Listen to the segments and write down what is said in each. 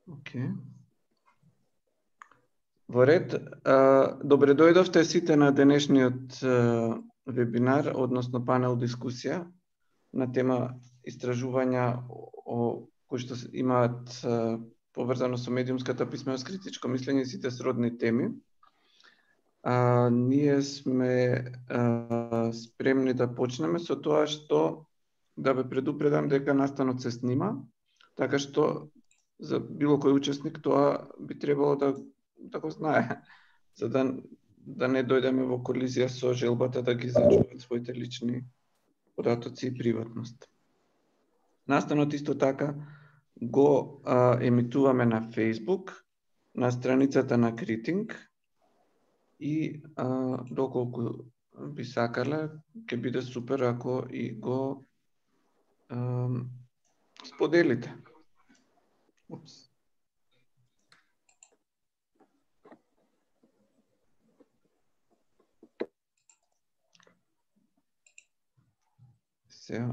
Океј. Во ред, добре дојдовте сите на денешниот вебинар, односно панел дискусија на тема истражувања кои што имаат поврзано со медиумската писменост, критичко мислење и сите сродни теми. Ние сме спремни да почнеме со тоа што да ве предупредам дека настанот се снима, така што за било кој учесник тоа би требало да го знае, за да не дојдеме во колизија со желбата да ги зачуваат своите лични податоци и приватност. Настанот исто така го емитуваме на Facebook, на страницата на Критинг и доколку би сакале, ќе биде супер ако и го споделите. Сега,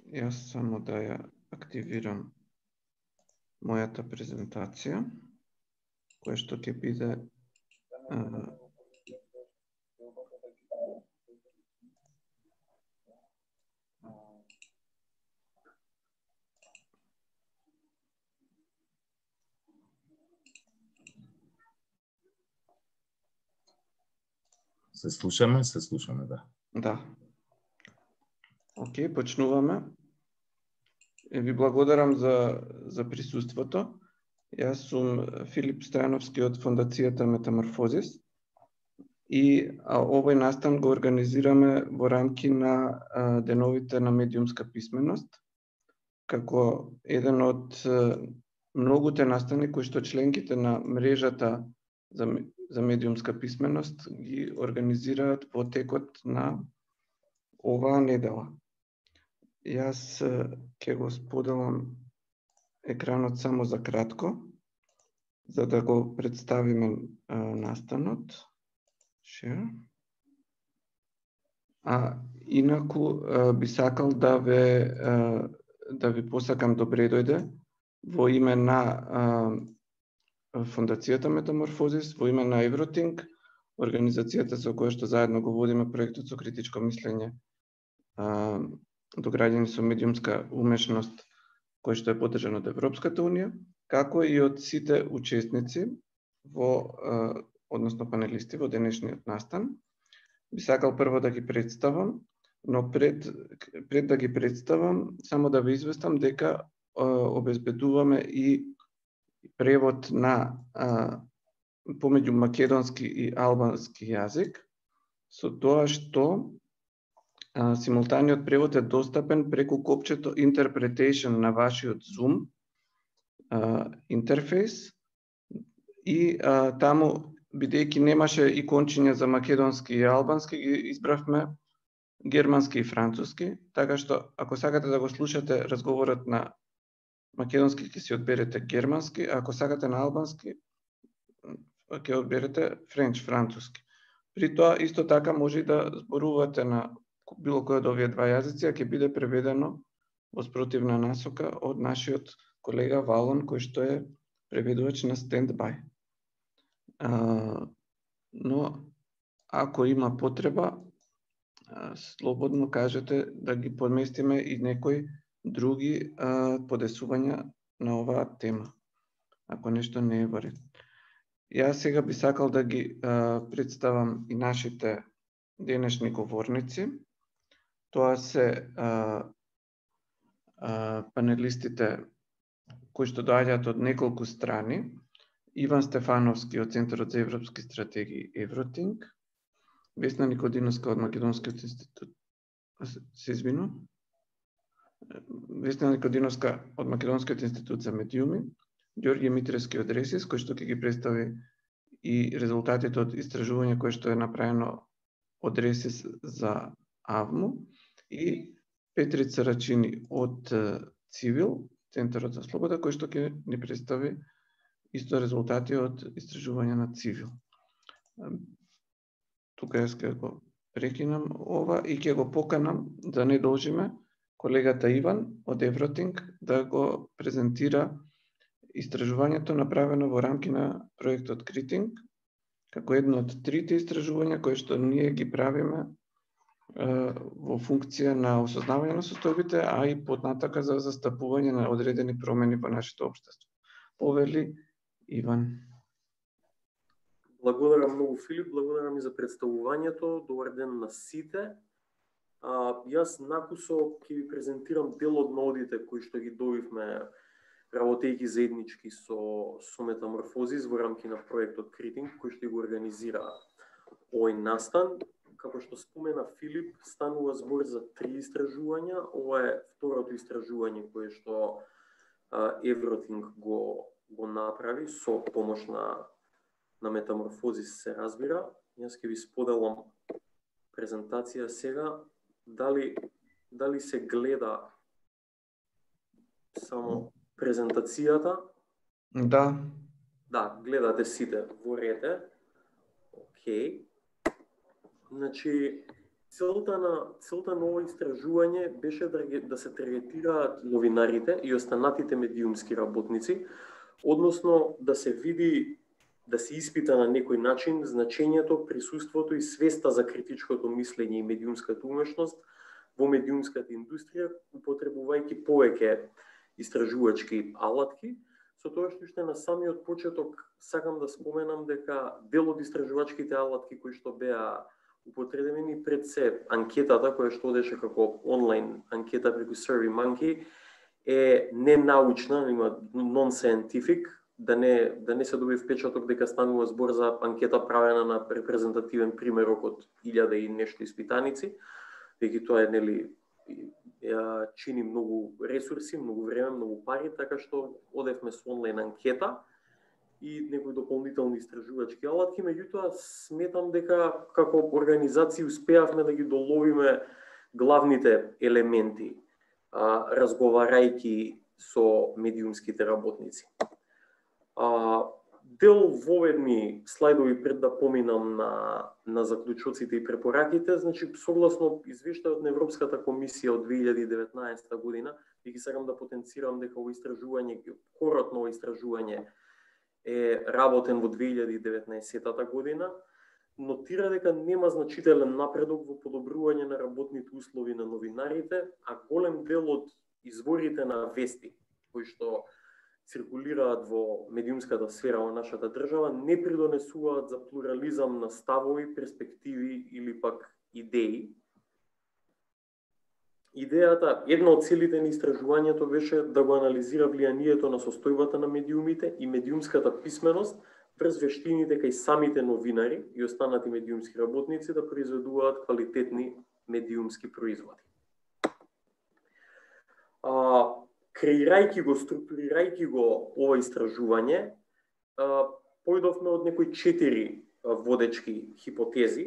јас само да ја активирам мојата презентација, која што ќе биде Се слушаме, да. Да. Океј, почнуваме. Ви благодарам за присуството. Јас сум Филип Стојановски од Фондацијата Метаморфозис и овој настан го организираме во рамки на деновите на медиумска писменост, како еден од многуте настани кои што членките на мрежата за медиумска писменост ги организираат во текот на оваа недела. Јас ќе го споделам екранот само за кратко, за да го представиме настанот. Share. Инаку би сакал да ви посакам добре дојде во име на Фондацијата Метаморфозис, во име на Евротинг, организацијата со која што заедно го водиме проектот со критичко мислење до граѓани со медиумска умешност, кој што е поддржан од Европската унија, како и од сите учесници односно панелисти во денешниот настан. Би сакал прво да ги представам, но пред да ги представам, само да ве известам дека обезбедуваме и превод на помеѓу македонски и албански јазик, со тоа што симултаниот превод е достапен преку копчето Interpretation на вашиот Zoom интерфејс и таму, бидејќи немаше икончиња за македонски и албански, ги избравме германски и француски, така што ако сакате да го слушате разговорот на македонски, ќе си одберете германски, а ако сакате на албански, ќе одберете француски. При тоа, исто така, може и да зборувате на било кој од овие два јазици, а ќе биде преведено во спротивна насока од нашиот колега Валон, кој што е преведувач на стендбај. Но, ако има потреба, слободно кажете да ги поместиме и некои други подесувања на оваа тема, ако нешто не е во ред. Јас сега би сакал да ги представам и нашите денешни говорници. Тоа се панелистите кои што доаѓаат од неколку страни. Иван Стефановски од Центарот за европски стратегии Евротинг, Весна Никодиновска од Македонскиот институт, Весна Никодиновска од Македонскиот институт за медиуми, Ѓорѓе Митревски од Ресис, кој што ќе ги представи и резултатите од истражување кое што е направено од Ресис за АВМУ, и Петрица Рачини од Цивил, Центарот за слобода, кој што ќе ни представи исто резултати од истражување на Цивил. Тука јас ќе го прекинам ова и ќе го поканам да не должиме колегата Иван од Евротинг да го презентира истражувањето направено во рамки на проектот Критинг, како едно од трите истражувања кои што ние ги правиме во функција на осознавање на состојбите, а и потнатака за застапување на одредени промени во нашето општество. Повели Иван. Благодарам многу, Филип, благодарам и за представувањето. Добар ден на сите. Јас накусо ќе ви презентирам дел од нодите кои што ги добивме работејќи заеднички со Метаморфозис во рамки на проектот Критинг, кој што го организира овој настан. Како што спомена Филип, станува збор за 3 истражувања. Ова е второто истражување кое што Евротинг го направи со помош на Метаморфозис, се разбира. Јас ќе ви споделам презентација сега. Дали се гледа само презентацијата? Да. Да, гледате сите во ред. Океј. Значи, целта на ова истражување беше да се таргетираат новинарите и останатите медиумски работници, односно да се види, да се испита на некој начин значењето, присуството и свеста за критичкото мислење и медиумската умешност во медиумската индустрија, употребувајќи повеќе истражувачки алатки. Со тоа што на самиот почеток сакам да споменам дека дел од истражувачките алатки кои што беа употребени пред се анкетата која што одеше како онлайн анкета преку SurveyMonkey е ненаучна, има non-scientific, да не се доби впечаток дека станува збор за анкета правена на репрезентативен примерок од 1000 и нешто испитаници, дека тоа чини многу ресурси, многу време, многу пари, така што одевме со онлайн анкета и некои дополнителни истражувачки алатки. Меѓутоа, сметам дека како организација успеавме да ги доловиме главните елементи, разговарајќи со медиумските работници. Дел воведни слайдови пред да поминам на заклучоците и препораките, значи согласно извештајот на Европската комисија од 2019 година, и ги сакам да потенцирам дека ово истражување, корот на ово истражување е работен во 2019 година, нотира дека нема значителен напредок во подобрување на работните услови на новинарите, а голем дел од изворите на вести кои што циркулираат во медиумската сфера во нашата држава не придонесуваат за плурализам на ставови, перспективи или пак идеи. Идејата, една од целите на истражувањето беше да го анализира влијанието на состојбата на медиумите и медиумската писменост врз вештините кај самите новинари и останати медиумски работници да произведуваат квалитетни медиумски производи. Креирајќи го, структурирајќи го ова истражување, појдовме од некои 4 водечки хипотези,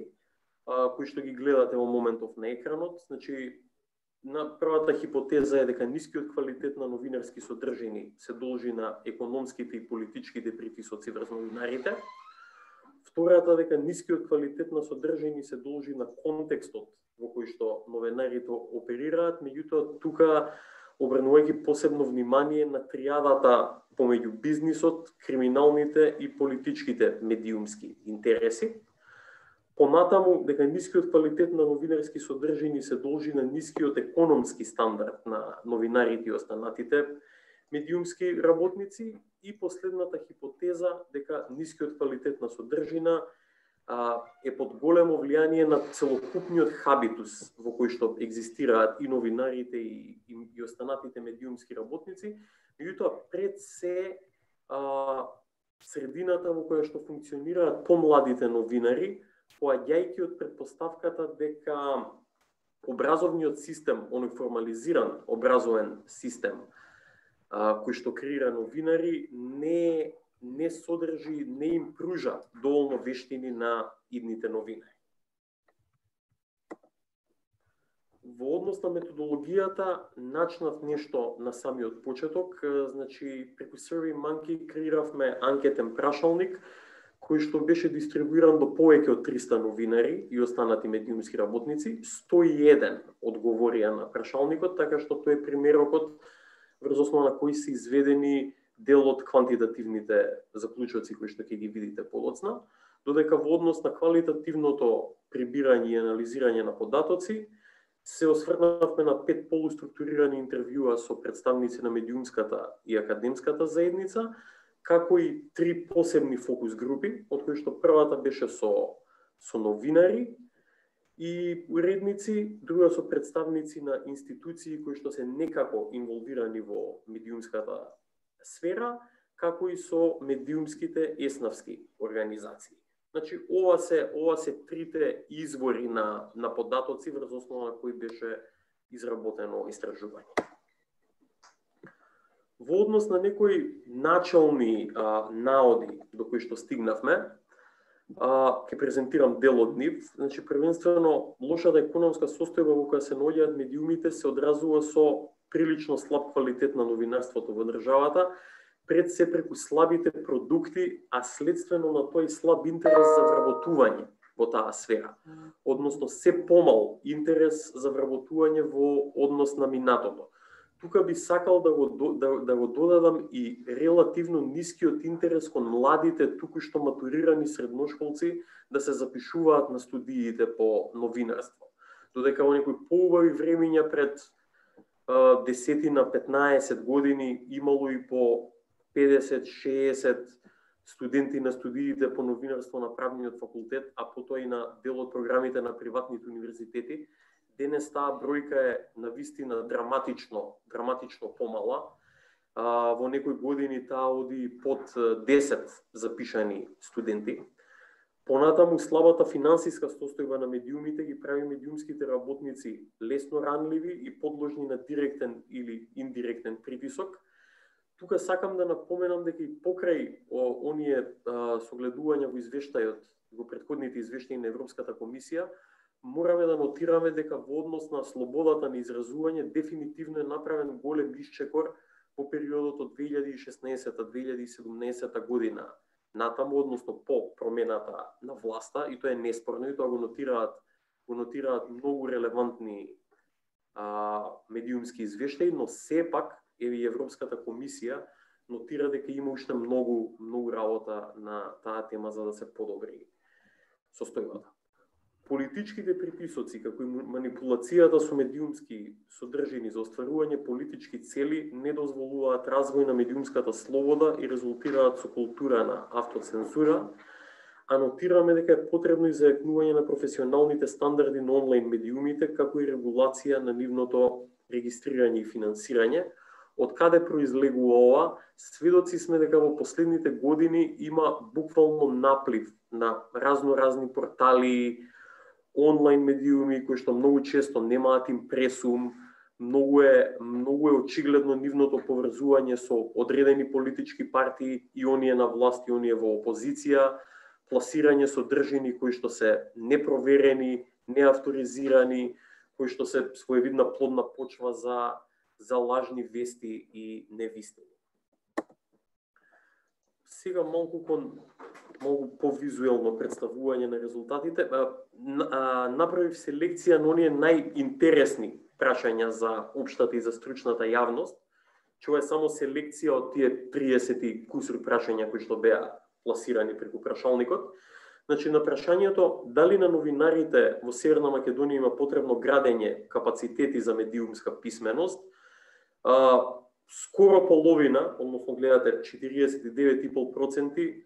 кои што ги гледате во моментов на екранот. Значи, на првата хипотеза е дека нискиот квалитет на новинарски содржини се должи на економските и политичките притисоци врз новинарите. Втората дека нискиот квалитет на содржини се должи на контекстот во кој што новинарите оперираат, меѓутоа тука обрнувајќи посебно внимание на триадата помеѓу бизнисот, криминалните и политичките медиумски интереси. Понатаму, дека нискиот квалитет на новинарски содржини се должи на нискиот економски стандард на новинарите и останатите медиумски работници. И последната хипотеза, дека нискиот квалитет на содржина е под големо влијание на целокупниот хабитус во кој што екзистираат и новинарите и останатите медиумски работници, меѓутоа пред се средината во која што функционираат помладите новинари, поаѓајќи од претпоставката дека образовниот систем, оној формализиран образовен систем кој што креира новинари, не содржи, не им пружа доволно вештини на идните новинари. Во однос на методологијата, начнав нешто на самиот почеток. Значи, преку SurveyMonkey креиравме анкетен прашалник, кој што беше дистрибуиран до повеќе од 300 новинари и останати медиумски работници, 101 одговорија на прашалникот, така што тој е примерокот врз основа на кои се изведени дел од квантитативните заклучоци кои што ќе ги видите подоцна, додека во однос на квалитативното прибирање и анализирање на податоци се осврнавме на 5 полуструктурирани интервјуа со представници на медиумската и академската заедница, како и 3 посебни фокус групи, од кои што првата беше со новинари и уредници, друга со представници на институции кои што се некако инволвирани во медиумската сфера, како и со медиумските еснавски организации. Значи, ова се трите извори на податоци врз основа на кои беше изработено истражување. Во однос на некои начални наоди до кои што стигнавме, ќе презентирам дел од нив. Значи, првенствено, лошата економска состојба во која се наоѓаат медиумите се одразува со прилично слаб квалитет на новинарството во државата, пред се преку слабите продукти, а следствено на тој слаб интерес за вработување во таа сфера. Односно, се помал интерес за вработување во однос на минатото. Тука би сакал да го додадам и релативно нискиот интерес кон младите, туку што матурирани средношколци да се запишуваат на студиите по новинарство. Додека во некои поубави времиња пред 10-15 години имало и по 50-60 студенти на студиите по новинарство на правниот факултет, а потоа и на дел од програмите на приватните универзитети. Денес таа бројка е навистина драматично помала. Во некои години таа оди под 10 запишани студенти. Понатаму слабата финансиска состојба на медиумите ги прави медиумските работници лесно ранливи и подложни на директен или индиректен притисок. Тука сакам да напоменам дека и покрај оние согледувања во извештајот, во претходните извештаи на Европската комисија, мораме да нотираме дека во однос на слободата на изразување дефинитивно е направен голем исчекор во периодот од 2016-2017 година натаму, односно по промената на власта, и тоа е неспорно, и тоа го нотираат многу релевантни медиумски извештаи, но сепак и Европската комисија нотира дека има уште многу работа на таа тема за да се подобри состојбата. Политичките приписоци, како и манипулацијата со медиумски содржини за остварување политички цели не дозволуваат развој на медиумската слобода и резултираат со култура на автоцензура, а нотираме дека е потребно и зајакнување на професионалните стандарди на онлайн медиумите, како и регулација на нивното регистрирање и финансирање. Од каде произлегува ова? Сведоци сме дека во последните години има буквално наплив на разни портали, онлайн медиуми кои што многу често немаат импресум, многу е очигледно нивното поврзување со одредени политички партии, и оние на власт и оние во опозиција, пласирање содржини кои што се непроверени, неавторизирани, кои што се своевидна плодна почва за лажни вести и невистини. Сега малку повизуелно представување на резултатите. Направив селекција на оние најинтересни прашања за општата и за стручната јавност. Ова е само селекција од тие 30 кусур прашања кои што беа пласирани преку прашалникот. Значи, на прашањето дали на новинарите во Северна Македонија има потребно градење капацитети за медиумска писменост, скоро половина, односно гледате 49,5%,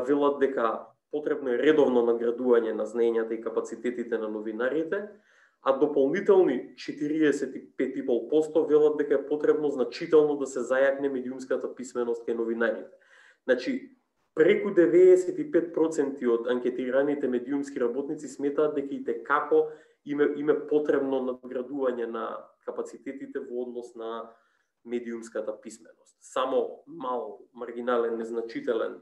велат дека потребно е редовно надградување на знаењата и капацитетите на новинарите, а дополнителни 45,5% велат дека е потребно значително да се зајакне медиумската писменост кај новинарите. Значи, преку 95% од анкетираните медиумски работници сметаат дека и како им е потребно надградување на капацитетите во однос на медиумската писменост. Само мал, маргинален, незначителен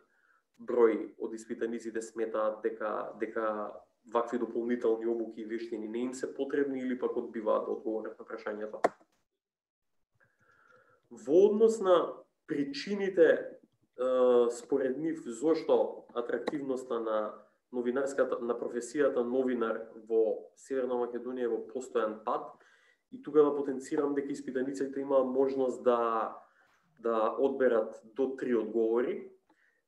број од испитаниците сметаат дека вакви дополнителни обуки и вештини не им се потребни или пак одбиваат да одговорат на прашањето. Во однос на причините според нив зошто атрактивноста на професијата новинар во Северна Македонија е во постојан пад, и тука да потенцирам дека испитаниците имаа можност да одберат до 3 одговори.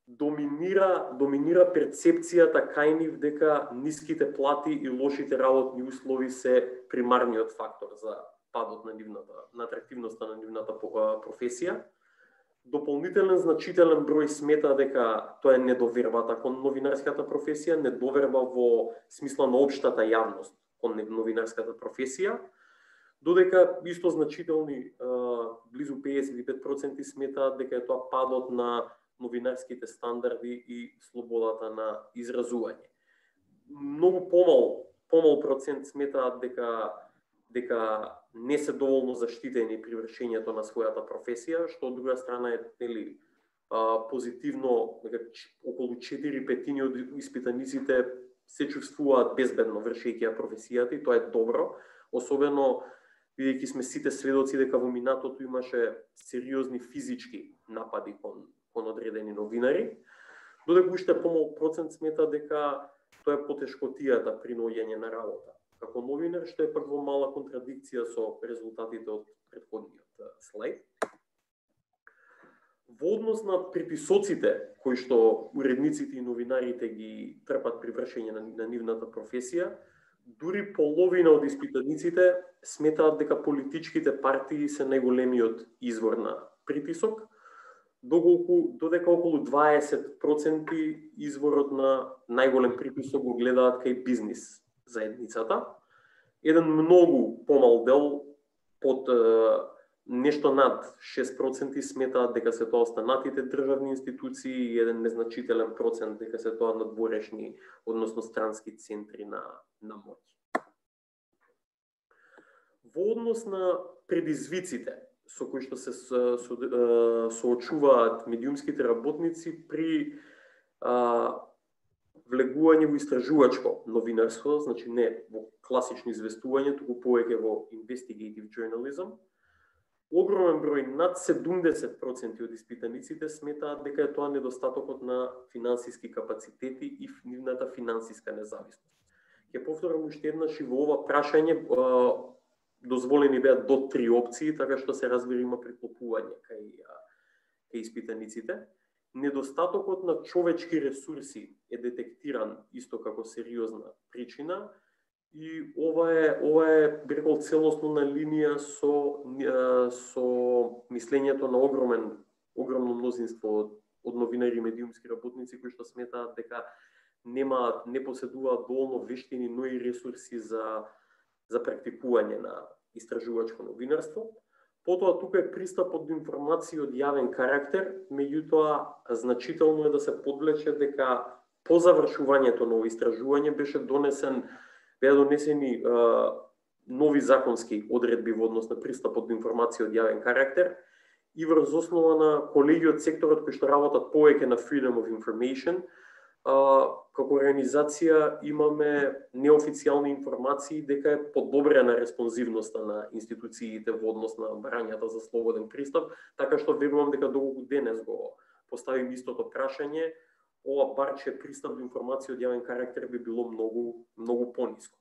Доминира перцепцијата кај нив дека ниските плати и лошите работни услови се примарниот фактор за падот на атрактивноста на нивната професија. Дополнителен значителен број смета дека тоа е недовербата кон новинарската професија, недоверба во смисла на општата јавност кон новинарската професија, додека исто значителни, близу 55% сметаат дека е тоа падот на новинарските стандарди и слободата на изразување. Многу помал процент сметаат дека не се доволно заштитени при вршењето на својата професија, што од друга страна е позитивно, дека околу 4/5 од испитаниците се чувствуваат безбедно вршејќи професијата, и тоа е добро, особено бидејќи сме сите сведоци дека во минатото имаше сериозни физички напади кон одредени новинари, додека уште помал процент смета дека тоа е потешкотијата при наоѓање на работа како новинар, што е пак во мала контрадикција со резултатите од претходниот слајд. Во однос на приписоците кои што уредниците и новинарите ги трпат при вршење на нивната професија, дури половина од испитаниците сметаат дека политичките партии се најголемиот извор на притисок, додека околу 20% изворот на најголем притисок го гледаат кај бизнис заедницата. Еден многу помал дел, под нешто над 6% сметаат дека се тоа останатите државни институции, и еден незначителен процент дека се тоа надворешни, односно странски центри на моќ. Во однос на предизвиците со кои што се соочуваат медиумските работници при влегување во истражувачко новинарство, значи не во класично известување, туку повеќе во investigative journalism, огромен број, над 70% од испитаниците сметаат дека е тоа недостатокот на финансиски капацитети и нивната финансиска независност. Ќе повторам уште еднаш, и во ова прашање дозволени беа до 3 опции, така што се разбира има преклопување кај испитаниците. Недостатокот на човечки ресурси е детектиран исто како сериозна причина, и ова е би рекол целосно на линија со мислењето на огромно мнозинство од новинари и медиумски работници кои што сметаат дека не поседуваат доволно вештини, но и ресурси за практикување на истражувачко новинарство. Потоа тука е пристапот до информации од јавен карактер, меѓутоа значително е да се подлече дека по завршувањето на истражување беа донесени нови законски одредби во однос на пристапот до информации од јавен карактер, и врз основа на колеги од секторот кои што работат повеќе на Freedom of Information, како организација имаме неофицијални информации дека е подобрена респонзивноста на институциите во однос на барањата за слободен пристап, така што верувам дека доколку денес го поставим истото прашање, ова барче пристап до информација од јавен карактер би било многу пониско.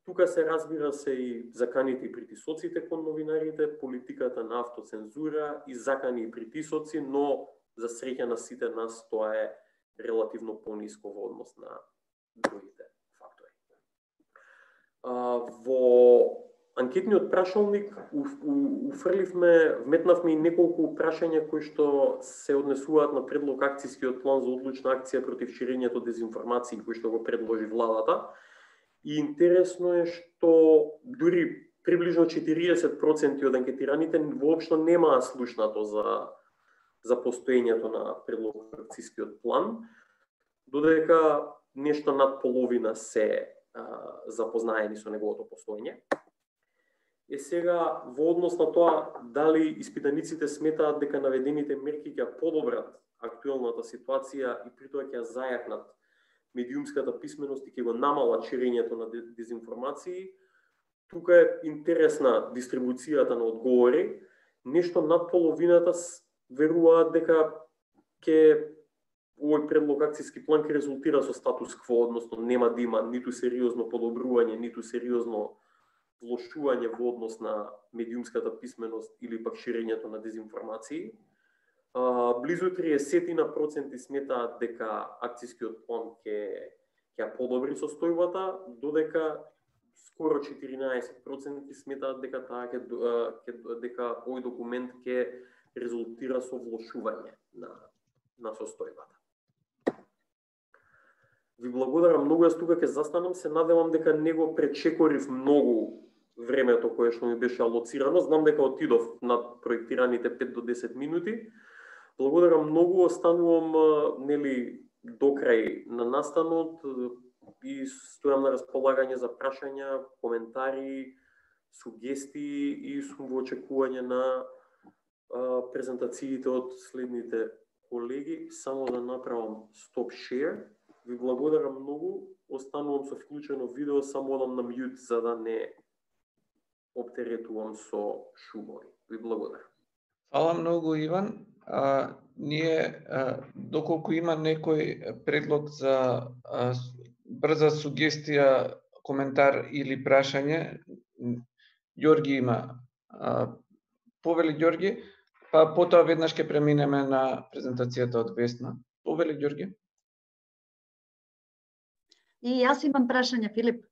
Тука се разбира се и заканите и притисоците кон новинарите, политиката на автоцензура и закани и притисоци, но за среќа на сите нас тоа е релативно пониско во однос на другите фактори. Во анкетниот прашалник вметнавме и неколку прашања кои што се однесуваат на предлог акцијскиот план за одлучна акција против ширењето дезинформации кои што го предложи владата. И интересно е што дури приближно 40% од анкетираните воопшто немаа слушнато за постоењето на предлог акцијскиот план, додека нешто над половина се запознаени со неговото постоење. Сега, во однос на тоа дали испитаниците сметаат дека наведените мерки ќе подобрат актуелната ситуација и при тоа ќе зајакнат медиумската писменост и ќе го намалат ширењето на дезинформации, тука е интересна дистрибуцијата на одговори. Нешто над половината веруваат дека овој предлог акцијски план ќе резултира со статус кво, односно нема да има ниту сериозно подобрување, ниту сериозно влошување во однос на медиумската писменост или пак ширењето на дезинформации. Близу 30% сметаат дека акцијскиот план ќе ја подобри состојбата, додека скоро 14% сметаат дека дека овој документ ќе резултира со влошување на состојбата. Ви благодарам многу, јас тука ќе застанам, се надевам дека не го пречекорив многу времето кое што ми беше алоцирано. Знам дека отидов над проектираните 5 до 10 минути. Благодарам многу, останувам до крај на настанот и стојам на располагање за прашања, коментари, сугестии и сум во очекување на презентациите од следните колеги. Само да направам stop share. Ви благодарам многу, останувам со вклучено видео, само одам на мјут за да не оптеретувам со шумови. Ви благодарам. Фала многу, Иван. Ние, доколку има некој предлог за брза сугестија, коментар или прашање, Ѓорги има. Повели Ѓорги, па потоа веднаш ќе преминеме на презентацијата од Весна. Повели Ѓорги. И јас имам прашање, Филип.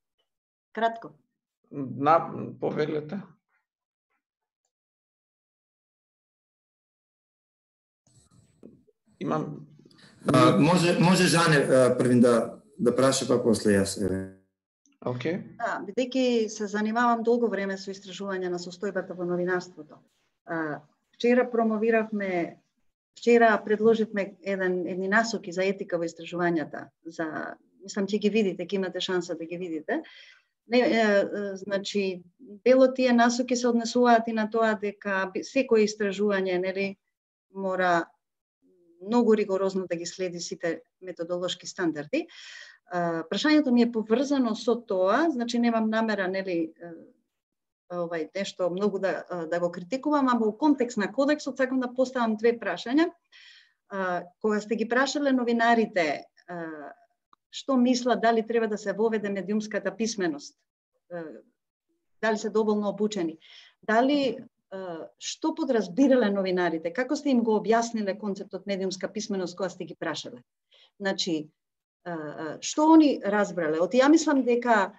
Кратко. Повелете. Имам... Може Жане првин да праша, па после јас. Окей. Да, бидејќи се занимавам долго време со истражување на состојбата во новинарството. Вчера предложивме едни насоки за етика во истражувањата. Мислам ќе ги видите, ќе имате шанса да ги видите. Значи, дело тие насоки се однесуваат и на тоа дека секое истражување, мора многу ригорозно да ги следи сите методолошки стандарди. Прашањето ми е поврзано со тоа, значи немам намера, нешто многу да го критикувам, ама во контекст на кодексот сакам да поставам две прашања. Кога сте ги прашале новинарите што мислат, дали треба да се воведе медиумската писменост, дали се доволно обучени, дали што подразбирале новинарите, како сте им го објасниле концептот медиумска писменост кога сте ги прашале? Значи, што они разбрале? Ја мислам дека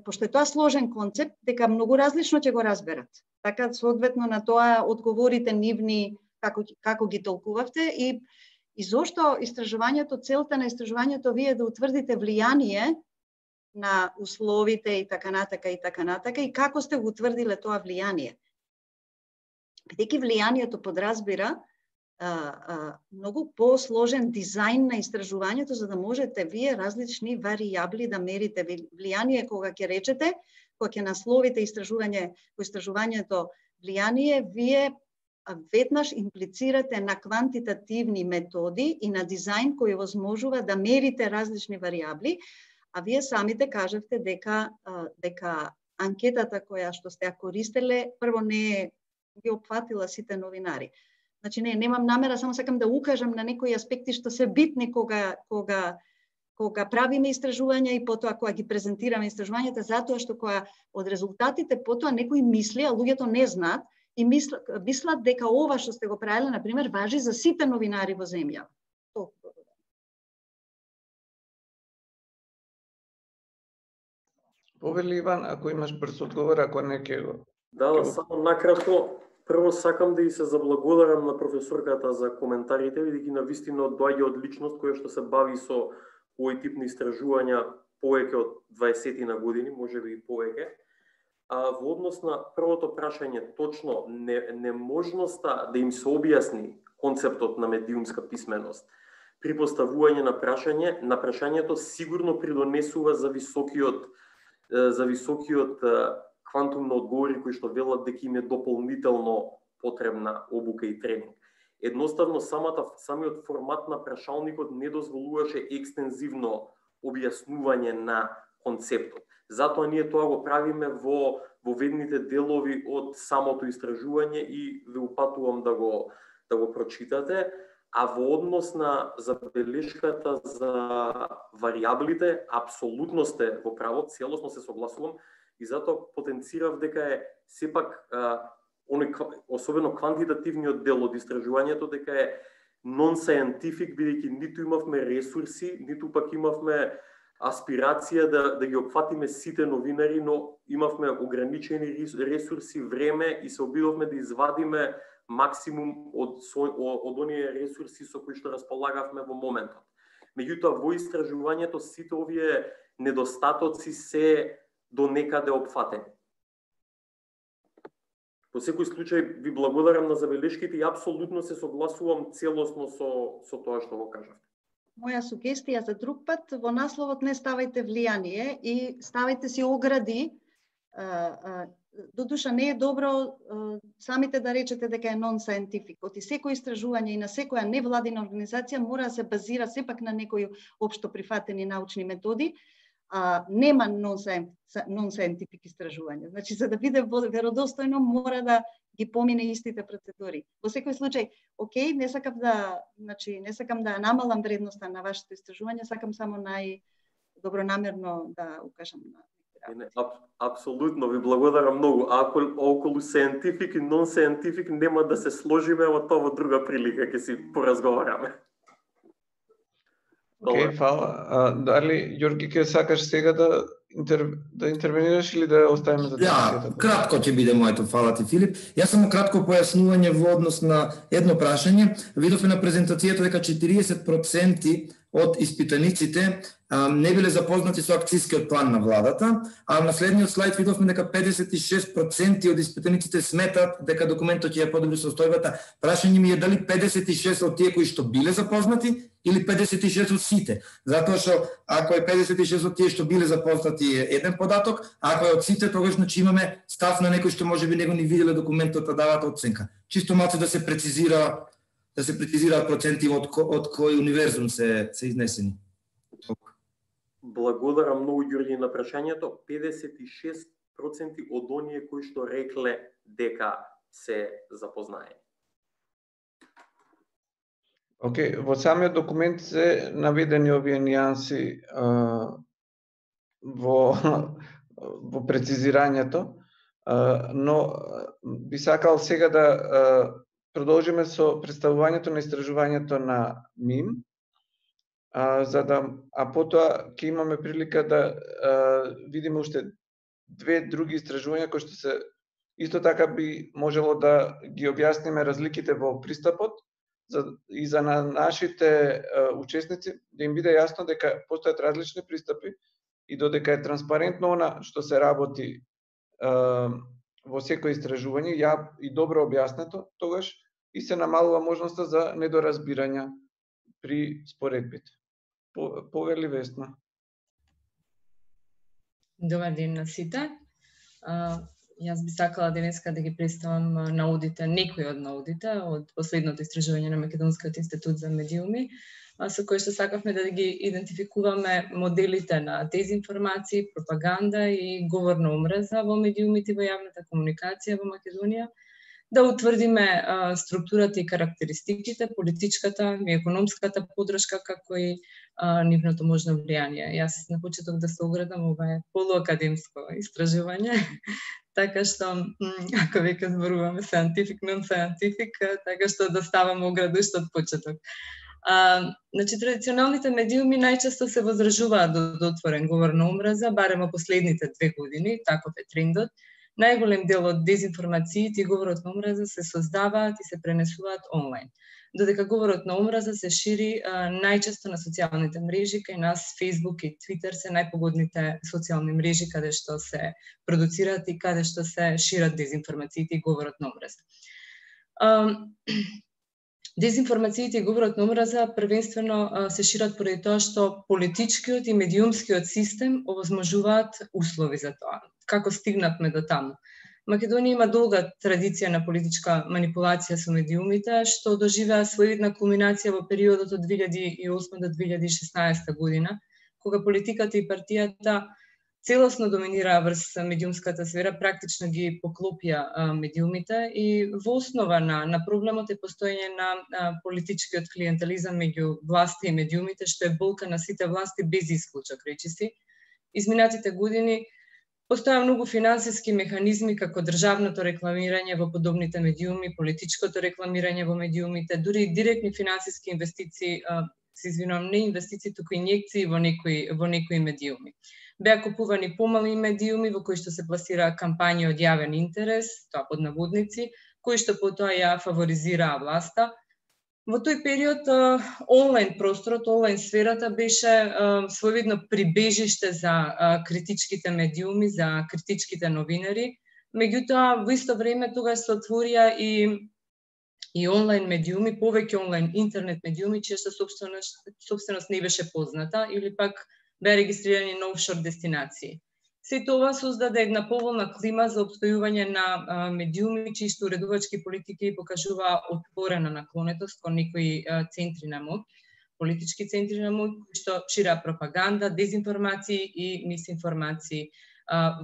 пошто е тоа сложен концепт, дека многу различно ќе го разберат. Така, соодветно на тоа одговорите нивни, како ги толкувавте и зошто истражувањето, целта на истражувањето вие да утврдите влијание на условите и така натака, и како сте го утврдиле тоа влијание. Бидејќи влијанието подразбира многу посложен дизајн на истражувањето, за да можете вие различни варијабли да мерите влијание, кога ќе речете, кога ќе насловите истражувањето влијание, вие веднаш имплицирате на квантитативни методи и на дизајн кој возможува да мерите различни варијабли, а вие самите кажавте дека анкетата која што сте ја користеле, прво не ги опфатила сите новинари. Значи, немам намера, само сакам да укажам на некои аспекти што се битни кога правиме истражувања и потоа кога ги презентираме истражувањата, затоа што кога од резултатите потоа некои мисли, а луѓето не знаат, и мислат дека ова што сте го правиле, например, важи за сите новинари во земја. Повели Иван, ако имаш брз одговор, ако не ќе го... Да, само накратко, прво сакам да и се заблагодарам на професорката за коментарите, бидејќи навистина доаѓа од личност која што се бави со овој тип на истражувања повеќе од 20 на години, можеби и повеќе. Во однос на првото прашање, точно неможноста да им се објасни концептот на медиумска писменост при поставување на прашањето сигурно придонесува за високиот квантум на одговори кои што велат дека им е дополнително потребна обука и тренинг. Едноставно, самиот формат на прашалникот не дозволуваше екстензивно објаснување на концептот. Затоа ние тоа го правиме во ведните делови од самото истражување и ве упатувам да го прочитате. а во однос на забелешката за варијаблите, апсолутно сте во право, целосно се согласувам и затоа потенцирав дека е сепак особено квантитативниот дел од истражувањето дека е non-scientific, бидејќи ниту имавме ресурси, ниту пак имавме аспирација да ги опфатиме сите новинари, но имавме ограничени ресурси, време и се обидовме да извадиме максимум од оние ресурси со кои што располагавме во моментот. Меѓутоа, во истражувањето сите овие недостатоци се до некаде опфатени. Во секој случај ви благодарам на забелешките и апсолутно се согласувам целосно со тоа што го кажавте. Моја сугестија за друг пат, во насловот не ставајте влијание и ставајте си огради. Додуша не е добро самите да речете дека е non-scientific. Оти секој истражување и на секоја невладина организација мора да се базира сепак на некои општо прифатени научни методи, нема non-scientific истражување. Значи, за да биде веродостојно, мора да ги помине истите процедури. Во секој случај, окей, не сакам да намалам вредноста на вашето истражување, сакам само најдобронамерно да укажам на. Апсолутно, ви благодарам многу. Ако околу scientific и non-scientific нема да се сложиме, во тоа во друга прилика ќе си поразговараме. Окей, фала. Дали, Ѓорги, ќе сакаш сега да интервенираш или да оставиме за дискусијата? Кратко ќе биде моето, фала ти, Филип. Јас само кратко појаснување во однос на едно прашање. Видовме на презентацијата дека 40% од испитаниците не биле запознати со акцијскиот план на владата, а на следниот слайд видовме дека 56% од испитаниците сметат дека документот ќе ја подобри состојбата. Прашање ми е дали 56 од тие кои што биле запознати или 56 од сите. Затоа што ако е 56 од тие што биле запознати е еден податок, а ако е од сите, тогаш значи имаме став на некој што можеби него ни виделе документот, а дават оценка. Чисто малку да се прецизираат проценти од кој универзум се изнесени. Благодарам многу, Ѓорѓи, на прашањето. 56% од оние кои што рекле дека се запознаени. Океј, во самиот документ се наведени овие нијанси во прецизирањето, но би сакал сега да продолжиме со представувањето на истражувањето на МИМ, а потоа ќе имаме прилика да видиме уште две други истражувања кои што се исто така би можело да ги објасниме разликите во пристапот и за нашите учесници да им биде јасно дека постојат различни пристапи и додека е транспарентно она што се работи во секој истражување и добро објаснето, тогаш и се намалува можноста за недоразбирања при споредбите. Повели, Весна. Добар ден на сите. Јас би сакала денеска да ги представам наудите, некои од наудите од последното истражување на Македонскиот институт за медиуми, со кои што сакавме да ги идентификуваме моделите на дезинформација, пропаганда и говорна омраза во медиумите во јавната комуникација во Македонија, да утврдиме структурата и карактеристиките, политичката и економската поддршка, како и нивното можно влијание. Јас на почеток да се оградам, ова е полуакадемско истражување, така што, ако веќе зборуваме scientific, non-scientific, така што да ставаме ограду уште од почеток. Значи, традиционалните медиуми најчесто се возражуваат до отворен говор на омраза, барем во последните 2 години, таков е трендот. Најголем дел од дезинформациите и говорот на омраза се создаваат и се пренесуваат онлайн. Додека говорот на омраза се шири најчесто на социјалните мрежи, кај нас Facebook и Twitter се најпогодните социјални мрежи каде што се продуцираат и каде што се шират дезинформациите и говорот на омраза. Дезинформациите и говорот на омраза првенствено се шират поради тоа што политичкиот и медиумскиот систем овозможуваат услови за тоа. Како стигнатме до таму? Македонија има долга традиција на политичка манипулација со медиумите, што доживеа своевидна кулминација во периодот од 2008 до 2016 година, кога политиката и партијата целосно доминираа врз медиумската сфера, практично ги поклопија медиумите и во основа на проблемот е постоење на политичкиот клиентелизам меѓу власти и медиумите, што е болка на сите власти без исклучок, речиси. Изминатите години постоја многу финансиски механизми како државното рекламирање во подобните медиуми, политичкото рекламирање во медиумите, дури и директни финансиски инвестиции, не инвестиции, туку инјекции во некои медиуми. Беа купувани помали медиуми во кои што се пласираа кампањи од јавен интерес, тоа под наводници, кои што потоа ја фаворизираа власта. Во тој период онлайн просторот, онлайн сферата беше своевидно прибежиште за критичките медиуми, за критичките новинари. Меѓутоа, во исто време тогаш се отворија и онлайн медиуми, повеќе онлайн интернет медиуми, чија собственост не беше позната или пак беа регистрирани на офшор дестинации. Сето ова создаде една поволна клима за опстојување на медиуми, чии што уредувачки политики покажуваа отворена наклонетост кон некои центри на моќ, политички центри на моќ, кои што шираа пропаганда, дезинформации и мисинформации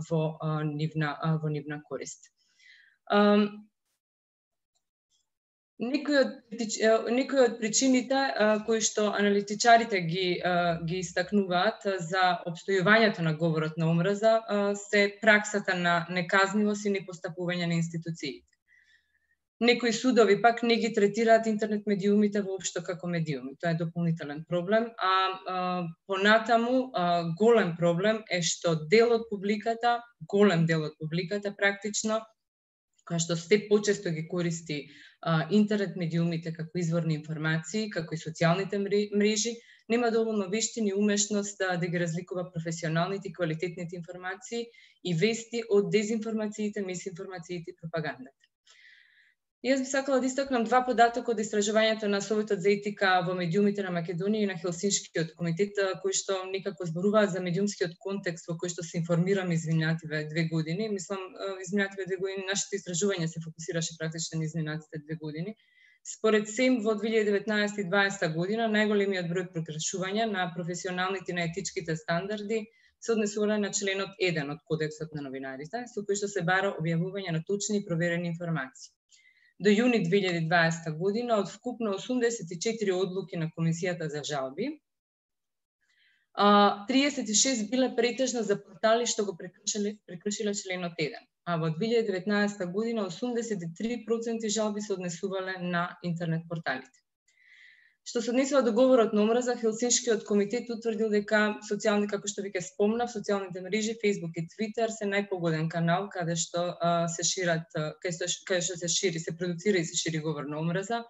во нивна корист. Некои од причините кои што аналитичарите ги истакнуваат за опстојувањето на говорот на омраза се праксата на неказнивост и непостапување на институциите. Некои судови пак не ги третираат интернет медиумите воопшто како медиуми. Тоа е дополнителен проблем, понатаму голем проблем е што голем дел од публиката практично, која што се почесто ги користи интернет медиумите како изворни информации, како и социјалните мрежи, нема доволно вештини и умешност да ги разликува професионалните и квалитетните информации и вести од дезинформациите, мисинформациите и пропагандата. Јас би сакала да истакнам два податока од истражувањето на Советот за етика во медиумите на Македонија и на Хелсиншкиот комитет, кои што некако зборуваат за медиумскиот контекст во кој што се информираме изминативе 2 години. Мислам, изминативе 2 години нашето истражување се фокусираше практично на изминатите 2 години. Според СЕМ во 2019 и 2020 година најголемиот број прекршувања на професионалните и на етичките стандарди се однесува на членот 1 од Кодексот на новинарите, со кој што се бара објавување на точни и проверени информации. До јуни 2020 година, од вкупно 84 одлуки на Комисијата за жалби, 36 биле претежно за портали што го прекршиле членот 1, а во 2019 година 83% жалби се однесувале на интернет порталите. Што се однесува до говорот на омраза, Хелсиншкиот комитет утврдил дека како што веќе спомнав, социјалните мрежи Facebook и Twitter се најпогоден канал каде што се продуцира и се шири говор на омраза,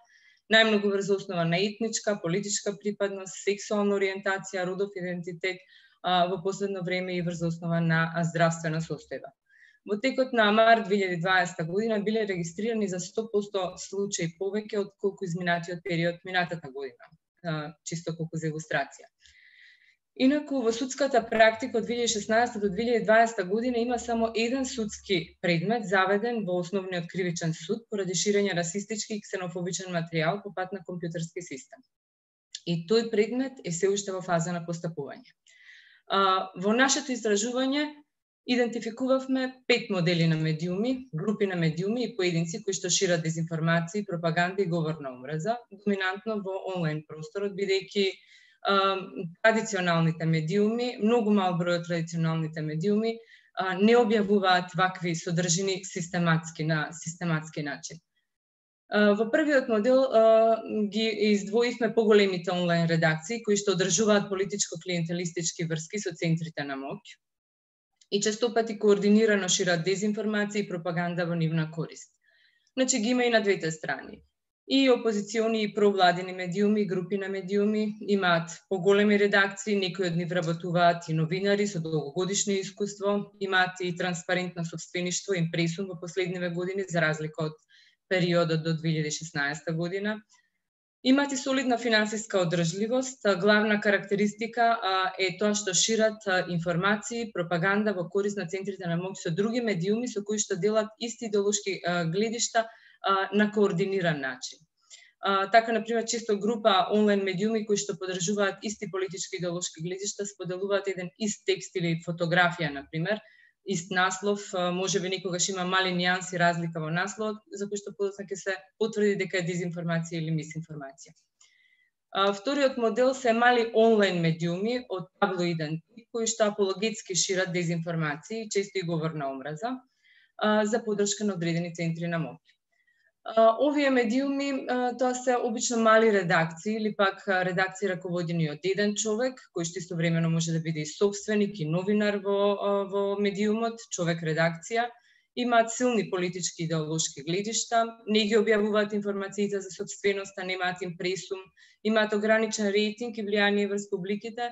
најмногу врз основа на етничка, политичка припадност, сексуална ориентација, родов идентитет, во последно време и врз основа на здравствена состојба. Во текот на март 2020 година биле регистрирани за 100% случаи повеќе од колку изминатиот период минатата година, чисто колку за илустрација. Инаку во судската практика од 2016 до 2020 година има само еден судски предмет заведен во Основниот кривичен суд поради ширење расистички и ксенофобичен материјал по пат на компјутерски систем. И тој предмет е се уште во фаза на постапување. Во нашето истражување идентификувавме 5 модели на медиуми, групи на медиуми и поединци кои што шират дезинформации, пропаганда и говор на омраза, доминантно во онлайн просторот, бидејќи традиционалните медиуми, многу мал број од традиционалните медиуми не објавуваат вакви содржини на систематски начин. Во првиот модел ги издвоивме поголемите онлайн редакции кои што одржуваат политичко-клиентелистички врски со центрите на моќ и честопати координирано шират дезинформации и пропаганда во нивна корист. Значи ги има и на двете страни. И опозициони и провладени медиуми, групи на медиуми имаат поголеми редакции, некои од нив работуваат и новинари со долгогодишно искуство, имаат и транспарентно собствеништво, импресум во последниве години за разлика од периодот до 2016 година. Имаат и солидна финансиска одржливост. Главна карактеристика е тоа што шират информации, пропаганда во корист на центрите на моќ со други медиуми со кои што делат исти идеолошки гледишта на координиран начин. Така, например, често група онлайн медиуми кои што поддржуваат исти политички идеолошки гледишта споделуваат еден ист текст или фотографија, например, ист наслов, можеби некогаш има мали нијанси разлика во насловот, за кој што подоцна ќе се потврди дека е дезинформација или мисинформација. Вториот модел се мали онлайн медиуми од таблоиден тип кои што апологетски шират дезинформации, често и говор на омраза, за поддршка на одредени центри на моќ. Овие медиуми тоа се обично мали редакции или пак редакции раководени од еден човек, кој што истовремено може да биде и собственик и новинар во медиумот, човек редакција. Имаат силни политички идеолошки гледишта, не ги објавуваат информациите за собственоста, немаат импресум, имаат ограничен рейтинг и влијание врз публиките.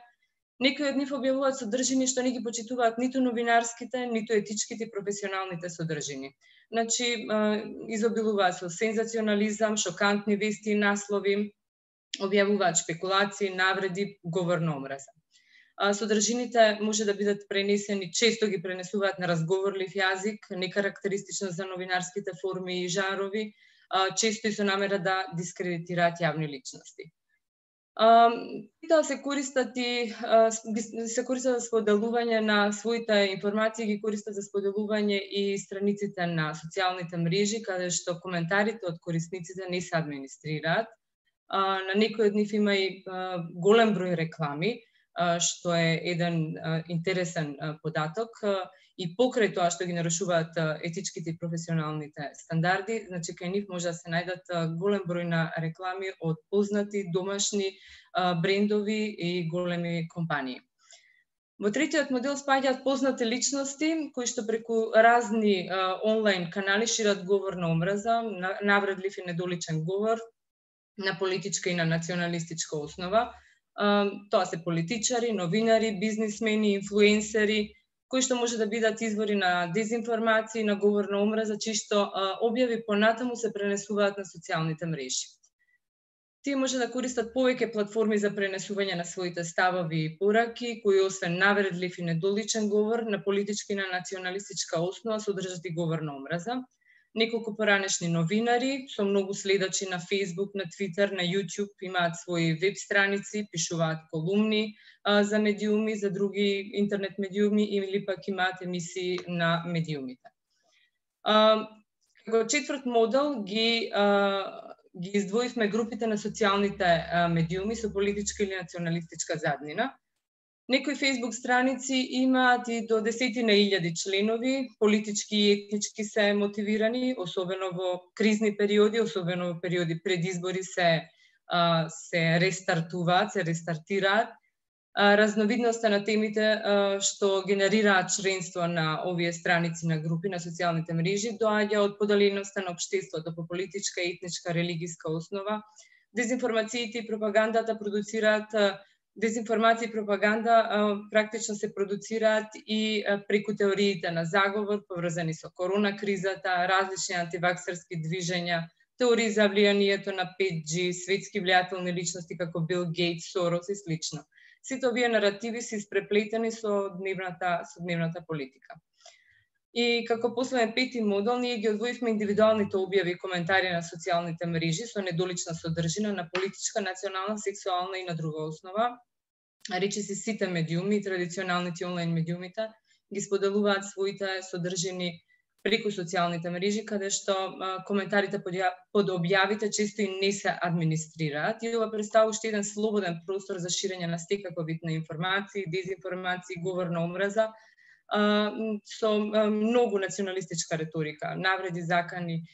Некои од нив објавуваат содржини што не ги почитуваат ниту новинарските, ниту етичките и професионалните содржини. Значи, изобилуваат со сензационализам, шокантни вести и наслови, објавуваат шпекулации, навреди, говор на омраза. Содржините може да бидат пренесени, често ги пренесуваат на разговорлив јазик, некарактеристично за новинарските форми и жанрови, често и со намера да дискредитираат јавни личности. Тоа се користат за споделување на своите информации, ги користат за споделување и страниците на социјалните мрежи, каде што коментарите од корисниците не се администрираат. На некој од нив има и голем број реклами, што е еден интересен податок, и покрај тоа што ги нарушуваат етичките и професионалните стандарди, значи кај нив може да се најдат голем број на реклами од познати домашни брендови и големи компании. Во третиот модел спаѓаат познати личности кои што преку разни онлайн канали шират говор на омраза, навредлив и недоличен говор на политичка и на националистичка основа. Тоа се политичари, новинари, бизнисмени, инфлуенсери, кои што може да бидат извори на дезинформации, на говор на омраза, чии што објави понатаму се пренесуваат на социјалните мрежи. Тие може да користат повеќе платформи за пренесување на своите ставови и пораки, кои освен навредлив и недоличен говор на политичка и на националистичка основа содржат и говор на омраза. Неколку поранешни новинари со многу следачи на Facebook, на Twitter, на YouTube имаат своји веб страници, пишуваат колумни за медиуми, за други интернет медиуми или пак имаат емисии на медиумите. Како четврт модел ги издвоивме групите на социјалните медиуми со политичка или националистичка заднина. Некои Facebook страници имаат и до 10.000 членови, политички и етнички се мотивирани, особено во кризни периоди, особено во периоди пред избори се рестартуваат, се рестартираат. Разновидноста на темите што генерираат членство на овие страници на групи на социјалните мрежи доаѓа од поделеността на општеството по политичка, етничка, религиска основа. Дезинформациите и пропагандата продуцираат Дезинформација и пропаганда практично се продуцираат и преку теориите на заговор, поврзани со корона кризата, различни антиваксерски движења, теории за влијанието на 5G, светски влијателни личности како Бил Гейтс, Сорос и слично. Сите овие наративи се испреплетени со дневната политика. И како последен пети модел, ние ги одвоивме индивидуалните објави и коментари на социјалните мрежи со недолична содржина на политичка, национална, сексуална и на друга основа. Речиси сите медиуми, традиционалните онлайн медиумите, ги споделуваат своите содржини преку социјалните мрежи, каде што коментарите под објавите често и не се администрираат и ова представува уште еден слободен простор за ширење на секаков вид на информации, дезинформации, говор на омраза, со многу националистичка реторика, навреди, закани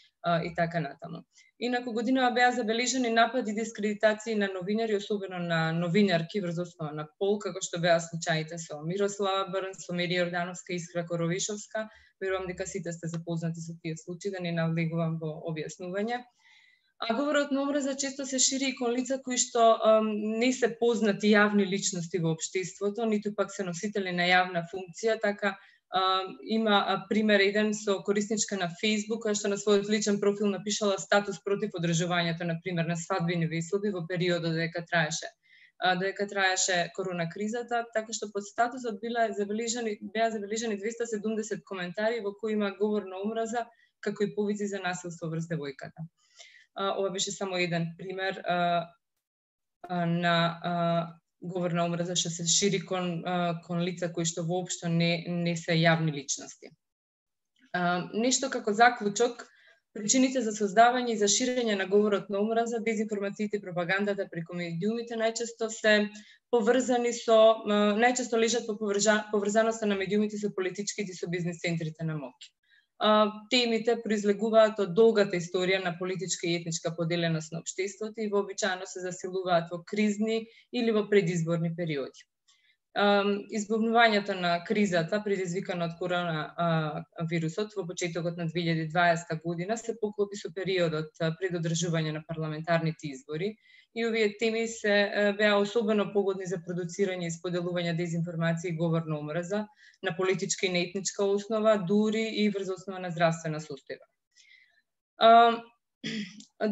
и така натаму. Инаку годинава беа забележани напади и дискредитации на новинари, особено на новинарки врз основа на пол, како што беа случаите со Мирослава Брнс, со Мерија Јордановска и Искра Коровишовска. Верувам дека сите сте запознати со тие случаи, да не навлегувам во објаснување. Говорот на омраза често се шири и кон лица кои што не се познати јавни личности во општеството, ниту пак се носители на јавна функција, така има пример еден со корисничка на Facebook, која што на својот личен профил напишала статус против одржувањето, например, на свадбени веселби во периодот додека траеше корона кризата, така што под статусот беа забележани 270 коментари во кои има говор на омраза, како и повици за насилство врз девојката. Ова беше само еден пример на говор на омраза што се шири кон лица кои што воопшто не се јавни личности. Нешто како заклучок, причините за создавање и за ширење на говорот на омраза, дезинформациите и пропагандата преку медиумите најчесто се поврзани со, најчесто лежат по поврзаноста на медиумите со политичките и со бизнес центрите на моќ. Темите произлегуваат од долгата историја на политичка и етничка поделеност на општеството и вообичаено се засилуваат во кризни или во предизборни периоди. Избавнувањето на кризата, предизвикана од коронавирусот во почетокот на 2020 година, се поклопи со периодот пред одржување на парламентарните избори и овие теми се беа особено погодни за продуцирање и споделување дезинформација и говор на омраза на политичка и на етничка основа, дури и врз основа на здравствена состојба.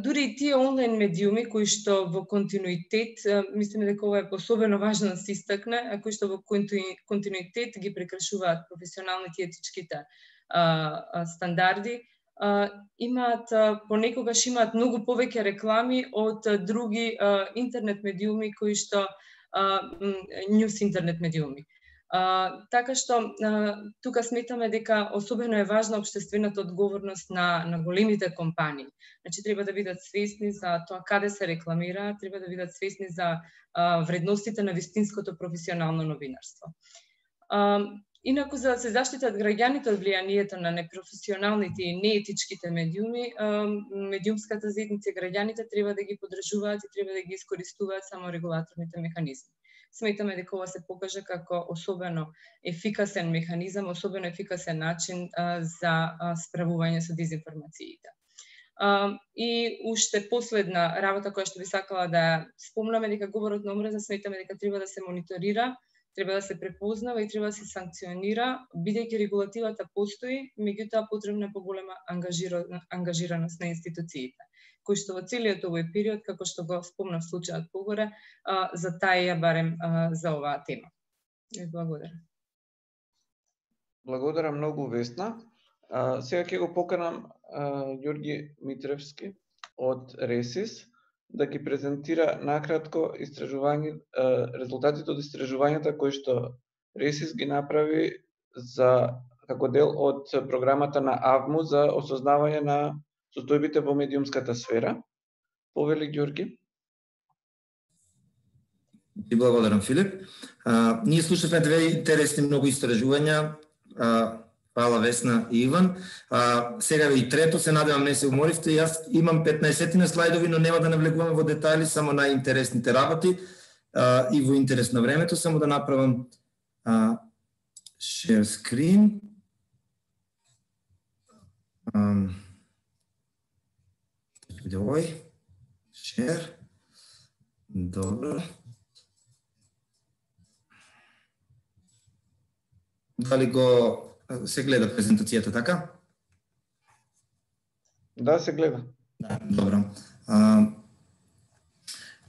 Дури и тие онлайн медиуми кои што во континуитет, мислиме дека ова е особено важно да се истакне, кои што во континуитет ги прекршуваат професионалните и етичките стандарди, понекогаш имаат многу повеќе реклами од други интернет медиуми кои што нјус интернет медиуми. Така што тука сметаме дека особено е важна општествената одговорност на големите компании. Значи треба да бидат свесни за тоа каде се рекламира, треба да бидат свесни за вредностите на вистинското професионално новинарство. Инаку, за да се заштитат граѓаните од влијанието на непрофесионалните и неетичките медиуми, медиумската заедница и граѓаните треба да ги поддржуваат и треба да ги искористуваат само регулаторните механизми. Сметаме дека ова се покаже како особено ефикасен механизам, особено ефикасен начин за справување со дезинформациите. И уште последна работа која што би сакала да спомнаме, дека говорот на омраза сметаме дека треба да се мониторира, треба да се препознава и треба да се санкционира, бидејќи регулативата постои, меѓутоа потребна е поголема ангажираност на институциите, кои што во целиот овој период, како што го спомнав случајот погоре, затаија барем за оваа тема. Благодарам. Благодарам многу, Весна. Сега ќе го поканам Ѓорги Митревски од РЕСИС да ги презентира накратко резултатите од истражувањата кои што РЕСИС ги направи како дел од програмата на АВМУ за осознавање на состојбите во медиумската сфера. Повели, Ѓорги. Ти благодарам, Филип. Ние слушавме две интересни многу истражувања. Фала, Весна и Иван. Сега и трето, се надевам не се уморивте. Јас имам 15 слайдови, но нема да навлегуваме во детали, само најинтересните работи и во интерес на времето, само да направам share screen. Овој share. Добро. Дали го се гледа презентацијата, така? Да, се гледа. Да, добро.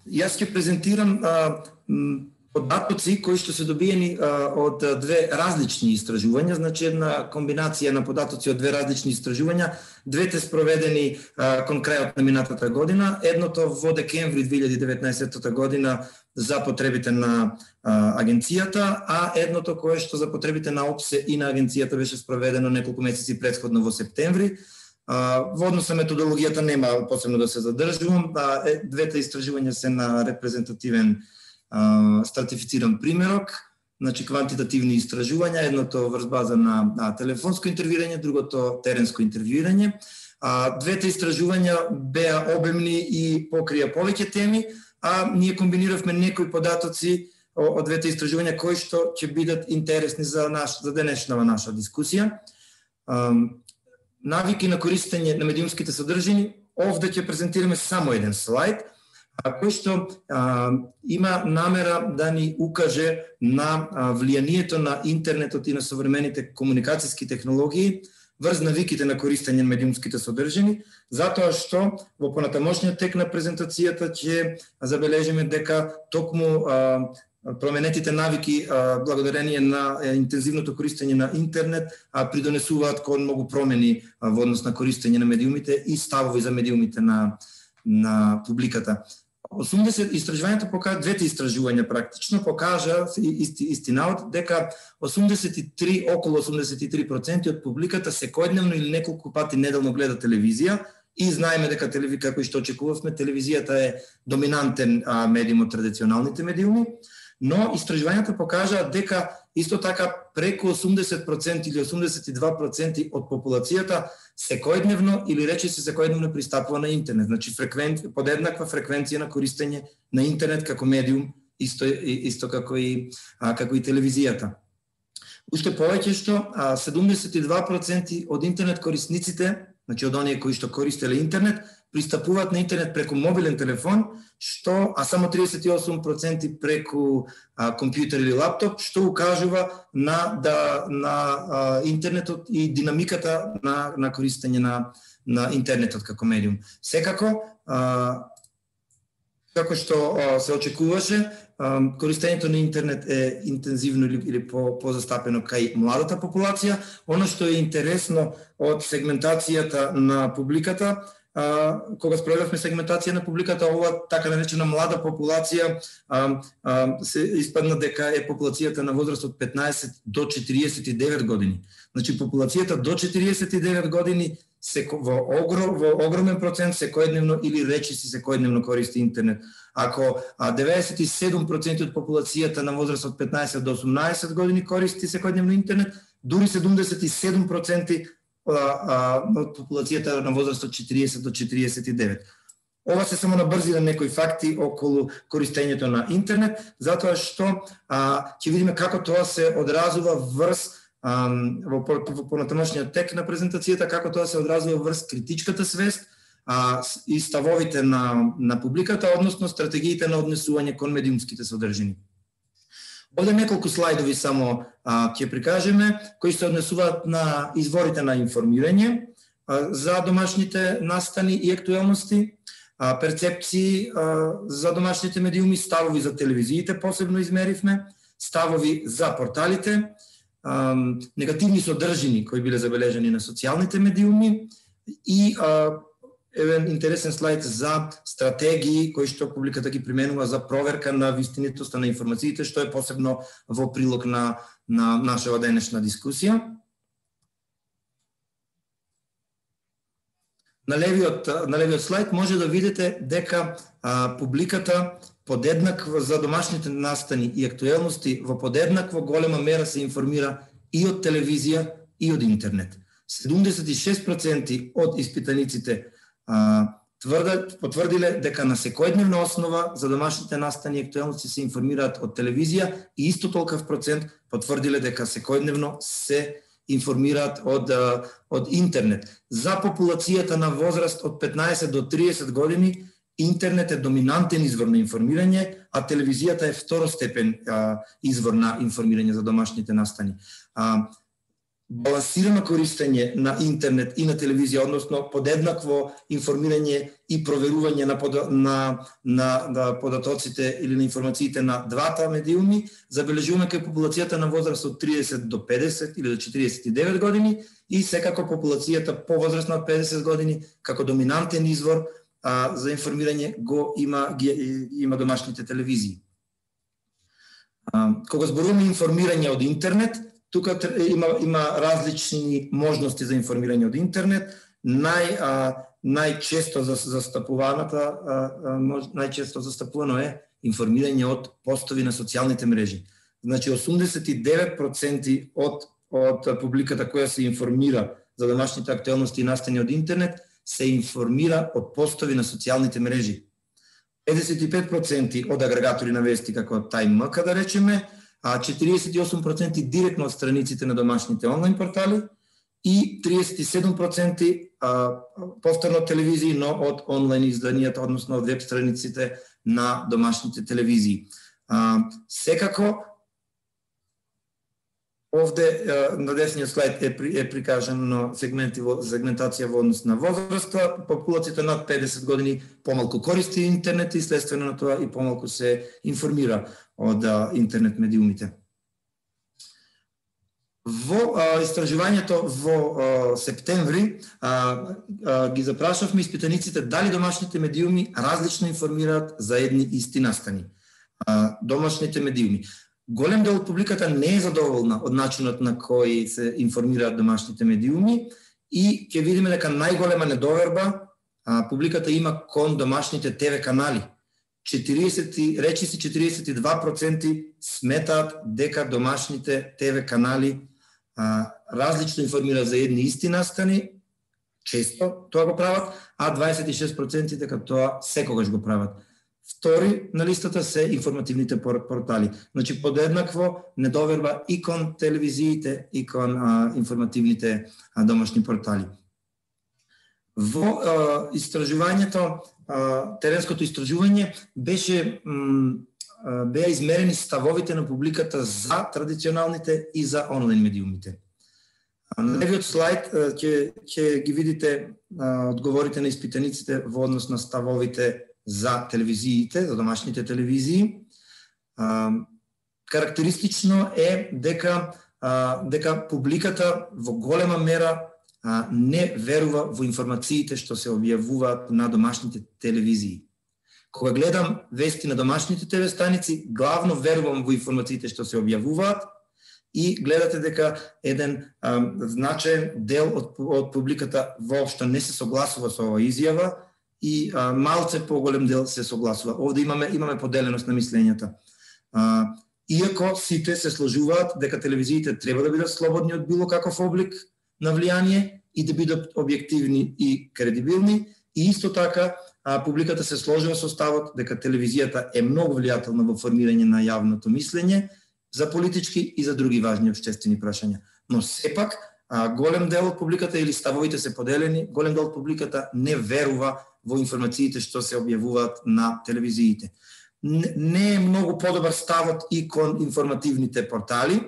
Јас ќе презентирам податоци кои што се добиени од две различни истражувања, значи една комбинација на податоци од две различни истражувања, двете спроведени кон крајот на минатата година, едното во декември 2019 година за потребите на агенцијата, а едното кое што за потребите на ОПСЕ и на агенцијата беше спроведено неколку месеци претходно во септември. Во однос на методологијата нема посебно да се задржувам, двете истражувања се на репрезентативен стратифициран примерок, значи квантитативни истражувања, едното врз база на телефонско интервјуирање, другото теренско интервјуирање. Двете истражувања беа обемни и покрија повеќе теми, а ние комбиниравме некои податоци од двете истражувања кои што ќе бидат интересни за денешната наша дискусија. Навики на користење на медиумските содржини, овде ќе презентираме само еден слайд, кој што има намера да ни укаже на влијанието на интернетот и на современите комуникацијски технологии врз навиките на користење на медиумските содржини, затоа што во понатамошниот тек на презентацијата ќе забележиме дека токму променетите навики благодарение на интензивното користење на интернет придонесуваат кон многу промени во однос на користење на медиумите и ставови за медиумите на на публиката. 80 истражувањето покажа, двете истражувања практично покажа истинаот дека околу 83% од публиката секојдневно или неколку пати неделно гледа телевизија и знаеме дека како и што очекувавме, телевизијата е доминантен медиум од традиционалните медиуми, но истражувањата покажаат дека исто така преку 80% или 82% од популацијата секојдневно или речиси секојдневно пристапува на интернет. Значи подеднаква фреквенција на користење на интернет како медиум, исто како и телевизијата. Уште повеќе што 72% од интернет корисниците, значи од оние кои што користеле интернет, пристапуваат на интернет преку мобилен телефон, а само 38% преку компјутер или лаптоп, што укажува на интернетот и динамиката на користење на интернетот како медиум. Секако, како што се очекуваше, користењето на интернет е интензивно или позастапено кај младата популација. Оно што е интересно од сегментацијата на публиката, кога спроведовме сегментација на публиката, ова така наречена млада популација се испадна дека е популацијата на возраст од 15 до 49 години. Значи популацијата до 49 години во огромен процент секојдневно или речиси секојдневно користи интернет. Ако 97% од популацијата на возраст од 15 до 18 години користи секојдневно интернет, дури 77% од популацијата на возраст од 40 до 49. Ова се само набрзина некои факти околу користењето на интернет, затоа што ќе видиме како тоа се одразува врз во понатамошниот тек на презентацијата, како тоа се одразува врз критичката свест и ставовите на публиката, односно стратегиите на однесување кон медиумските содржини. Овде неколку слайдови само ќе прикажеме, кои се однесуваат на изворите на информирање за домашните настани и актуелности, перцепции за домашните медиуми, ставови за телевизиите посебно измеривме, ставови за порталите, негативни содржини кои биле забележани на социјалните медиуми и еден интересен слайд за стратегии кои што публиката ги применува за проверка на вистинитоста на информациите, што е посебно во прилог на нашава денешна дискусија. На левиот слайд може да видите дека публиката подеднакво за домашните настани и актуелности во подеднакво голема мера се информира и од телевизија и од интернет. 76% од испитаниците потврдиле дека на секојдневна основа за домашните настани и актуелности се информираат од телевизија и исто толков процент потврдиле дека секојдневно се информираат од интернет. За популацијата на возраст од 15 до 30 години интернет е доминантен извор на информирање, а телевизијата е второстепен извор на информирање за домашните настани. Балансирано користење на интернет и на телевизија, односно подеднакво информирање и проверување на податоците или на информациите на двата медиуми, забележуваме кај популацијата на возраст од 30 до 50 или до 49 години и секако популацијата повозрастна од 50 години како доминантен извор за информирање има домашните телевизии. Кога зборуваме информирање од интернет, тука има различни можности за информирање од интернет. Најчесто застапувано е информирање од постови на социјалните мрежи. Значи 89% од публиката која се информира за домашните актуелности и настани од интернет се информира од постови на социјалните мрежи. 55% од агрегатори на вести како TimeMK да речеме, 48% директно од страниците на домашните онлайн портали и 37% повторно од телевизии, но од онлайн изданијата, односно од веб страниците на домашните телевизии. Секако, овде на десниот слайд е прикажано сегментација во однос на возраста. Популацијата над 50 години помалку користи интернет и следствено на тоа и помалку се информира од интернет медиумите. Во истражувањето во септември ги запрашавме испитаниците дали домашните медиуми различно информираат за едни исти настани. Домашните медиуми. Голем дел од публиката не е задоволна од начинот на кој се информираат домашните медиуми и ќе видиме дека најголема недоверба публиката има кон домашните ТВ канали. Речиси 42% сметаат дека домашните ТВ канали различно информираат за едни исти настани, често тоа го прават, а 26% дека тоа секогаш го прават. Втори на листата се информативните портали. Значи подеднакво недоверба и кон телевизиите и кон информативните домашни портали. Во истражувањето, теренското истражување беа измерени ставовите на публиката за традиционалните и за онлайн медиумите. На левиот слайд ќе ги видите одговорите на испитаниците во однос на ставовите за телевизиите, за домашните телевизии. Карактеристично е дека публиката во голема мера не верува во информациите што се објавуваат на домашните телевизии. Кога гледам вести на домашните ТВ станици, главно верувам во информациите што се објавуваат и гледате дека еден значаен дел од публиката воопшто не се согласува со оваа изјава и малце поголем дел се согласува. Овде имаме поделеност на мислењата. Иако сите се сложуваат дека телевизиите треба да бидат слободни од било каков облик на влијание и да бидат објективни и кредибилни, и исто така публиката се сложува со ставот дека телевизијата е многу влијателна во формирање на јавното мислење за политички и за други важни општествени прашања. Но сепак голем дел од публиката или ставовите се поделени, голем дел од публиката не верува во информациите што се објавуваат на телевизиите. Не е многу подобар ставот и кон информативните портали.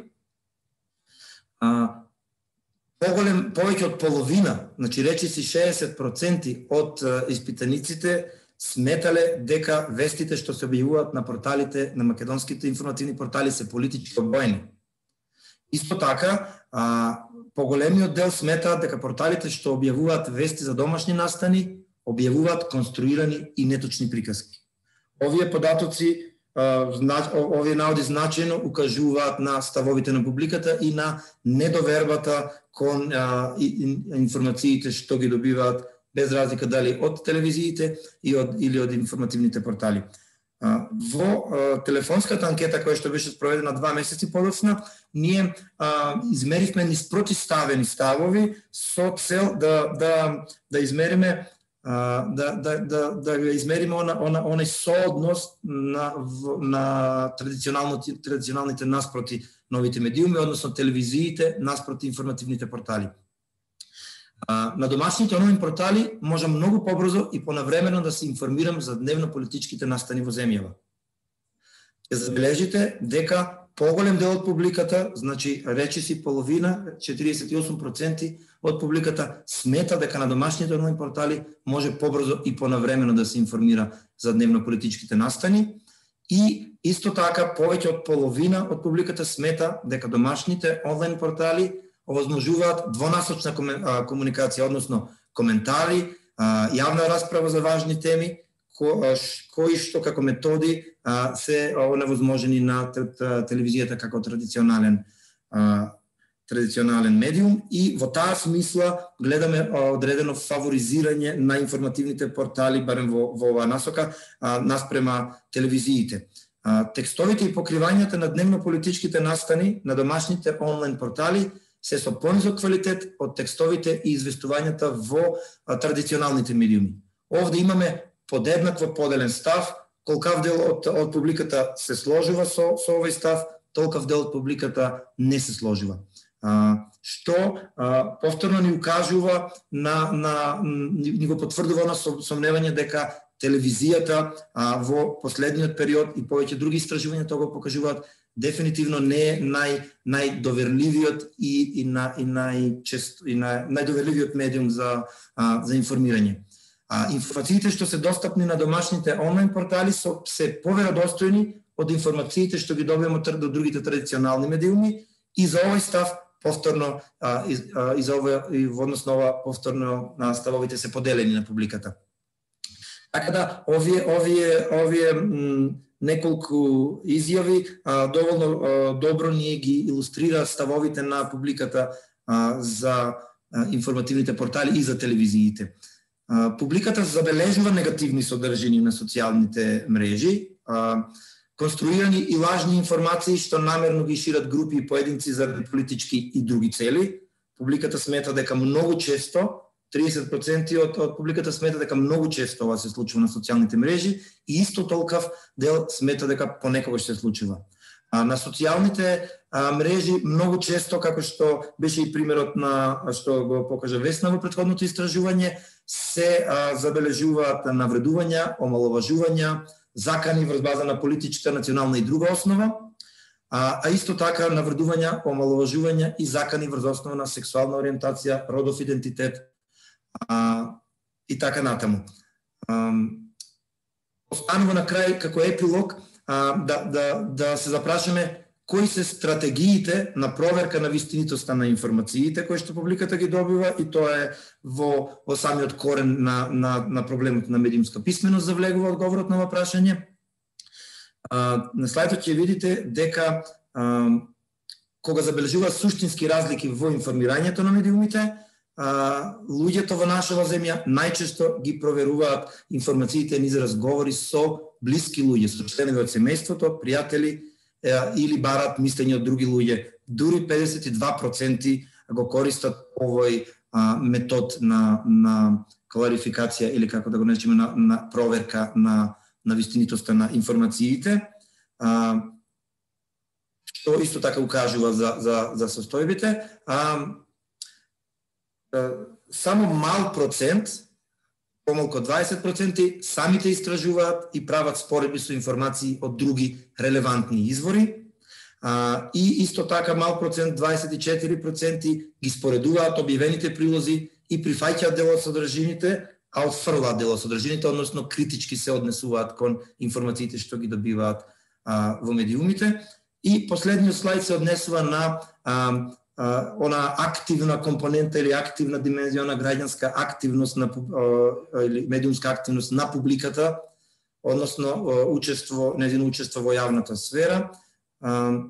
Повеќе од половина, значи речиси 60% од испитаниците сметале дека вестите што се објавуваат на порталите, на македонските информативни портали се политички обоени. Исто така, поголемиот дел сметаат дека порталите што објавуваат вести за домашни настани објавуваат конструирани и неточни приказки. Овие податоци, овие наоди значајно укажуваат на ставовите на публиката и на недовербата кон информациите што ги добиваат, без разлика дали од телевизиите или од информативните портали. Во телефонската анкета која што беше спроведена 2 месеци подоцна, ние измеривме низ противставени ставови со цел да измериме онај сооднос на традиционалните наспроти новите медиуми, односно телевизиите наспроти информативните портали. На домашните онлайн портали можам многу побрзо и понавремено да се информирам за дневно-политичките настани во земјава. Ќе забележите дека поголем дел од публиката, значи речиси половина, 48% од публиката смета дека на домашните онлайн портали може побрзо и понавремено да се информира за дневно-политичките настани и исто така повеќе од половина од публиката смета дека домашните онлайн портали овозможуваат двонасочна комуникација, односно коментари, јавна расправа за важни теми, кои што како методи се невозможени на телевизијата како традиционален медиум, и во таа смисла гледаме одредено фаворизирање на информативните портали, барем во оваа насока, наспрема телевизиите. Текстовите и покривањата на дневно-политичките настани на домашните онлайн портали се со понизок квалитет од текстовите и известувањата во традиционалните медиуми. Овде имаме подеднакво поделен став, колкав дел од публиката се сложува со овој став, толков дел од публиката не се сложува. Што повторно ни укажува ни го потврдува на сомневање дека телевизијата во последниот период и повеќе други истражувања тоа го покажуваат, дефинитивно не е најдоверливиот и најдоверливиот медиум за информирање. Информациите што се достапни на домашните онлайн портали се поверодостојни од информациите што ги добиваме од другите традиционални медиуми, и за овој став повторно и за ова и во однос на ова повторно ставовите се поделени на публиката. Така да овие неколку изјави доволно добро ние ги илустрира ставовите на публиката за информативните портали и за телевизиите. Публиката забележува негативни содржини на социјалните мрежи, конструирани и лажни информации што намерно ги шират групи и поединци за политички и други цели. Публиката смета дека многу често 30% од публиката смета дека многу често ова се случува на социјалните мрежи и исто толков дел смета дека понекогаш се случува. На социјалните мрежи многу често, како што беше и примерот на што го покажа Весна во претходното истражување, се забележуваат навредувања, омаловажувања, закани врз база на политичка, национална и друга основа, а исто така навредувања, омаловажувања и закани врз основа на сексуална ориентација, родов идентитет и така натаму. Останува на крај како епилог да се запрашаме кои се стратегиите на проверка на вистинитоста на информациите кои што публиката ги добива, и тоа е во самиот корен на проблемот на медиумска писменост завлегува одговорот на ова прашање. На слайдот ќе видите дека кога забележуваат суштински разлики во информирањето на медиумите, луѓето во нашава земја најчесто ги проверуваат информациите низ разговори со блиски луѓе, со членови од семејството, пријатели или барат мислење од други луѓе. Дури 52% го користат овој метод на кларификација или како да го наречеме на проверка на вистинитоста на информациите, што исто така укажува за состојбите. Само мал процент, помалку 20%, самите истражуваат и прават споредби со информации од други релевантни извори. И исто така мал процент, 24%, ги споредуваат објавените прилози и прифаќаат дел од содржините, а отфрлаат дел од содржините, односно критички се однесуваат кон информациите што ги добиваат во медиумите. И последниот слайд се однесува на она активна компонента или активна димензија на граѓанска активност или медиумска активност на публиката, односно нејзино учество во јавната сфера. Во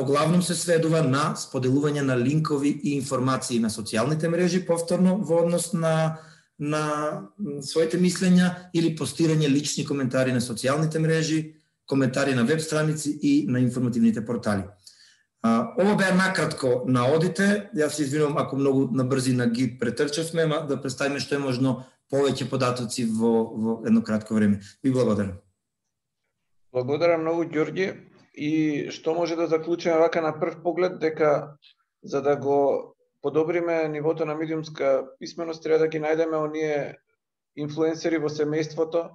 главном се сведува на споделување на линкови и информации на социјалните мрежи, повторно во однос на своите мислења, или постирање лични коментари на социјалните мрежи, коментари на веб страници и на информативните портали. Ова беа накратко наводите. Јас се извинувам ако многу на брзина ги претрчавме, да представиме што е можно повеќе податоци во едно кратко време. Ви благодарам. Благодарам многу, Ѓорѓе. И што може да заклучиме вака на прв поглед, дека за да го подобриме нивото на медиумска писменост, треба да ги најдеме оние инфлуенсери во семејството,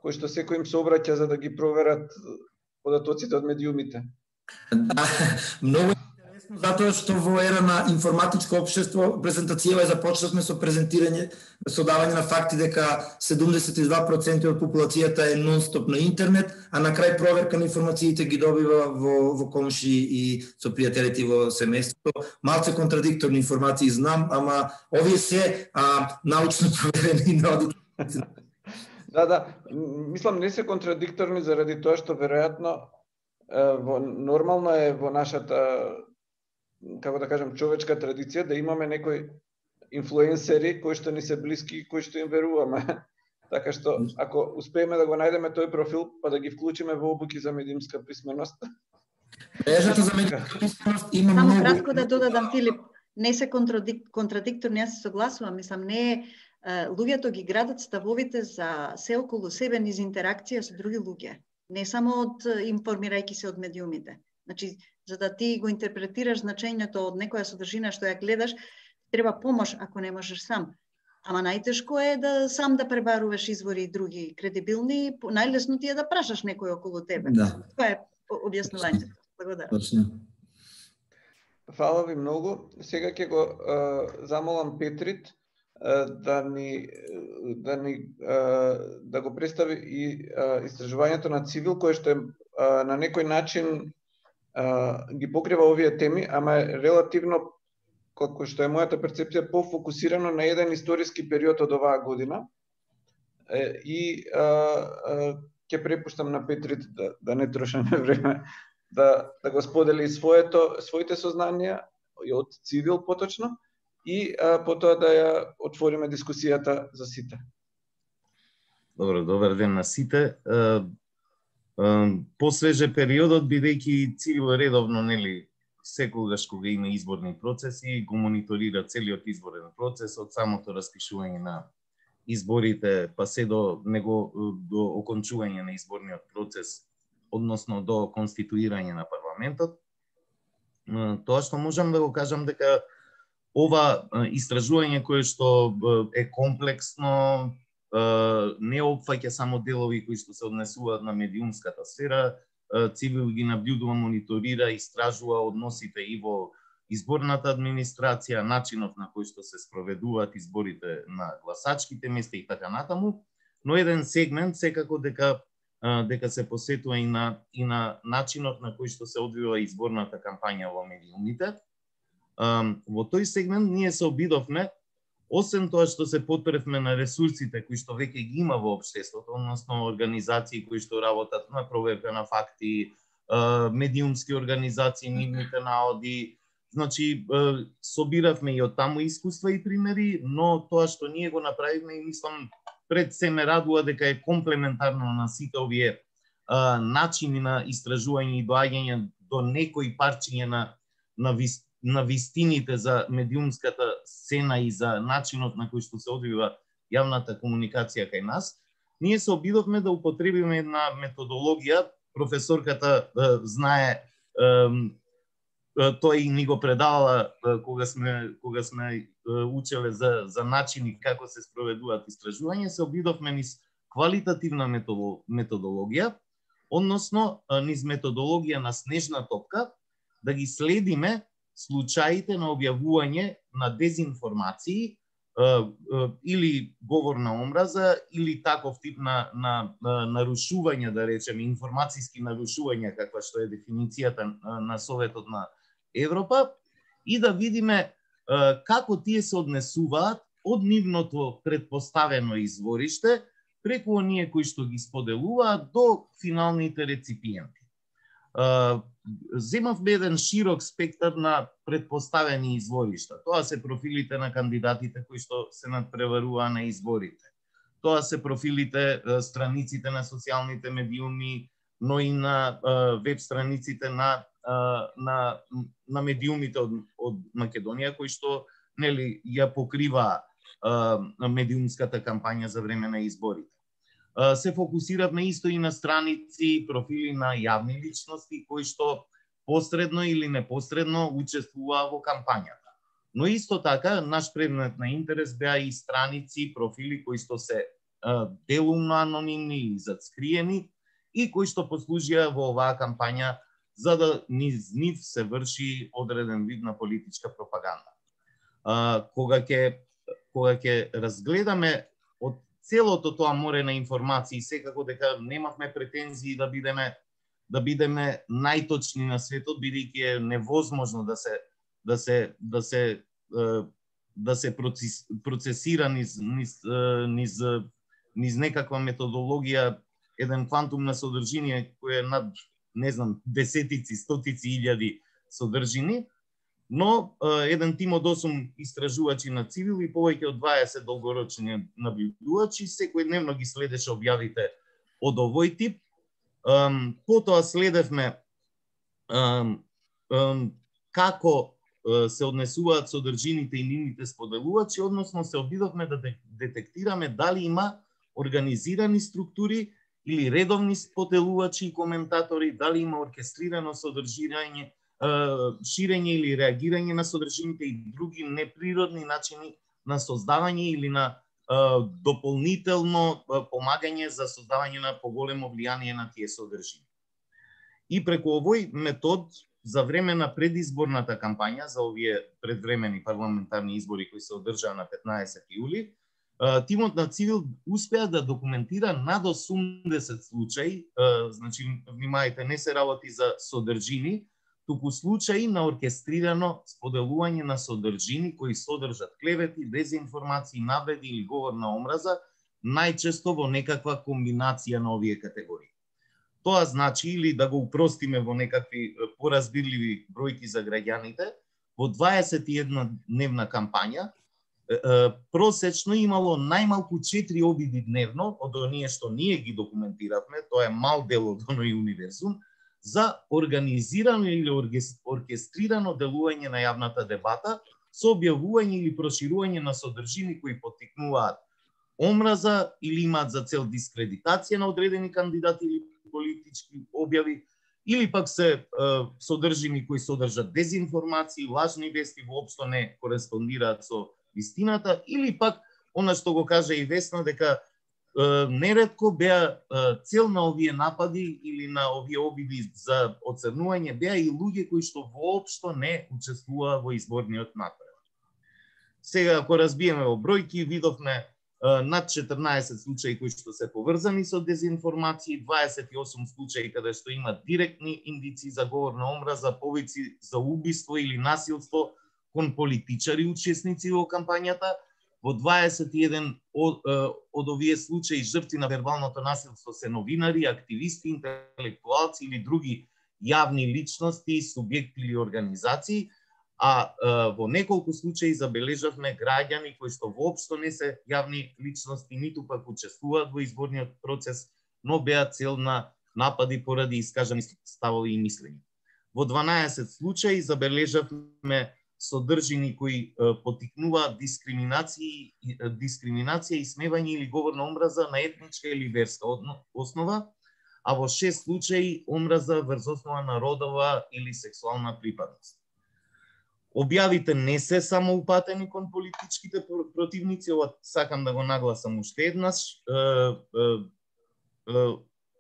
кои што секој им се обраќа за да ги проверат податоците од медиумите. Да, многу интересно, затоа што во ера на информатичко општество презентацијава започнавме со презентирање, со давање на факти дека 72% од популацијата е нон-стоп на интернет, а на крај проверка на информациите ги добива во комши и со пријателите во семејството. Малце контрадикторни информации знам, ама овие се научно проверени на Да, мислам не се контрадикторни заради тоа што веројатно нормално е во нашата, како да кажем, човечка традиција да имаме некои инфлуенсери кои што ни се блиски, кои што им веруваме. Така што ако успееме да го најдеме тој профил, па да ги вклучиме во обуки за медиумска писменост. Мрежата за медиумска писменост има многу. Само кратко да додадам, Филип, не се контрадикторни, јас се согласувам, мислам не е луѓето ги градат ставовите за се околу себе низ интеракција со други луѓе. Не само информирајќи се од медиумите. Значи, за да ти го интерпретираш значењето од некоја содржина што ја гледаш, треба помош ако не можеш сам. Ама најтешко е да сам да пребаруваш извори други кредибилни, најлесно ти е да прашаш некој околу тебе. Да. Тоа е објаснувањето. Благодарам. Точно. Фала ви многу. Сега ќе го замолам Петрит да го представи и истражувањето на Цивил, кое што е на некој начин ги покрива овие теми, ама е релативно, како што е мојата перцепција, пофокусирано на еден историски период од оваа година. И ќе препуштам на Петрит да не трошаме време, да го сподели своите сознанија и од цивил поточно, и потоа да ја отвориме дискусијата за сите. Добар ден на сите. Посвеже периодот, бидејќи цивил редовно, нели, секогаш кога има изборни процеси, го мониторира целиот изборен процес, од самото распишување на изборите, па се до окончување на изборниот процес, односно до конституирање на парламентот. Тоа што можам да го кажам дека ова истражување кое што е комплексно, не опфаќа само делови кои што се однесуваат на медиумската сфера, цивил ги наблюдува, мониторира, истражува односите и во изборната администрација, начинот на кој што се спроведуваат изборите на гласачките места и така натаму, но еден сегмент секако дека се посетува и на начинот на кој што се одвива изборната кампања во медиумите. Во тој сегмент ние се обидовме, освен тоа што се потпревме на ресурсите кои што веќе ги има во општеството, односно организации кои што работат на проверка на факти, медиумски организации, нивните наоди, значи собиравме и од таму искуства и примери, но тоа што ние го направивме и мислам пред се ме радува дека е комплементарно на сите овие начини на истражување и доаѓање до некои парчиња на вистините за медиумската сцена и за начинот на кој што се одвива јавната комуникација кај нас. Ние се обидовме да употребиме една методологија, професорката знае, тој ни го предавала кога сме учеле за начини како се спроведуваат истражување, се обидовме низ квалитативна методологија, односно низ методологија на снежна топка, да ги следиме случаите на објавување на дезинформации или говор на омраза или таков тип на нарушување, да речеме, информацијски нарушувања, каква што е дефиницијата на Советот на Европа, и да видиме како тие се однесуваат од нивното предпоставено извориште преку оние кои што ги споделуваат до финалните реципиенти. Земавме еден широк спектар на предпоставени изворишта. Тоа се профилите на кандидатите кои што се надпреваруваа на изборите. Тоа се профилите, страниците на социјалните медиуми, но и на веб страниците на медиумите од Македонија, кои што, нели, ја покрива медиумската кампања за време на изборите. Се фокусиравме исто и на страници, профили на јавни личности кои што посредно или непосредно учествуваа во кампањата. Но исто така, наш предмет на интерес беа и страници, профили кои што се делумно анонимни и зацкриени и кои што послужија во оваа кампања за да низ нив се врши одреден вид на политичка пропаганда. Кога ќе разгледаме од целото тоа море на информации, секако дека немавме претензии да бидеме најточни на светот, бидејќи е невозможно да се процесира низ некаква методологија еден квантум на содржина кој е над, не знам, десетици, стотици илјади содржини, но еден тим од 8 истражувачи на цивил и повеќе од 20 долгорочни наблюдувачи секојдневно ги следеше објавите од овој тип. Потоа следевме како се однесуваат содржините и нивните споделувачи, односно се обидовме да детектираме дали има организирани структури или редовни споделувачи и коментатори, дали има оркестрирано содржирање, ширење или реагирање на содржините и други неприродни начини на создавање или на дополнително помагање за создавање на поголемо влијание на тие содржини. И преку овој метод, за време на предизборната кампања за овие предвремени парламентарни избори кои се одржаа на 15 јули, тимот на Цивил успеа да документира над 80 случаи, значи, внимајте, не се работи за содржини, туку случаи на оркестрирано споделување на содржини кои содржат клевети, дезинформации, навреди или говор на омраза, најчесто во некаква комбинација на овие категории. Тоа значи, или да го упростиме во некакви поразбирливи бројки за граѓаните, во 21-дневна кампања просечно имало најмалку 4 обиди дневно од оние што ние ги документиравме, тоа е мал дел од оној универзум, за организирано или оркестрирано делување на јавната дебата со објавување или проширување на содржини кои поттикнуваат омраза или имаат за цел дискредитација на одредени кандидати или политички објави, или пак се содржини кои содржат дезинформации, лажни вести, воопшто не кореспондираат со вистината, или пак, она што го кажа и Весна, дека неретко беа цел на овие напади или на овие обиди за оцрнување беа и луѓе кои што воопшто не учествуваа во изборниот натпревар. Сега, ако разбиеме во бројки, видовме над 14 случаи кои што се поврзани со дезинформации, 28 случаи каде што има директни индици за говор на омраза, повици за убиство или насилство кон политичари учесници во кампањата. Во 21 од овие случаи жртви на вербалното насилство се новинари, активисти, интелектуалци или други јавни личности, субјекти или организации, а во неколку случаи забележавме граѓани кои што воопшто не се јавни личности, ниту пак учествуваат во изборниот процес, но беа цел на напади поради искажани ставови и мислења. Во 12 случаи забележавме содржини кои поттикнуваат дискриминација, исмевање или говор на омраза на етничка или верска основа, а во 6 случаи омраза врз основа на родова или сексуална припадност. Објавите не се само упатени кон политичките противници, ова сакам да го нагласам уште еднаш,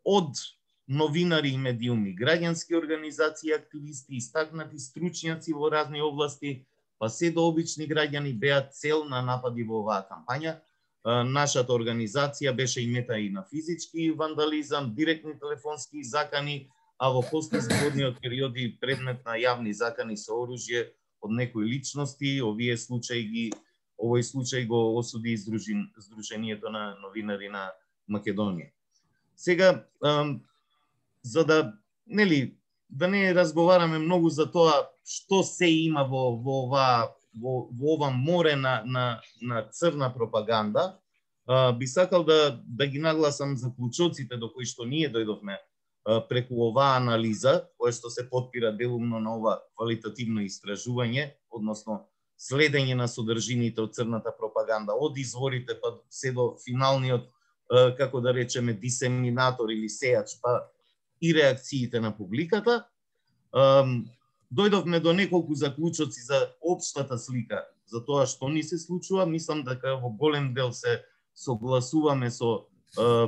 од новинари и медиуми, граѓански организации, активисти, истакнати стручњаци во разни области, па се до обични граѓани беа цел на напади во оваа кампања. Нашата организација беше имета и на физички вандализам, директни телефонски закани, а во постизборниот период и предмет на јавни закани со оружје од некои личности. Овој случај го осуди Сдруженијето на новинари на Македонија. Сега, за да не разговараме многу за тоа што се има во ова море на црна пропаганда, би сакал да ги нагласам заклучоците до кои што ние дојдовме преку оваа анализа, која што се потпира делумно на ова квалитативно истражување, односно следење на содржините од црната пропаганда, од изворите па се до финалниот, како да речеме, дисеминатор или сејач, па и реакциите на публиката. Дојдовме до неколку заклучоци за општата слика за тоа што ни се случува. Мислам дека во голем дел се согласуваме со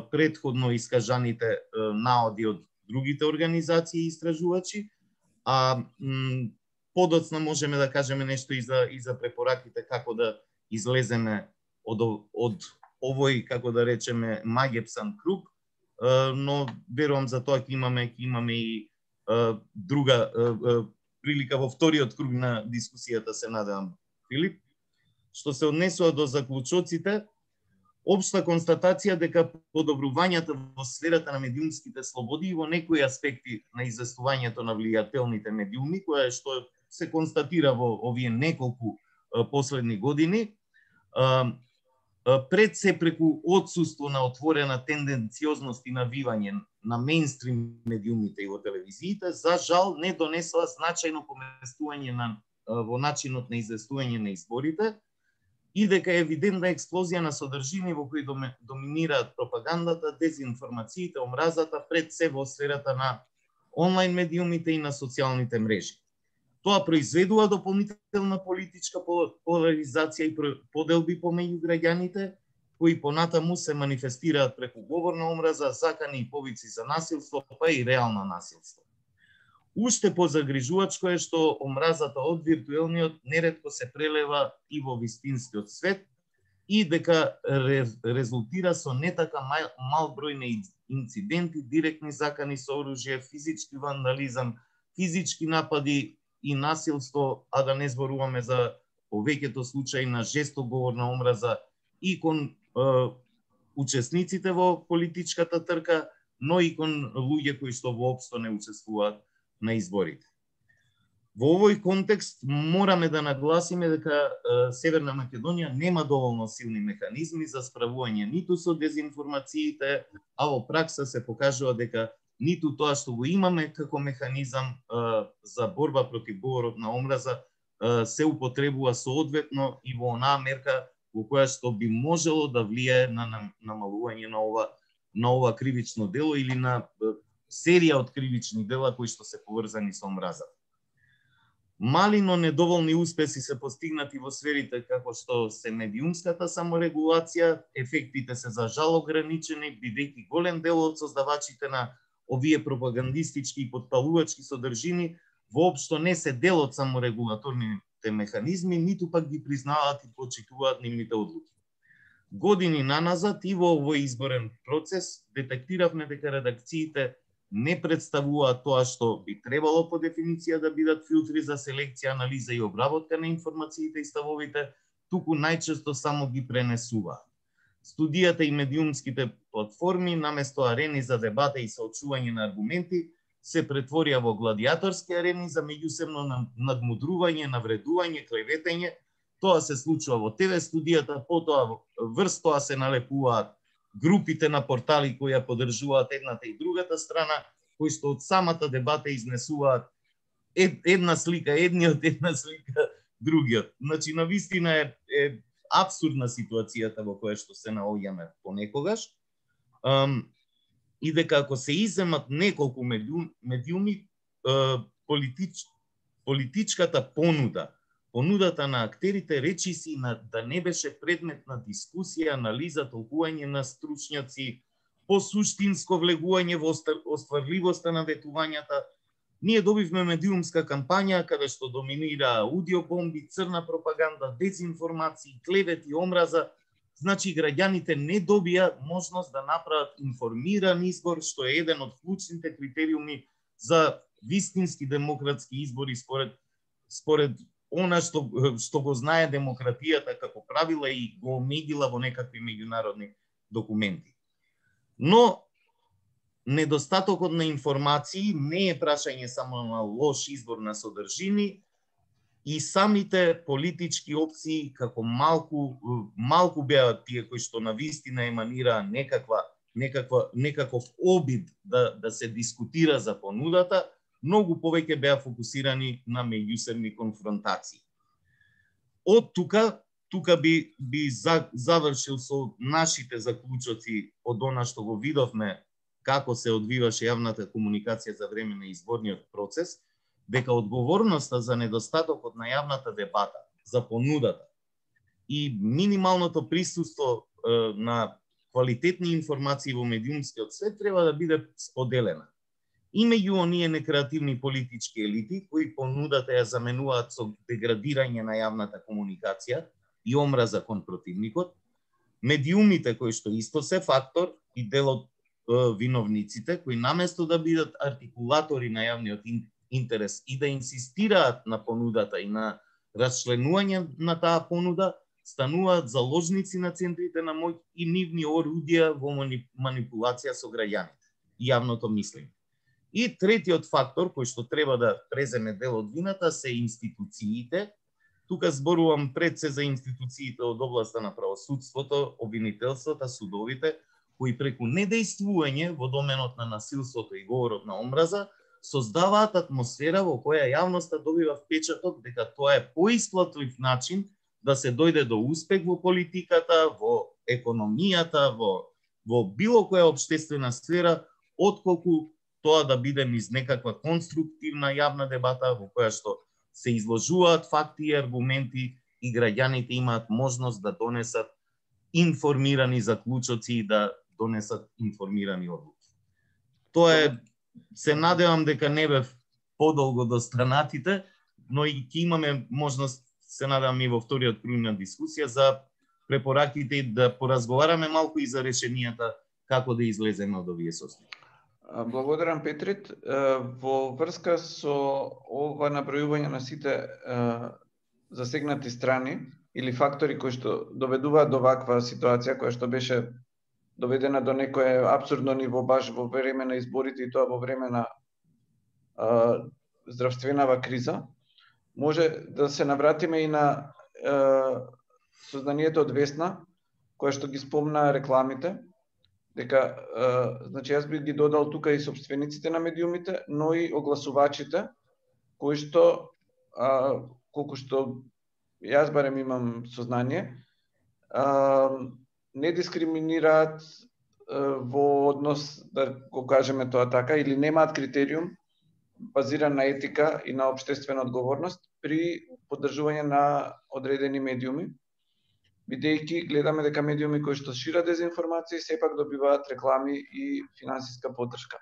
предходно искажаните наоди од другите организации и истражувачи, а подоцна можеме да кажеме нешто и за препораките како да излеземе од овој, како да речеме, магепсан круг, но верувам за тоа ќе имаме и друга прилика во вториот круг на дискусијата, се надевам, Филип. Што се однесува до заклучоците, општа констатација дека подобрувањата во сферата на медиумските слободи и во некои аспекти на известувањето на влијателните медиуми, која што се констатира во овие неколку последни години, пред се преку отсуство на отворена тенденциозност и навивање на мејнстрим медиумите и во телевизиите, за жал не донесува значајно поместување во начинот на известување на изборите, и дека е евидентна експлозија на содржини во кои доминираат пропагандата, дезинформациите, омразата, пред се во сферата на онлайн медиумите и на социјалните мрежи. Тоа произведува дополнителна политичка поларизација и поделби помеѓу граѓаните, кои понатаму се манифестираат преку говор на омраза, закани и повици за насилство, па и реално насилство. Уште позагрижувачко е што омразата од виртуелниот неретко се прелева и во вистинскиот свет и дека резултира со не така мал број на инциденти, директни закани со оружје, физички вандализам, физички напади и насилство, а да не зборуваме за повеќето случаи на жесток говор на омраза и кон учесниците во политичката трка, но и кон луѓе кои што воопшто не учествуваат на изборите. Во овој контекст мораме да нагласиме дека Северна Македонија нема доволно силни механизми за справување ниту со дезинформациите, а во пракса се покажува дека ниту тоа што го имаме како механизам за борба против говорот на омраза се употребува соодветно и во онаа мерка во која што би можело да влијае на намалување на ова кривично дело или на серија од кривични дела кои што се поврзани со омраза. Мали, но недоволни успеси се постигнати во сферите како што се медиумската саморегулација, ефектите се за жал ограничени, бидејќи голем дел од создавачите на овие пропагандистички и потпалувачки содржини воопшто не се дел од саморегулаторните механизми, ниту пак ги признаваат и почитуваат нивните одлуки. Години наназад и во овој изборен процес детектиравме дека редакциите не представуваат тоа што би требало по дефиниција да бидат филтри за селекција, анализа и обработка на информациите и ставовите, туку најчесто само ги пренесуваат. Студијата и медиумските платформи, наместо арени за дебата и соочување на аргументи, се претворија во гладиаторски арени за меѓусебно надмудрување, навредување, клеветење. Тоа се случува во ТВ студијата, потоа врз тоа се налепуваат групите на портали кои ја поддржуваат едната и другата страна, кои што од самата дебата изнесуваат една слика, едниот една слика, другиот. Значи, навистина е абсурдна ситуацијата во која што се наоѓаме понекогаш. И дека ако се иземат неколку медиуми, политичката понудата на актерите речиси да не беше предмет на дискусија, анализа, толкување на стручњаци, по суштинско влегување во остварливоста на ветувањата. Ние добивме медиумска кампања каде што доминира аудиобомби, црна пропаганда, дезинформации, клевети, омраза. Значи, граѓаните не добија можност да направат информиран избор, што е еден од клучните критериуми за вистински демократски избори според она што го знае демократијата како правила и го омегила во некакви меѓународни документи. Но недостатокот на информации не е прашање само на лош избор на содржини, и самите политички опции како малку беа тие кои што навистина еманира некаков обид да се дискутира за понудата, многу повеќе беа фокусирани на меѓусебни конфронтации. Од тука би завршил со нашите заклучоци од она што го видовме како се одвиваше јавната комуникација за време на изборниот процес, дека одговорноста за недостатокот на јавната дебата, за понудата и минималното присуство на квалитетни информации во медиумскиот свет треба да биде споделена. И меѓу оние некреативни политички елити кои понудата ја заменуваат со деградирање на јавната комуникација и омраза кон противникот, медиумите кои што исто се фактор и дел од виновниците, кои наместо да бидат артикулатори на јавниот интерес и да инсистираат на понудата и на расчленување на таа понуда, стануваат заложници на центрите на моќ и нивни орудија во манипулација со граѓаните и јавното мислење. И третиот фактор кој што треба да преземе дел од вината се институциите. Тука зборувам пред се за институциите од областа на правосудството, обвинителството, судовите, кои преку недејствување во доменот на насилството и говорот на омраза создаваат атмосфера во која јавноста добива впечаток дека тоа е поисплатлив начин да се дојде до успех во политиката, во економијата, во било која општествена сфера, отколку тоа да биде низ некаква конструктивна јавна дебата во која што се изложуваат факти и аргументи и граѓаните имаат можност да донесат информирани заклучоци и да донесат информирани одлуки. Тоа е, се надевам дека не бев подолго до странатите, но и ќе имаме можност, се надевам и во вториот круг на дискусија, за препораките да поразговараме малку и за решенијата како да излеземе од овие состојби. Благодарам, Петрит. Во врска со ова набројување на сите засегнати страни или фактори кои што доведуваат до ваква ситуација, која што беше доведена до некое апсурдно ниво баш во време на изборите и тоа во време на здравственава криза, може да се навратиме и на сознанието од Весна, која што ги спомна рекламите, дека значи јас би ги додал тука и собствениците на медиумите, но и огласувачите, кои што колку што јас барем имам сознание, не дискриминираат во однос, да го кажеме тоа така, или немаат критериум базиран на етика и на општествена одговорност при поддржување на одредени медиуми, бидејќи гледаме дека медиуми кои што шират дезинформација сепак добиваат реклами и финансиска поддршка.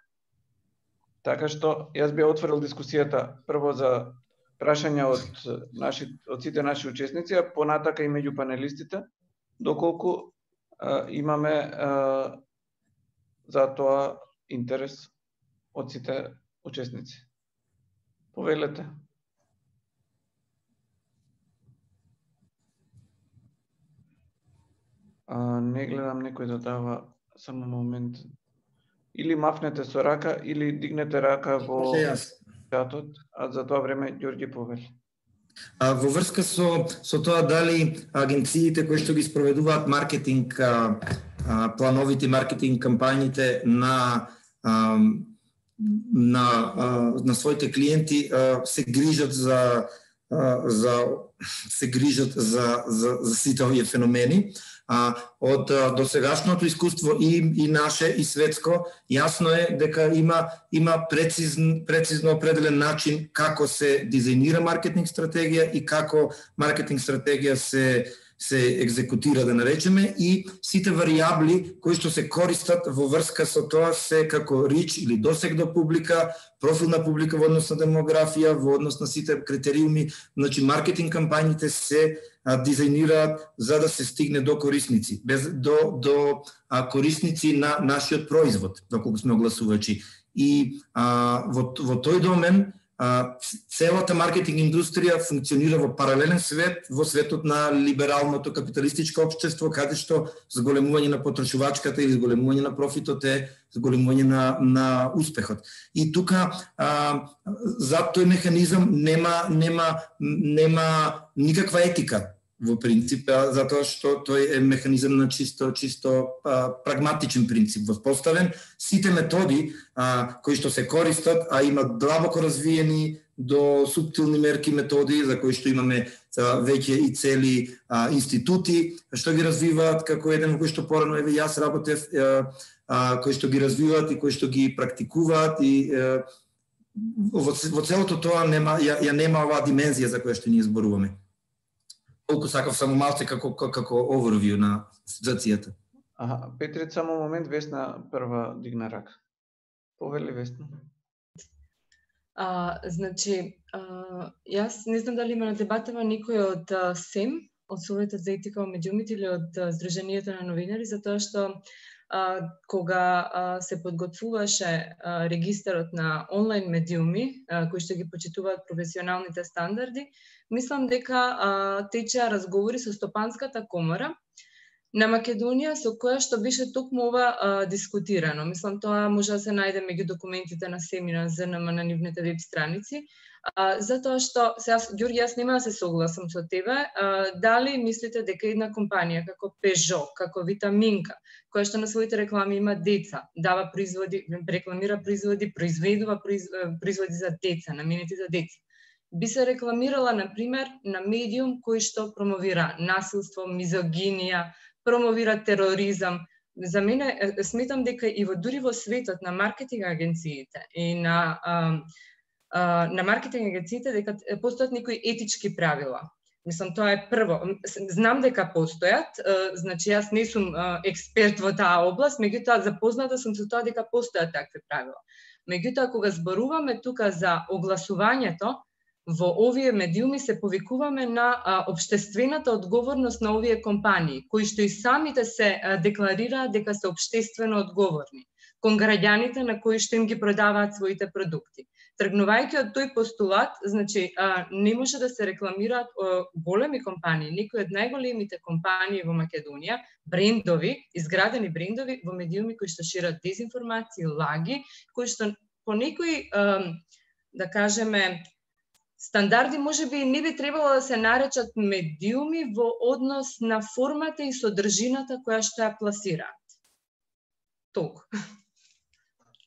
Така што јас би отворил дискусијата прво за прашања од сите наши учесници, а понатака и меѓу панелистите, доколку имаме за тоа интерес од сите учесници. Повелете. Не гледам некој да дава, само момент. Или мафнете со рака, или дигнете рака во чатот, а за тоа време Ѓорѓи повели. Во врска со тоа дали агенциите кои што ги спроведуваат маркетинг плановите маркетинг кампањите на своите клиенти се грижат за сите овие феномени. Од досегашното искуство и наше и светско, јасно е дека има прецизно определен начин како се дизајнира маркетинг стратегија и како маркетинг стратегија се екзекутира, да наречеме, и сите варијабли кои што се користат во врска со тоа се како рич или досег до публика, профилна публика во однос на демографија, во однос на сите критериуми. Значи, маркетинг кампањите се дизајнираат за да се стигне до корисници, до корисници на нашиот производ, доколку сме огласувачи. И во тој домен целата маркетинг индустрија функционира во паралелен свет, во светот на либералното капиталистичко општество, каде што зголемување на потрошувачката или зголемување на профитот е зголемување на успехот. И тука за тој механизам нема никаква етика во принцип, затоа што тој е механизам на чисто прагматичен принцип воспоставен. Сите методи кои што се користат, а има длабоко развиени до суптилни мерки методи, за кои што имаме веќе и цели институти што ги развиваат, како еден кој што порано јас работев, кои што ги развиваат и кои што ги практикуваат, и во целото тоа нема оваа димензија за која што ние зборуваме. Колку сакав само малце како overview на ситуацијата. Петрит, само момент, Весна прва дигна рака. Повели, Весна. Значи, јас не знам дали има на дебатава никој од СЕМ, од Советот за етика во медиумите или од Сдруженијето на новинари, затоа што кога се подготвуваше регистарот на онлайн медиуми, кои што ги почитуваат професионалните стандарди, мислам дека течеа разговори со Стопанската комора на Македонија, со која што беше токму ова дискутирано. Мислам, тоа може да се најде меѓу документите на СЕМ и на ЗНМ на нивните веб страници. Затоа што, сега, Ѓорѓи, јас нема да се согласам со тебе, дали мислите дека една компанија како Peugeot, како Витаминка, која што на своите реклами има деца, дава производи, рекламира производи, произведува производи за деца, наменети за деца, би се рекламирала, например, на медиум кој што промовира насилство, мизогинија, промовира тероризам. За мене, сметам дека и дури во светот на маркетинг агенциите и на маркетинг агенциите дека постојат некои етички правила. Мислам, тоа е прво. Знам дека постојат, значи јас не сум експерт во таа област, меѓутоа запозната сум со тоа дека постојат такви правила. Меѓутоа, кога зборуваме тука за огласувањето, во овие медиуми се повикуваме на општествената одговорност на овие компании, кои што и самите се декларираат дека се општествено одговорни. кон граѓаните на кои што им ги продаваат своите продукти. Тргнувајќи од тој постулат, значи не може да се рекламираат големи компании, некои од најголемите компании во Македонија, брендови, изградени брендови во медиуми кои што шират дезинформации, лаги, кои што по некои да кажеме стандарди можеби не би требало да се наречат медиуми во однос на формата и содржината која што ја пласираат. Толку.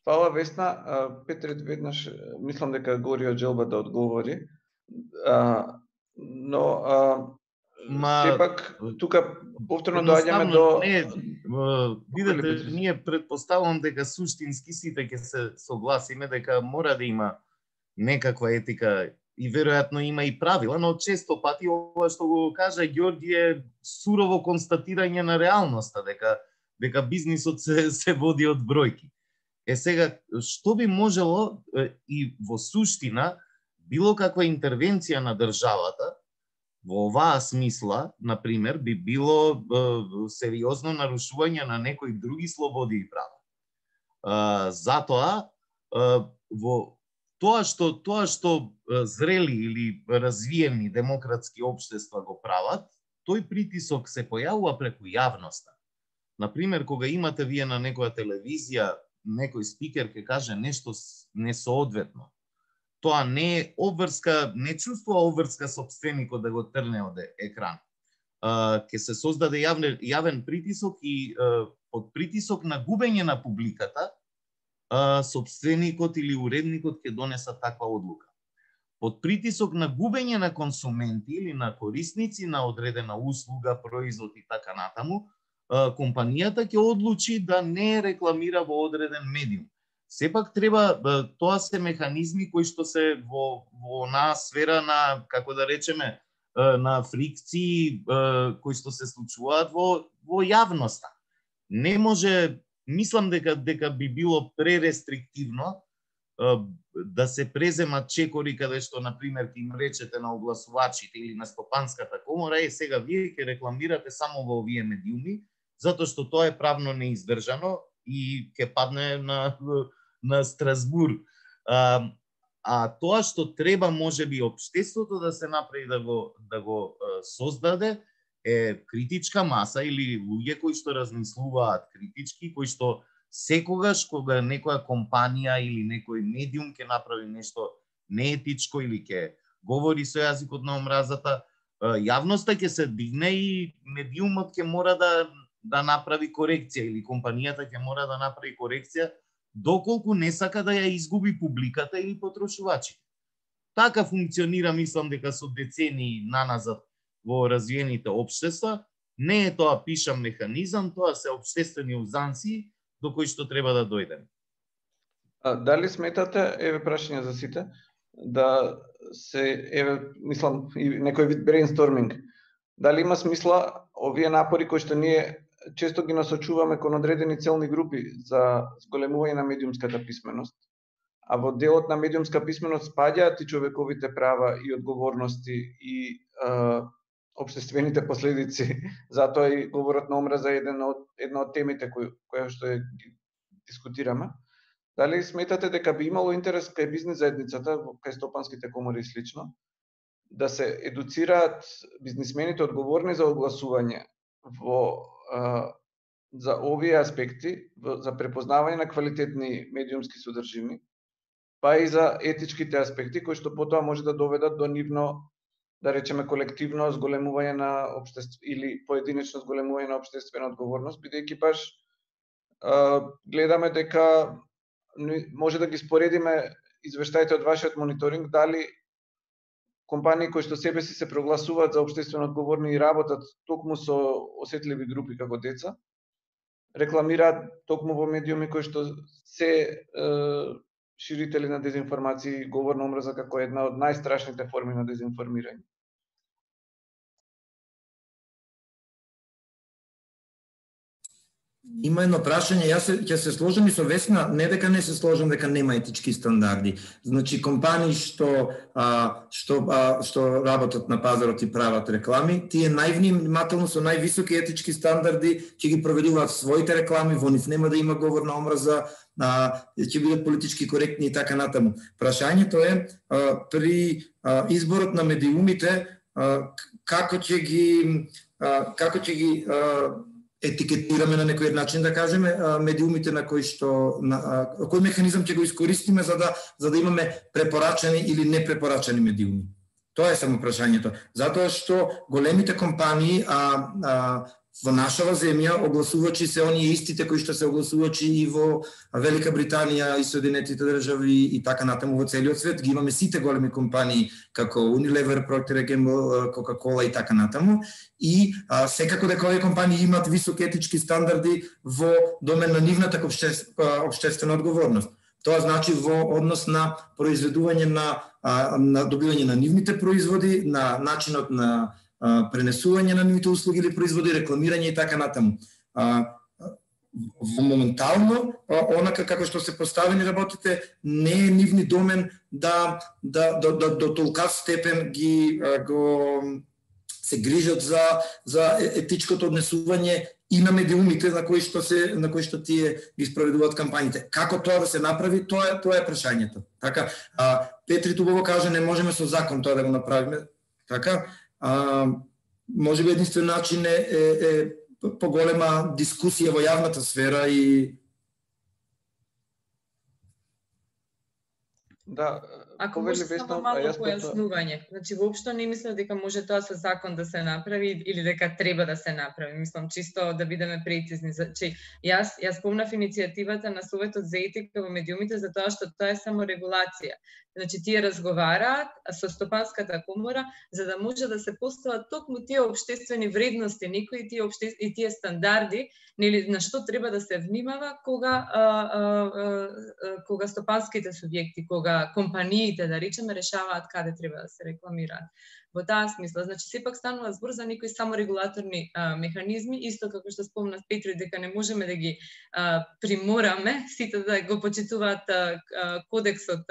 Фала, Весна. Петрет веднаш мислам дека гори од желба да одговори. Но сепак тука повторно доаѓаме до видете, ние претпоставувам дека суштински сите ќе се согласиме дека мора да има некаква етика и веројатно има и правила, но често пати ова што го кажа Ѓорѓи е сурово констатирање на реалноста, дека бизнисот се води од бројки. Сега, што би можело и во суштина било каква интервенција на државата во оваа смисла, например, би било сериозно нарушување на некои други слободи и права. Затоа, во тоа што зрели или развиени демократски општества го прават, тој притисок се појавува преку јавноста. Например, кога имате вие на некоја телевизија, некој спикер ќе каже нешто несоодветно, тоа не е обврска, не чувствува обврска сопственикот да го трне од екран. Ќе се создаде јавен притисок и под притисок на губење на публиката, сопственикот или уредникот ќе донесат таква одлука. Под притисок на губење на консументи или на корисници на одредена услуга, производ и така натаму, компанијата ќе одлучи да не рекламира во одреден медиум. Сепак треба, тоа се механизми кои што се во онаа сфера на, како да речеме, на фрикции кои што се случуваат во јавноста. Не може, мислам дека би било пререстриктивно да се преземат чекори каде што, например, ќе им речете на огласувачите или на Стопанската комора, сега вие ќе рекламирате само во овие медиуми, затоа што тоа е правно неиздржано и ќе падне на Страсбур. Тоа што треба можеби општеството да се направи да го создаде е критичка маса или луѓе кои што размислуваат критички, кои што секогаш кога некоја компанија или некој медиум ќе направи нешто неетичко или ќе говори со јазикот на омразата, јавноста ќе се дигне и медиумот ќе мора да направи корекција или компанијата ќе мора да направи корекција доколку не сака да ја изгуби публиката или потрошувачите. Така функционира, мислам дека со децении наназад во развиените општества. Не е тоа пишам механизам, тоа се општествени узанци до кои што треба да дојдеме. Дали сметате, еве прашање за сите, да се, мислам, и некој вид брейнсторминг, дали има смисла овие напори кои што ние често ги насочуваме кон одредени целни групи за зголемување на медиумската писменост, а во делот на медиумска писменост спаѓаат и човековите права и одговорности и општествените последици, затоа и говорот на омраза е една од темите која што дискутираме. Дали сметате дека би имало интерес кај бизнис заедницата, кај стопанските комори и слично, да се едуцираат бизнисмените одговорни за огласување за овие аспекти, за препознавање на квалитетни медиумски содржини, па и за етичките аспекти кои што потоа може да доведат до нивно, да речеме, колективно зголемување на или поединечно зголемување на општествена одговорност, бидејќи баш гледаме дека може да ги споредиме извештаите од вашиот мониторинг, дали компании кои што себе си се прогласуваат за општествено одговорни и работат токму со осетливи групи како деца, рекламираат токму во медиуми кои што се ширители на дезинформации, говор на омраза како една од најстрашните форми на дезинформирање. Има едно прашање, јас ќе се сложам и со Весна, не дека не се сложам дека нема етички стандарди. Значи компании што работат на пазарот и прават реклами, тие највнимателно со највисоки етички стандарди ќе ги проведуваат своите реклами, во нив нема да има говор на омраза, ќе бидат политички коректни и така натаму. Прашањето е при изборот на медиумите како ќе ги етикетираме на некој начин, да кажеме, медиумите на кој кој механизам ќе го искористиме за да имаме препорачани или непрепорачани медиуми. Тоа е само прашањето. Затоа што големите компании во нашава земја огласувачи се оние истите кои што се огласувачи и во Велика Британија и Соединетите држави и така натаму во целиот свет. Ги имаме сите големи компании како Unilever, Procter & Gamble, Coca-Cola и така натаму. И секако дека овие компании имаат високи етички стандарди во домен на нивната општествена одговорност. Тоа значи во однос на произведување на добивање на нивните производи, на начинот на пренесување на нивните услуги или производи, рекламирање и така натаму. Моментално, онака како што се поставени работите, не е нивни домен да до толкав степен се грижат за етичкото однесување и на медиумите на кои што тие ги спроведуваат кампањите. Како тоа да се направи, тоа е прашањето. Така, Петри Тубово кажа, не можеме со закон тоа да го направиме. Така, може би единствен начин е поголема дискусија во јавната сфера и да, ако може само малку појаснување. Значи воопшто не мислам дека може тоа со закон да се направи или дека треба да се направи. Мислам чисто да бидеме прецизни. Значи јас спомнав иницијативата на Советот за етика во медиумите за тоа што тоа е само регулација. Значи тие разговараат со Стопанската комора за да може да се постават токму тие општествени вредности, некои тие стандарди, нели на што треба да се внимава кога стопанските субјекти, кога компаниите, да речеме, решаваат каде треба да се рекламираат. Во таа смисла, значи сепак станува збор за некои саморегулаторни механизми, исто како што спомна Петри дека не можеме да ги примораме сите да го почитуваат кодексот,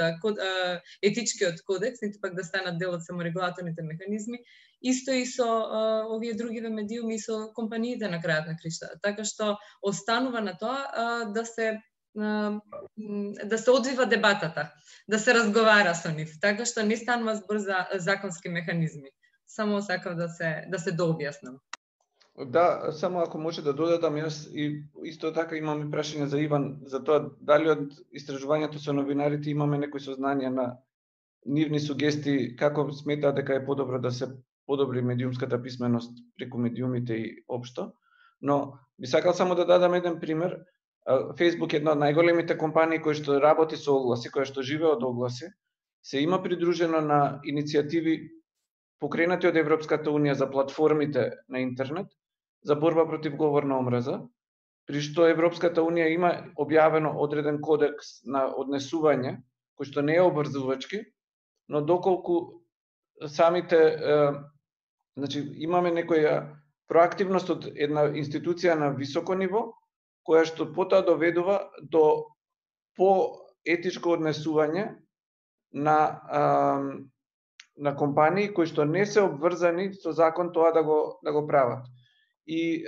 етичкиот кодекс, ниту пак да станат дел од саморегулаторните механизми, исто и со овие другиве медиуми и со компаниите на крајот на криштата. Така што останува на тоа да се одвива дебатата, да се разговара со нив, така што не станува збор за законски механизми. Само сакав да се дообјаснам. Да, само ако може да додадам, јас и исто така имам прашање за Иван, за тоа дали од истражувањето со новинарите имаме некои сознание на нивни сугестии, како сметаат дека е подобро да се подобри медиумската писменост преку медиумите и општо. Но би сакал само да дадам еден пример. Facebook е една од најголемите компании кои што работи со огласи, која што живее од огласи, се има придружено на иницијативи покренати од Европската унија за платформите на интернет за борба против говор на омраза, при што Европската унија има објавено одреден кодекс на однесување, кој што не е обврзувачки, но доколку самите, значи имаме некоја проактивност од една институција на високо ниво, која што потоа доведува до поетичко однесување на компании кои што не се обврзани со закон тоа да го прават. И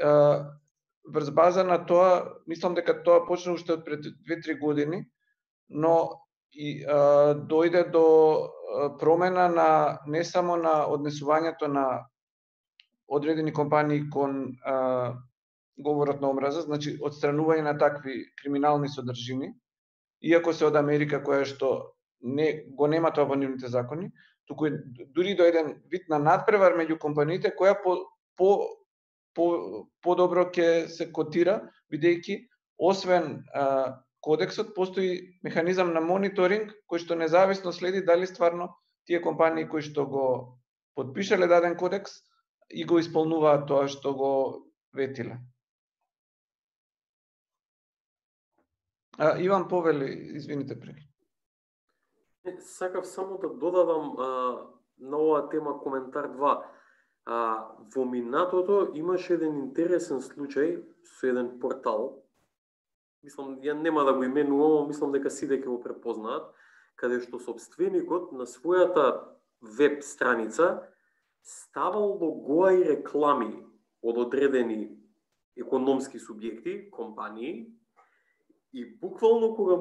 врз база на тоа, мислам дека тоа почна уште од пред 2-3 години, но и дојде до промена не само на однесувањето на одредени компании кон говорот на омраза, значи одстранување на такви криминални содржини, иако се од Америка која што го нема тоа во нивните закони, туку дури до еден вид на надпревар меѓу компаниите која подобро ќе се котира, бидејќи освен кодексот постои механизам на мониторинг кој што независно следи дали стварно тие компании кои што го потпишале даден кодекс и го исполнуваат тоа што го ветиле. Иван повели, извините преки. Сакав само да додадам на оваа тема коментар 2. Во минатото имаше еден интересен случај со еден портал мислам, ја нема да го именувам, мислам дека сите ќе го препознаат, каде што собственикот на својата веб страница ставал логоа и реклами од одредени економски субјекти, компании, и буквално кога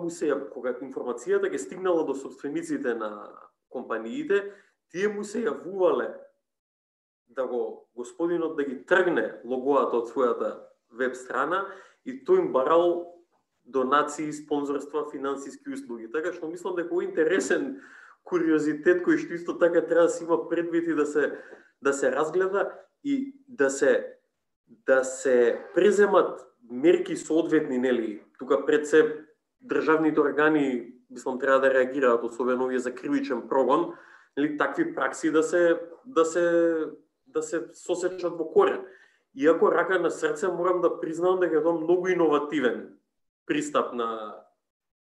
информацијата ќе стигнала до собствениците на компаниите, тие му се јавувале да го господинот да ги тргне логоата од својата веб страна и тој им барал донации, спонзорства, финансиски услуги. Така што мислам дека е интересен куриозитет кој што исто така треба да се има предвид и да се разгледа и да се преземат мерки соодветни, нели? Тука пред се државните органи, мислам, треба да реагираат, особено овие за кривичен прогон, нели, такви пракси да се сосечат во корен. Иако рака на срце морам да признам дека е тоа многу иновативен пристап на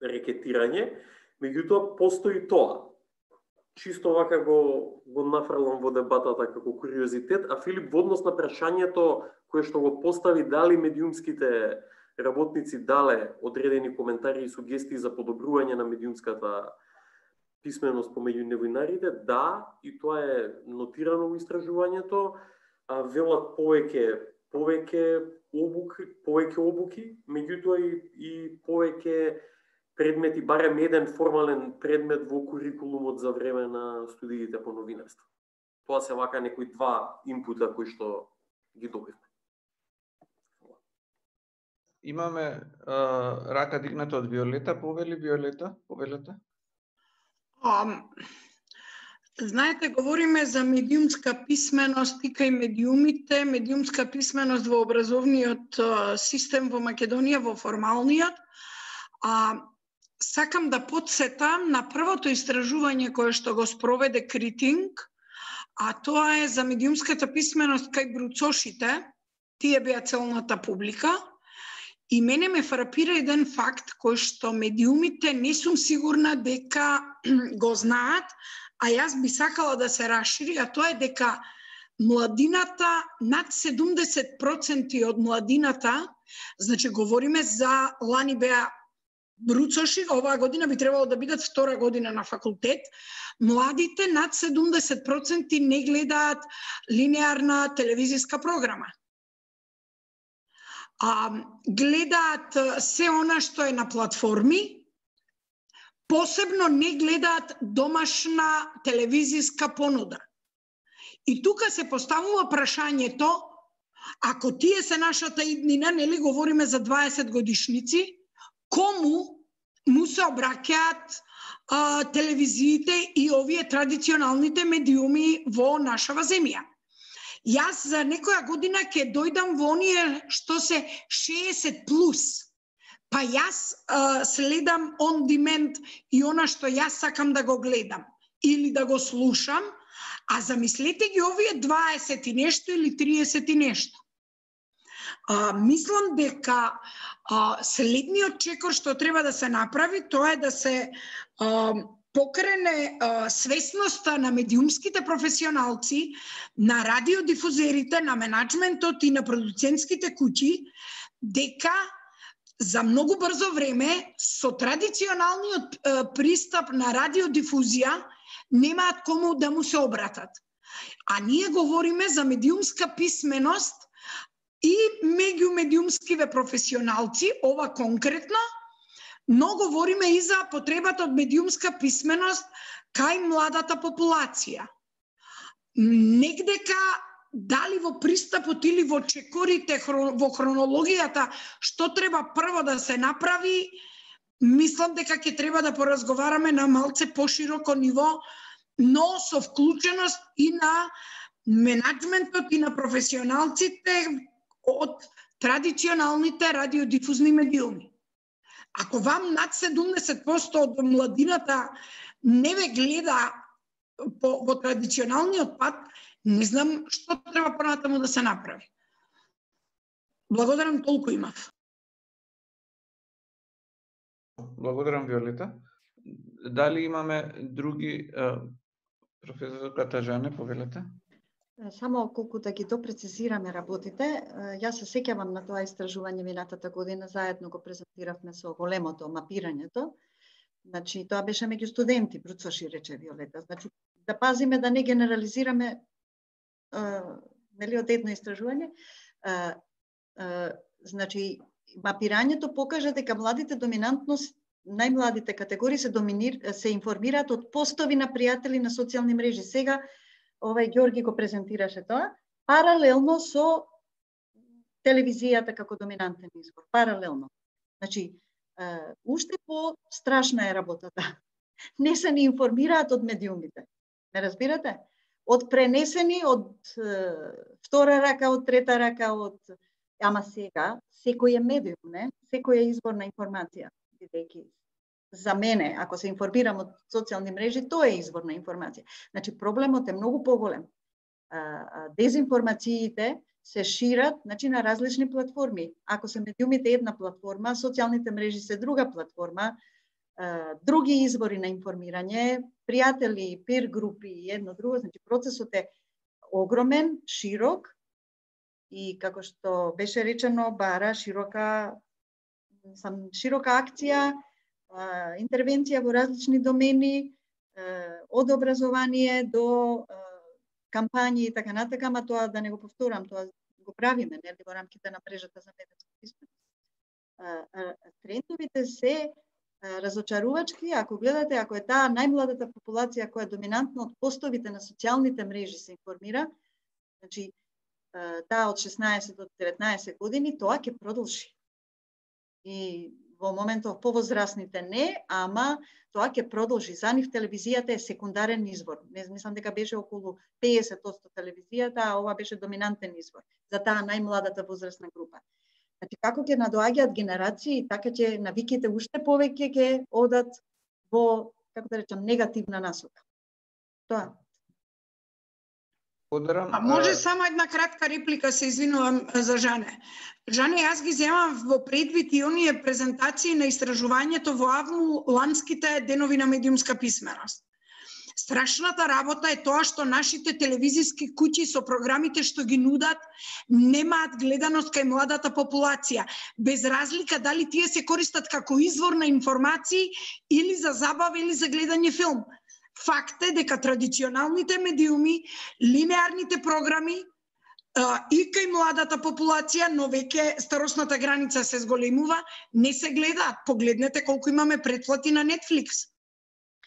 рекетирање, меѓутоа постои тоа. Чисто вака го нафрлам во дебатата како куриозитет, а Филип во однос на прашањето кое што го постави дали медиумските работници дале одредени коментари и сугестии за подобрување на медиумската писменост помеѓу новинарите, да, и тоа е нотирано во истражувањето, велат повеќе обуки, меѓутоа и повеќе предмети, барем еден формален предмет во курикулумот за време на студиите по новинарство. Тоа се вака некои два инпута кои што ги добивме. Имаме рака дигната од Виолета. Повели Виолета? Повелете? Знаете, говориме за медиумска писменост и кај медиумите, медиумска писменост во образовниот систем во Македонија, во формалниот. Сакам да подсетам на првото истражување кое што го спроведе Критинг, а тоа е за медиумската писменост кај бруцошите. Тие беа целната публика. И мене ме фрапира еден факт кој што медиумите не сум сигурна дека го знаат, а јас би сакала да се расшири, а тоа е дека младината, над 70% од младината, значи говориме за лани беа бруцоши, оваа година би требало да бидат втора година на факултет, младите над 70% не гледаат линеарна телевизиска програма. Гледаат се она што е на платформи, посебно не гледаат домашна телевизиска понуда. И тука се поставува прашањето, ако тие се нашата иднина, нели говориме за 20 годишници, кому му се обраќаат телевизиите и овие традиционалните медиуми во нашава земја. Јас за некоја година ќе дојдам во оние што се 60 плюс. Па јас следам on demand и она што јас сакам да го гледам или да го слушам, а замислете ги овие 20 и нешто или 30 и нешто. Мислам дека следниот чекор што треба да се направи, тоа е да се покрене свесноста на медиумските професионалци, на радиодифузерите, на менаџментот и на продуцентските куќи, дека за многу брзо време со традиционалниот пристап на радиодифузија немаат кому да му се обратат. А ние говориме за медиумска писменост и меѓу медиумскиве професионалци, ова конкретно, но говориме и за потребата од медиумска писменост кај младата популација. Негдека дали во пристапот или во чекорите, во хронологијата, што треба прво да се направи, мислам дека ќе треба да поразговараме на малце пошироко ниво, но со вклученост и на менаџментот и на професионалците од традиционалните радиодифузни медиуми. Ако вам над 70% од младината не ве гледа во традиционалниот пат, не знам што треба понатаму да се направи. Благодарам, толку имав. Благодарам, Виолета. Дали имаме други, професор Катажане, повелете? Само колку да ги допрецизираме работите, јас се сеќавам на тоа истражување минатата година, заедно го презентиравме со големото мапирањето. Значи, тоа беше меѓу студенти, Бруцваши рече Виолета. Значи, да пазиме да не генерализираме нели од едно истражување. Значи, мапирањето покажа дека младите доминантно, најмладите категории се информираат од постови на пријатели на социјални мрежи. Сега Ѓорги го презентираше тоа, паралелно со телевизијата како доминантен извор, паралелно. Значи, уште по-страшна е работата. Не се ни информираат од медиумите. Не разбирате? Од пренесени, од втора рака, од трета рака, ама сега, секој е медиум, не? Секој е извор на информација, бидејќи за мене, ако се информирам од социјални мрежи, тоа е извор на информација. Значи, проблемот е многу поголем. Дезинформациите се шират, значи, на различни платформи. Ако се медиумите една платформа, социјалните мрежи се друга платформа, други извори на информирање, пријатели, пир групи и едно друго, значи процесот е огромен, широк и како што беше речено, бара широка акција, интервенција во различни домени, од образование до кампањи и така натака, ама тоа да не го повторам, тоа го правиме нели во рамките на мрежата за медиумска писменост. Трендовите се разочарувачки, ако гледате, ако е таа најмладата популација која доминантно од постовите на социјалните мрежи се информира, значи таа од 16 до 19 години, тоа ќе продолжи. И во моментов повозрасните не, ама тоа ќе продолжи. За нив телевизијата е секундарен извор. Не мислам дека беше околу 50% телевизијата, а ова беше доминантен извор за таа најмладата возрастна група. Значи, како ќе надоаѓаат генерации, така ќе навиките уште повеќе ќе одат во, како да речам, негативна насока. Тоа. А може само една кратка реплика, се извинувам за Жане. Жане, јас ги земам во предвид и оние презентации на истражувањето во АВМУ ланските денови на медиумска писменост. Страшната работа е тоа што нашите телевизиски куќи со програмите што ги нудат немаат гледаност кај младата популација, без разлика дали тие се користат како извор на информации или за забава или за гледање филм. Факт е дека традиционалните медиуми, линеарните програми и кај младата популација, но веќе старосната граница се зголемува, не се гледаат. Погледнете колку имаме претплати на Netflix.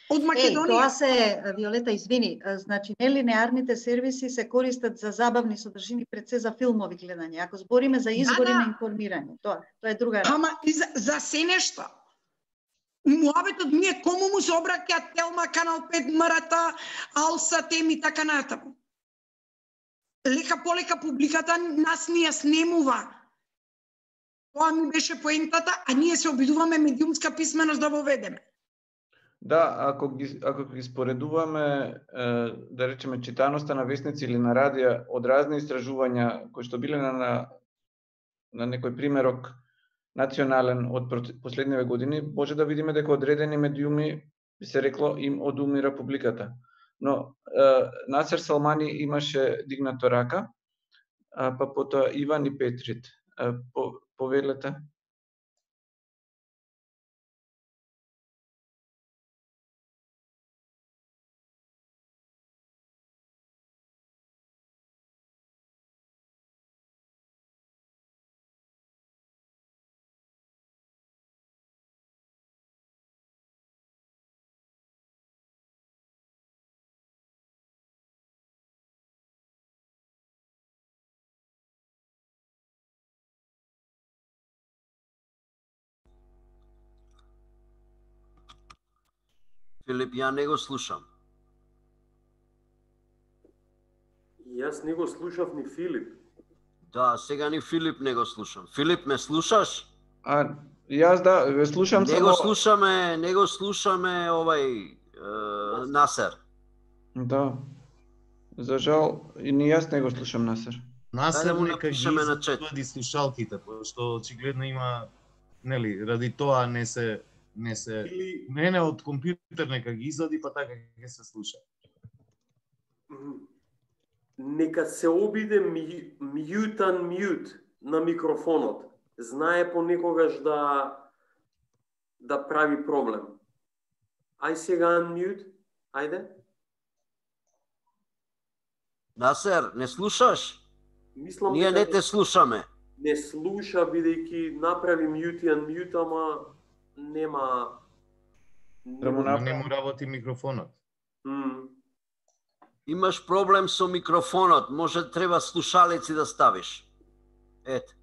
Од Македонија. Тоа се, Виолета, извини, значи нелинеарните сервиси се користат за забавни содржини, пред се за филмови гледање. Ако збориме за извори на информирање, тоа е друга работа. Ама и за се нешто. Муабетот ми е кому му се обраќаат Телма, Канал 5, МРТ, Алса, Тем и така натаму. Лека полека публиката нас ни ја снемува. Тоа ми беше поентата, а ние се обидуваме медиумска писменост да воведеме. Да, ако ги споредуваме, да речеме, читаноста на весници или на радија од разни истражувања кои што биле на некој примерок национален од последниве години, може да видиме дека одредени медиуми, би се рекло, им одумира публиката. Но Насер Салмани имаше дигнато рака, па потоа Иван и Петрит. Повелете. Филип, ја не го слушам. Јас не го слушав ни Филип. Да, сега ни Филип не го слушам. Филип, ме слушаш? Јас да, ве слушам само... Не го слушаме овај Насер. Да. За жал, и ни јас не го слушам Насер. Насер нека ги извади слушалките, пошто очигледно има, нели, ради тоа не се од компјутер нека ги извади, па така ќе се слуша. нека се обиде mute unmute на микрофонот. Знае понекогаш да прави проблем. Ај сега unmute, ајде. Насер, не слушаш? Мислам Ние не те слушаме. Не слуша, бидејќи направи mute и unmute, ама нема... Не му работи микрофонот. Имаш проблем со микрофонот, може треба слушалеци да ставиш. Ете.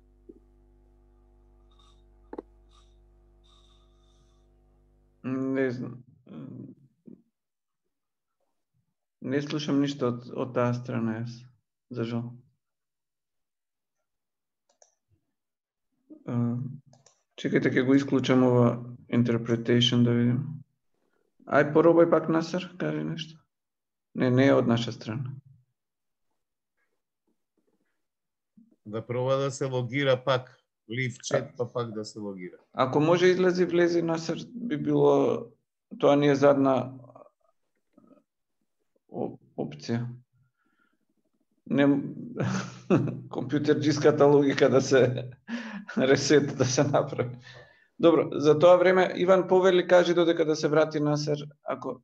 Не знам. Не слушам ништо од таа страна јас, за жал. Чекајте, ќе го исклучам ова interpretation да видим. Ај, поробај пак, Насер, кажи нешто. Не е од наша страна. Да проба да се логира пак. Live chat, па пак да се логира. Ако може излези, влези, Насер, би било... Тоа ни е задна опција. Не... Компјутерџиската логика да се ресет, да се направи. Добро, за тоа време, Иван, повели, кажи додека да се врати Насер, ако...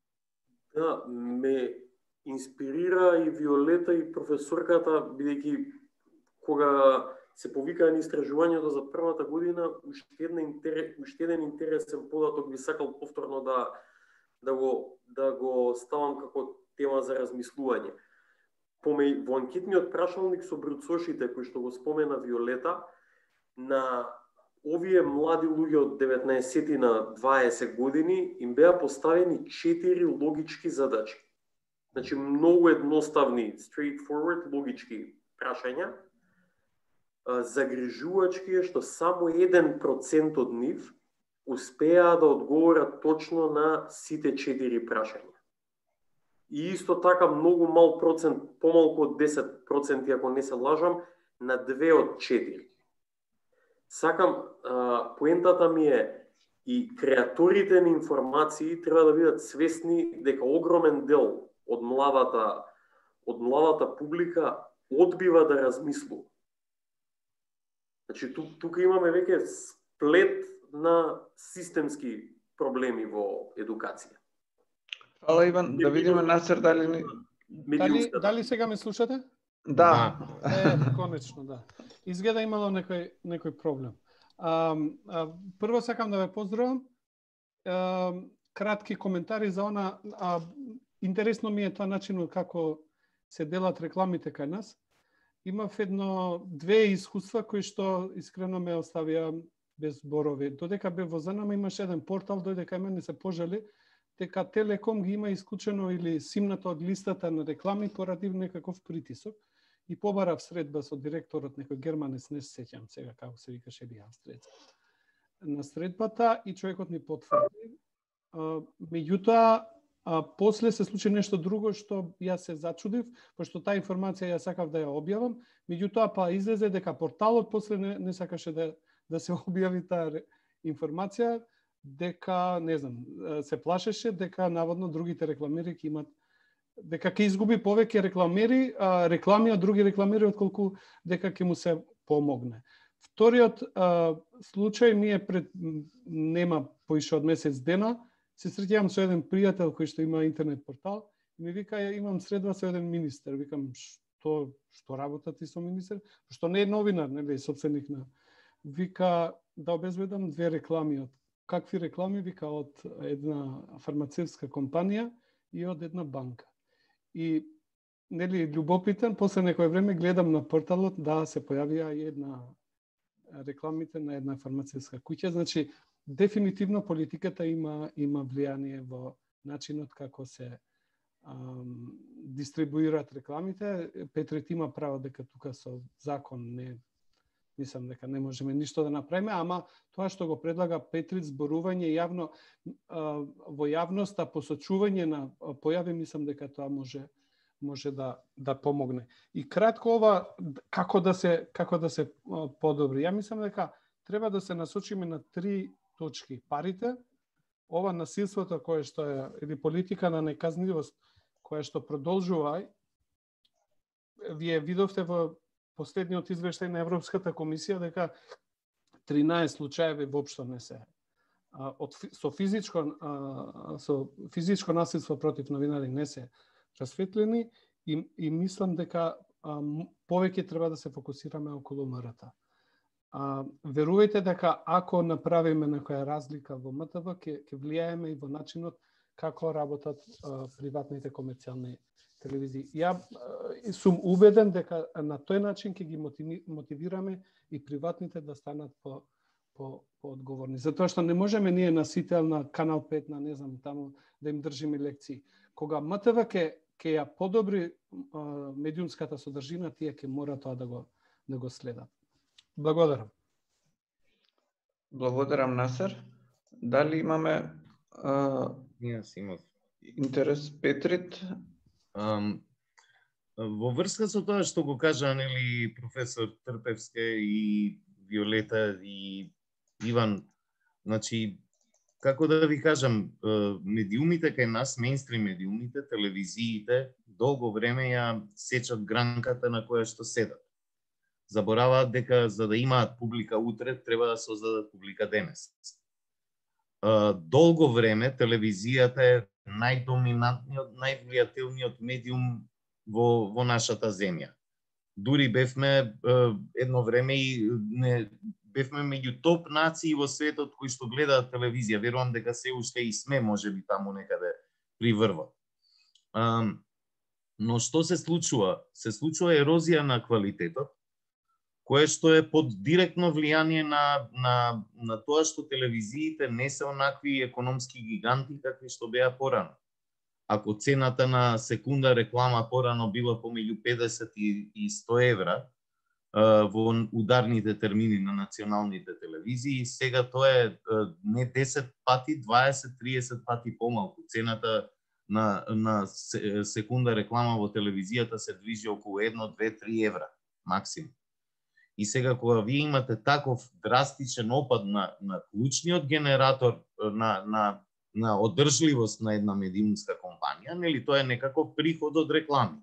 Да, ме инспирира и Виолета и професорката, бидејќи кога се повикаа на истражувањето за првата година, уште еден интересен податок би сакал повторно да го ставам како тема за размислување. Во анкетниот прашалник со бруцошите, кој што го спомена Виолета, на овие млади луѓе од 19 на 20 години им беа поставени 4 логички задачи. Значи, многу едноставни, straightforward, логички прашања, загрижувачки е што само 1% од нив успеа да одговорат точно на сите 4 прашања. И исто така многу мал процент, помалку од 10%, ако не се лажам, на 2 од 4. Сакам, поентата ми е и креаторите на информации треба да бидат свесни дека огромен дел од младата публика одбива да размислува. Значи, тука имаме веќе сплет на системски проблеми во едукација. Фала, Иван, да видиме, Насер, дали сега ме слушате? Да. Конечно, да. Изгледа имало некој проблем. Прво сакам да ве поздравам. Кратки коментари за она. Интересно ми е тоа начинот како се делат рекламите кај нас. Имав две искуства кои што искрено ме оставија без зборови. Додека бев во ЗНМ имаше еден портал, дојде кај мене се пожали дека Телеком ги има исклучено или симнато од листата на реклами поради некаков притисок. И побарав средба со директорот, некој германец, не се сеќам сега како се викаше или австриец. На средбата и човекот ни потврди. Меѓутоа, после се случи нешто друго што јас се зачудив, пошто таа информација ја сакав да ја објавам, меѓутоа па излезе дека порталот после не сакаше да се објави таа информација, дека, не знам, се плашеше дека наводно другите рекламери ќе имат, дека ќе изгуби повеќе реклами од други рекламери отколку дека ќе му се помогне. Вториот случај ми е нема поише од месец дена, се среќавам со еден пријател кој што има интернет портал и ми вика, имам средба со еден министер. Викам, што работа ти со министер? Што не е новинар, нели, собственик на. Вика, да обезбедам 2 реклами. Од какви реклами? Вика, од една фармацевтска компанија и од една банка. И, нели, љубопитен, после некој време гледам на порталот, да, се појавија и една рекламите на една фармацевтска куќа. Значи, дефинитивно политиката има влијание во начинот како се дистрибуираат рекламите. Петрит има право дека тука со закон мислам дека не можеме ништо да направиме, ама тоа што го предлага Петрит, зборување јавно во јавноста, посочување на појави, мислам дека тоа може да помогне. И кратко ова како да се подобри. Ја мислам дека треба да се насочиме на 3 точки. Парите, ова насилството кое што е или политика на неказнивост која што продолжува вие видовте во последниот извештај на Европската комисија дека 13 случаеви воопшто не се со физичко насилство против новинари не се расветлени и мислам дека повеќе треба да се фокусираме околу МРТ. Верувајте дека ако направиме некоја разлика во МТВ, ќе влијаеме и во начинот како работат приватните комерцијални телевизии. Ја сум убеден дека на тој начин ќе ги мотивираме и приватните да станат по-одговорни. Затоа што не можеме ние на Сител, на Канал 5, на не знам таму да им држиме лекции. Кога МТВ ќе ја подобри медиумската содржина, тие ќе мора тоа да го следат. Благодарам. Благодарам, Насер. Дали имаме интерес, Петрит? Во врска со тоа што го кажа нели професор Трпевска и Виолета и Иван, значи како да ви кажам, медиумите кај нас, мејнстрим медиумите, телевизиите, долго време ја сечат гранката на која што седат. Забораваат дека за да имаат публика утре, треба да создадат публика денес. Долго време телевизијата е најдоминантниот, највлијателниот медиум во нашата земја. Дури бевме едно време и бевме меѓу топ нации во светот кои што гледаат телевизија. Верувам дека се уште и сме, можеби таму некаде при врвот. Но што се случува? Се случува ерозија на квалитетот, кое што е под директно влијание на тоа што телевизиите не се онакви економски гиганти какви што беа порано. Ако цената на секунда реклама порано била помеѓу 50 и 100 евра во ударните термини на националните телевизии, сега тоа е не 10 пати, 20-30 пати помалку. Цената на секунда реклама во телевизијата се движи околу 1, 2, 3 евра максимум. И сега кога вие имате таков драстичен опад на клучниот генератор на одржливост на една медиумска компанија, нели тоа е некако приход од реклами.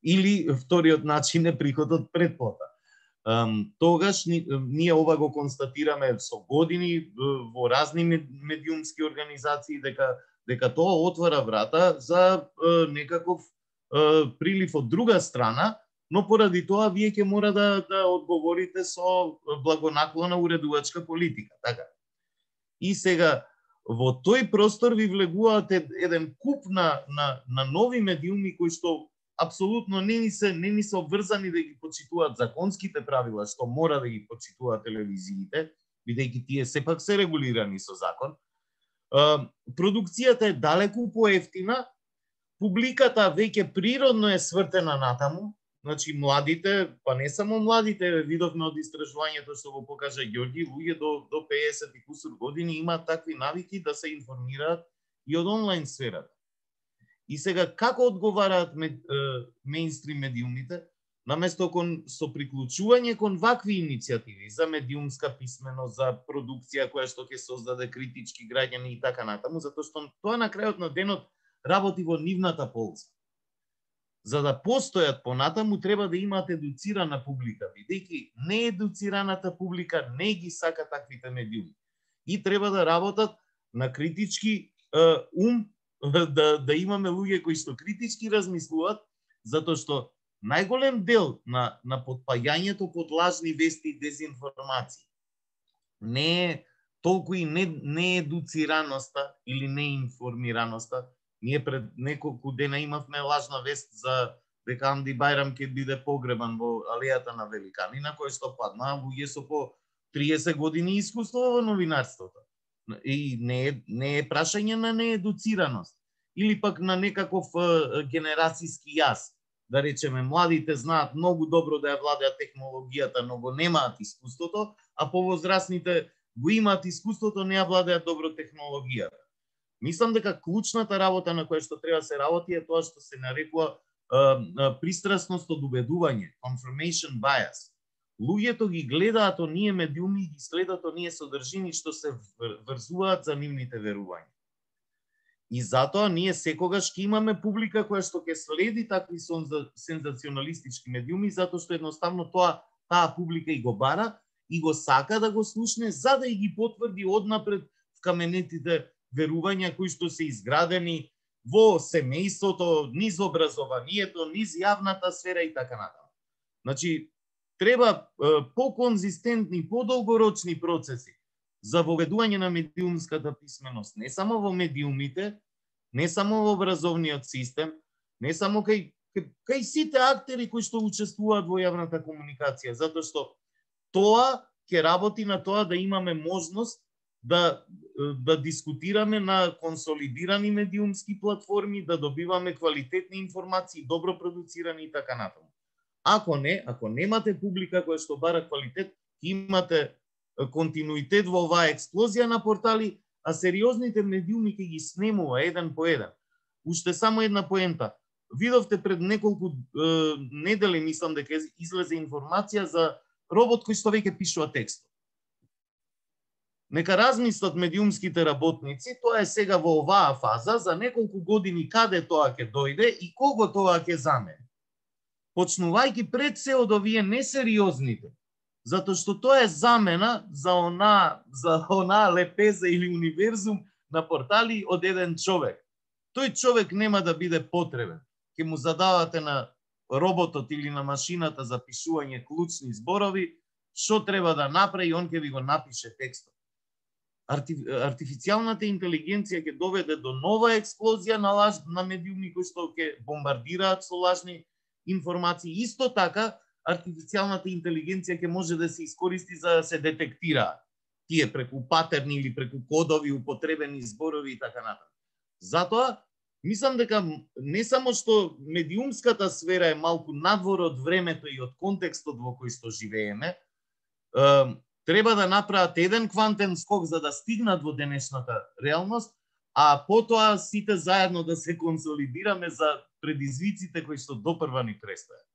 Или вториот начин е приход од претплата. Тогаш ние ова го констатираме со години во разни медиумски организации дека тоа отвара врата за некаков прилив од друга страна, но поради тоа вие ќе мора да одговорите со благонаклона уредувачка политика, така. И сега во тој простор ви влегуваат еден куп на нови медиуми кои што апсолутно не ни се обврзани да ги почитуваат законските правила што мора да ги почитуваат телевизиите, бидејќи тие сепак се регулирани со закон. Продукцијата е далеку поевтина, публиката веќе природно е свртена натаму. Значи, младите, па не само младите, видовме од истражувањето што го покажа Ѓорѓи, луѓе до 50 и кусур години имаат такви навики да се информираат и од онлайн сферата. И сега, како одговараат мејнстрим медиумите? Наместо со приклучување кон вакви иницијативи за медиумска писменост, за продукција која што ќе создаде критички граѓани и така натаму, затоа што тоа на крајот на денот работи во нивната полза. За да постојат понатаму, треба да имаат едуцирана публика, бидејќи неедуцираната публика не ги сака таквите медиуми. И треба да работат на критички ум, да имаме луѓе кои што критички размислуваат, затоа што најголем дел на потпаѓањето под лажни вести и дезинформации не е толку и неедуцираноста или неинформираноста. Ние пред неколку дена имавме лажна вест за дека Амди Бајрам ќе биде погребан во алејата на Великани, на кој што паднаа луѓе со по 30 години искуство во новинарството. И не е прашање на неедуцираност или пак на некаков генерацијски јаз. Да речеме, младите знаат многу добро да ја владеат технологијата, но го немаат искуството, а повозрасните го имаат искуството, не ја владеат добро технологијата. Мислам дека клучната работа на која што треба се работи е тоа што се нарекува пристрасност од убедување, confirmation bias. Луѓето ги гледаат оние медиуми и ги следат оние содржини што се врзуваат за нивните верувања. И затоа ние секогаш ќе имаме публика која што ќе следи такви сензационалистички медиуми, затоа што едноставно таа публика и го бара и го сака да го слушне, за да и ги потврди однапред вкаменетите верувања кои што се изградени во семејството, низ образованието, низ јавната сфера и така натаму. Значи, треба по-конзистентни, подолгорочни процеси за воведување на медиумската писменост, не само во медиумите, не само во образовниот систем, не само кај сите актери кои што учествуваат во јавната комуникација, затоа што тоа ќе работи на тоа да имаме можност да дискутираме на консолидирани медиумски платформи, да добиваме квалитетни информации, добро продуцирани и така натаму. Ако немате публика која што бара квалитет, имате континуитет во оваа експлозија на портали, а сериозните медиуми ќе ги снемува еден по еден. Уште само една поента. Видовте пред неколку недели, мислам дека излезе информација за робот кој што веќе пишува текстот. Нека размислат медиумските работници, тоа е сега во оваа фаза, за неколку години каде тоа ќе дојде и кого тоа ќе замени. Почнувајќи пред се од овие несериозните, затоа што тоа е замена за онаа лепеза или универзум на портали од еден човек. Тој човек нема да биде потребен. Ке му задавате на роботот или на машината за пишување клучни зборови, што треба да направи, он ќе ви го напише текстот. Артифицијалната интелигенција ќе доведе до нова експлозија на медиуми кои што ќе бомбардираат со лажни информации. Исто така, артифицијалната интелигенција ќе може да се искористи за да се детектира тие преку патерни или преку кодови, употребени зборови и така натаму. Затоа, мислам дека не само што медиумската сфера е малку надвор од времето и од контекстот во кој што живееме, треба да направат еден квантен скок за да стигнат во денешната реалност, а потоа сите заедно да се консолидираме за предизвиците кои што допрва ни престојат.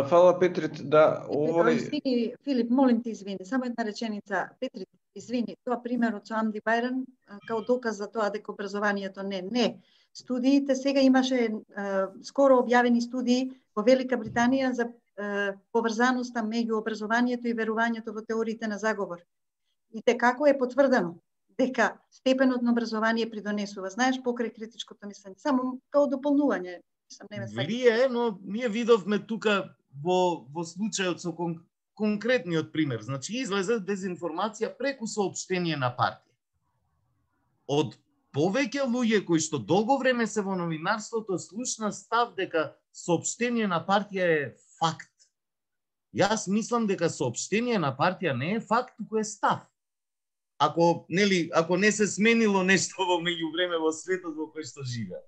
Фала, Петрит, да, Извини, Филип, молим те извини, само една реченица. Петрит, извини, тоа примерот со Амди Бајран као доказ за тоа дека образованието не. Студиите сега имаше скоро објавени студии во Велика Британија за поврзаноста меѓу образованието и верувањето во теориите на заговор. И како е потврдено дека степенот на образование придонесува, знаеш, покрај критичкото мислење, само као дополнување. Влие, но ние видовме тука во случајот со конкретниот пример. Значи, излезе дезинформација преку соопштение на партија. Од повеќе луѓе кои што долго време се во новинарството слушна став дека соопштение на партија е факт. Јас мислам дека соопштение на партија не е факт, туку е став. Ако не се сменило нешто во меѓувреме во светот во кој што живеа.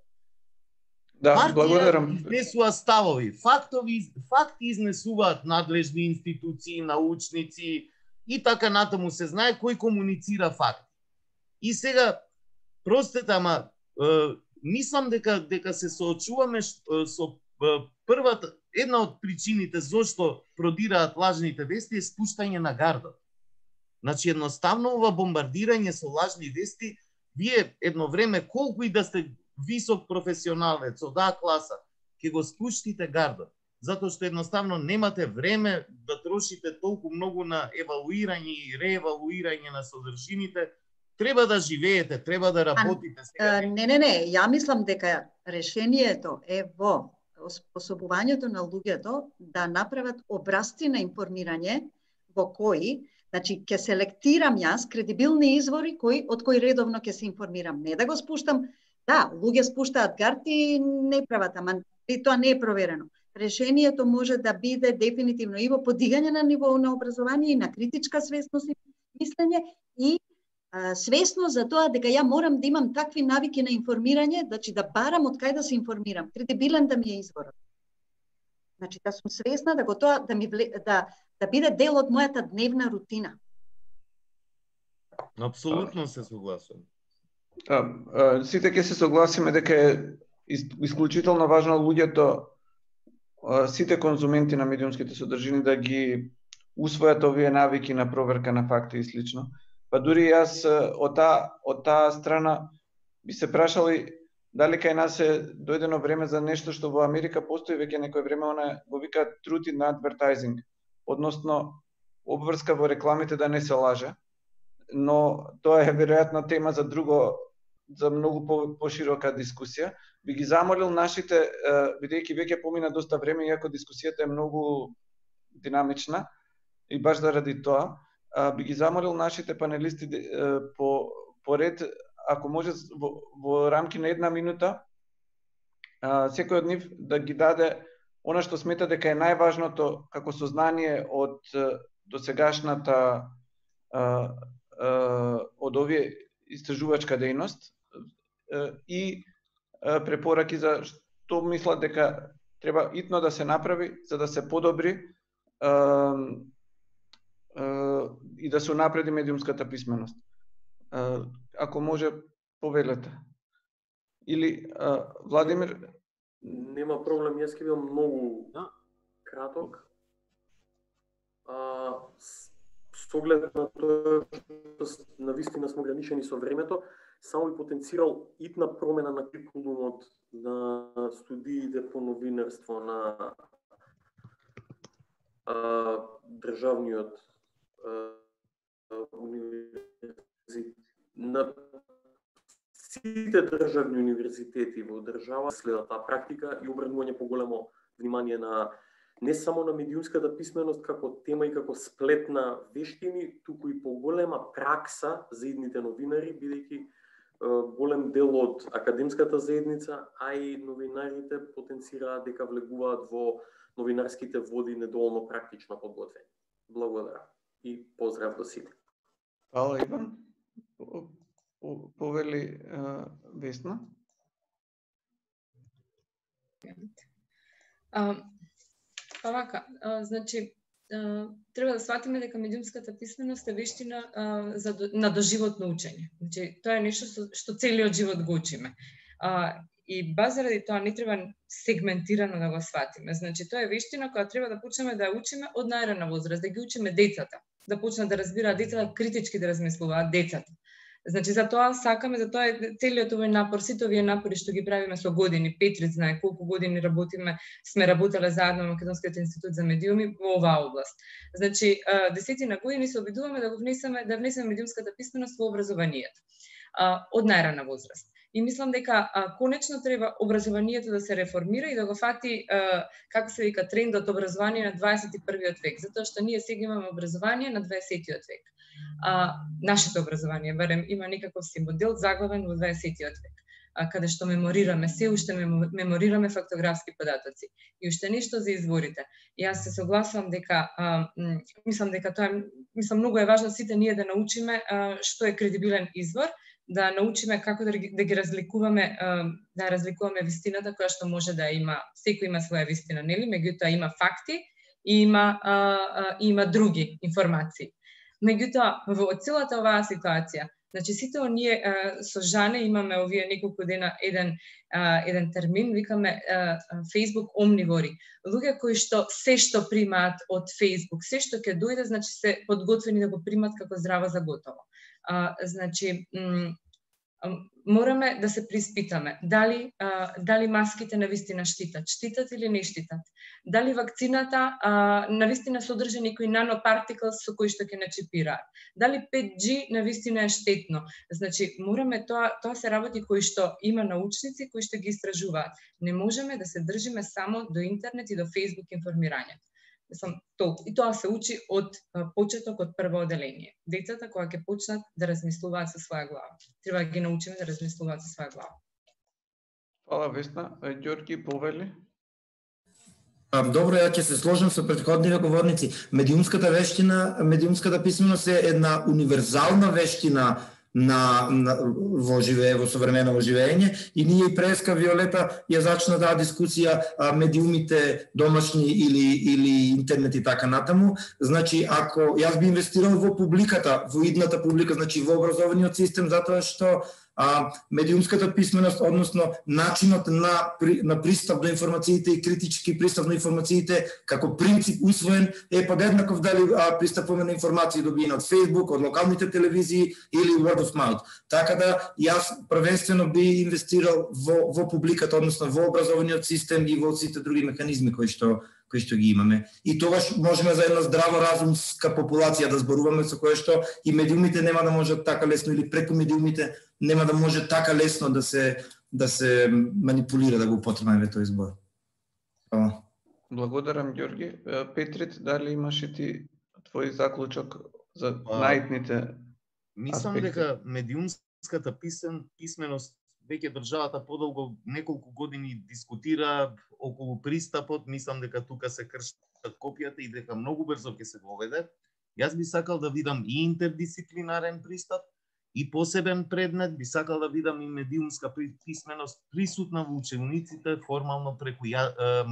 Да, благодарам. Изнесува ставови, факти изнесуваат надлежни институции, научници и така натаму се знае кој комуницира факти. И сега, простете, ама мислам дека се соочуваме со првата, една од причините зошто продираат лажните вести е спуштање на гардот. Значи, едноставно ова бомбардирање со лажни вести, вие едно време, колку и да сте висок професионалец од А класа, ќе го спуштите гардот, затоа што едноставно немате време да трошите толку многу на евалуирање и реевалуирање на содржините. Треба да живеете, треба да работите. Не, ја мислам дека решението е во способувањето на луѓето да направат образци на информирање во кои, значи, ќе селектирам јас кредибилни извори од кои редовно ќе се информирам, не да го спуштам. Да, луѓе спуштаат гарти и не прават, ама тоа не е проверено. Решението може да биде дефинитивно и во подигање на ниво на образование и на критичка свесност и мислење и свесност за тоа дека ја морам да имам такви навики на информирање, значи да барам од кај да се информирам, кредибилен да ми е изворот. Значи да сум свесна да да биде дел од мојата дневна рутина. Апсолутно се согласувам. Сите ќе се согласиме дека е исклучително важно луѓето, сите конзументи на медиумските содржини да ги усвојат овие навики на проверка на факти и слично. Па дури јас од таа страна би се прашали дали кај нас е дојдено време за нешто што во Америка постои веќе некој време, она го вика truth in advertising, односно обврска во рекламите да не се лаже, но тоа е веројатно тема за за многу поширока дискусија. Би ги замолил нашите, бидејќи веќе помина доста време, иако дискусијата е многу динамична, и баш заради тоа, би ги замолил нашите панелисти по ред, ако може во рамки на 1 минута, секој од нив да ги даде она што смета дека е најважното како сознание од досегашната од овие истражувачка дејност и препораки за што мислат дека треба итно да се направи за да се подобри и да се унапреди медиумската писменост. Ако може, повелете. Или Владимир? Нема проблем, јас ќе бидам многу краток. С оглед на тоа што навистина сме ограничени со времето, само би потенцирал итна промена на курикулумот на студиите по новинарство на државниот универзитет, на сите државни универзитети во држава следат таа практика и обрнување поголемо внимание на не само на медиумската писменост како тема и како сплет на вештини, туку и поголема пракса за идните новинари, бидејќи голем дел од академската заедница, а и новинарите потенцираат дека влегуваат во новинарските води недоволно практично подготвени. Благодарам и поздрав до сите. Фала, Иван. Повели Весна. Па вака, значи, треба да сватиме дека медиумската писменост е вештина на доживотно учење. Значи, тоа е нешто што целиот живот го учиме. И баш заради тоа не треба сегментирано да го сватиме. Значи, тоа е вештина која треба да почнеме да ја учиме од најрана возраст, да ги учиме децата, да почнат да разбираат децата, критички да размислуваат децата. Значи, за тоа сакаме, за тоа е целиот овој напор, сите овие напори што ги правиме со години. Петрит знае колку години работиме, сме работеле заедно во Македонскиот институт за медиуми во оваа област. Значи, десетина години се обидуваме да внесеме медиумската писменост во образованието од најрана возраст. И мислам дека конечно треба образованието да се реформира и да го фати, како се вика, трендот образование на 21-виот век, затоа што ние сега имаме образование на 20-тиот век. Нашето образование, барем, има некаков си модел заглавен во 20-тиот век, каде што меморираме, се уште меморираме фактографски податоци. И уште нешто за изворите. И јас се согласувам дека, мислам дека тоа многу е важно сите ние да научиме што е кредибилен извор, да научиме како да ги разликуваме, да разликуваме вистината која што може да има, секој има своја вистина, нели? Меѓутоа има факти и има други информации. Меѓутоа, во целата оваа ситуација, значи сите оние со Жане имаме овие неколку дена еден термин, викаме Facebook омнивори. Луѓе кои што се што примаат од Facebook, се што ќе дојде, значи се подготвени да го примат како здраво за готово. Значи, мораме да се приспитаме дали маските навистина штитат или не штитат. Дали вакцината навистина содржи некои нанопартиклс со кои што ќе начипираат. Дали 5G навистина е штетно. Значи, мораме тоа се работи кои што има научници кои што ги истражуваат. Не можеме да се држиме само до интернет и до Facebook информирање. И тоа се учи од почеток, од прво оделение. Децата кога ќе почнат да размислуваат со своја глава. Треба да ги научиме да размислуваат со своја глава. Фала, Весна. Ѓорги, повели? Добро, ја ќе се сложам со претходните говорници. Медиумската вештина, медиумската писменост е една универзална вештина во современо живење и ние и преска Виолета ја зачна таа дискусија медиумите домашни или интернет и така натаму. Значи, ако јас би инвестирал во публиката, во идната публика, значи во образовниот систем, затоа што медиумската писменост, односно начинот на пристап до информациите и критички пристап на информациите како принцип усвоен е подеднаков дали пристапуваме на информации добиени од Facebook, од локалните телевизии или word of mouth. Така да јас првенствено би инвестирал во публиката, односно во образовниот систем и во сите други механизми кои што ги имаме. И тогаш можеме за една здраво разумска популација да зборуваме, со кое што и медиумите нема да можат така лесно, или преку медиумите нема да може така лесно да се манипулира, да го употребиме тој збор. Благодарам, Ѓорги. Петрит, дали имаш и ти твој заклучок за најитните Мислам дека медиумската писменост веќе државата подолго неколку години дискутира околу пристапот. Мислам дека тука се кршат копијата и дека многу брзо ќе се воведе. Јас би сакал да видам и интердисциплинарен пристап и посебен предмет, би сакал да видам и медиумска писменост присутна во учениците формално преку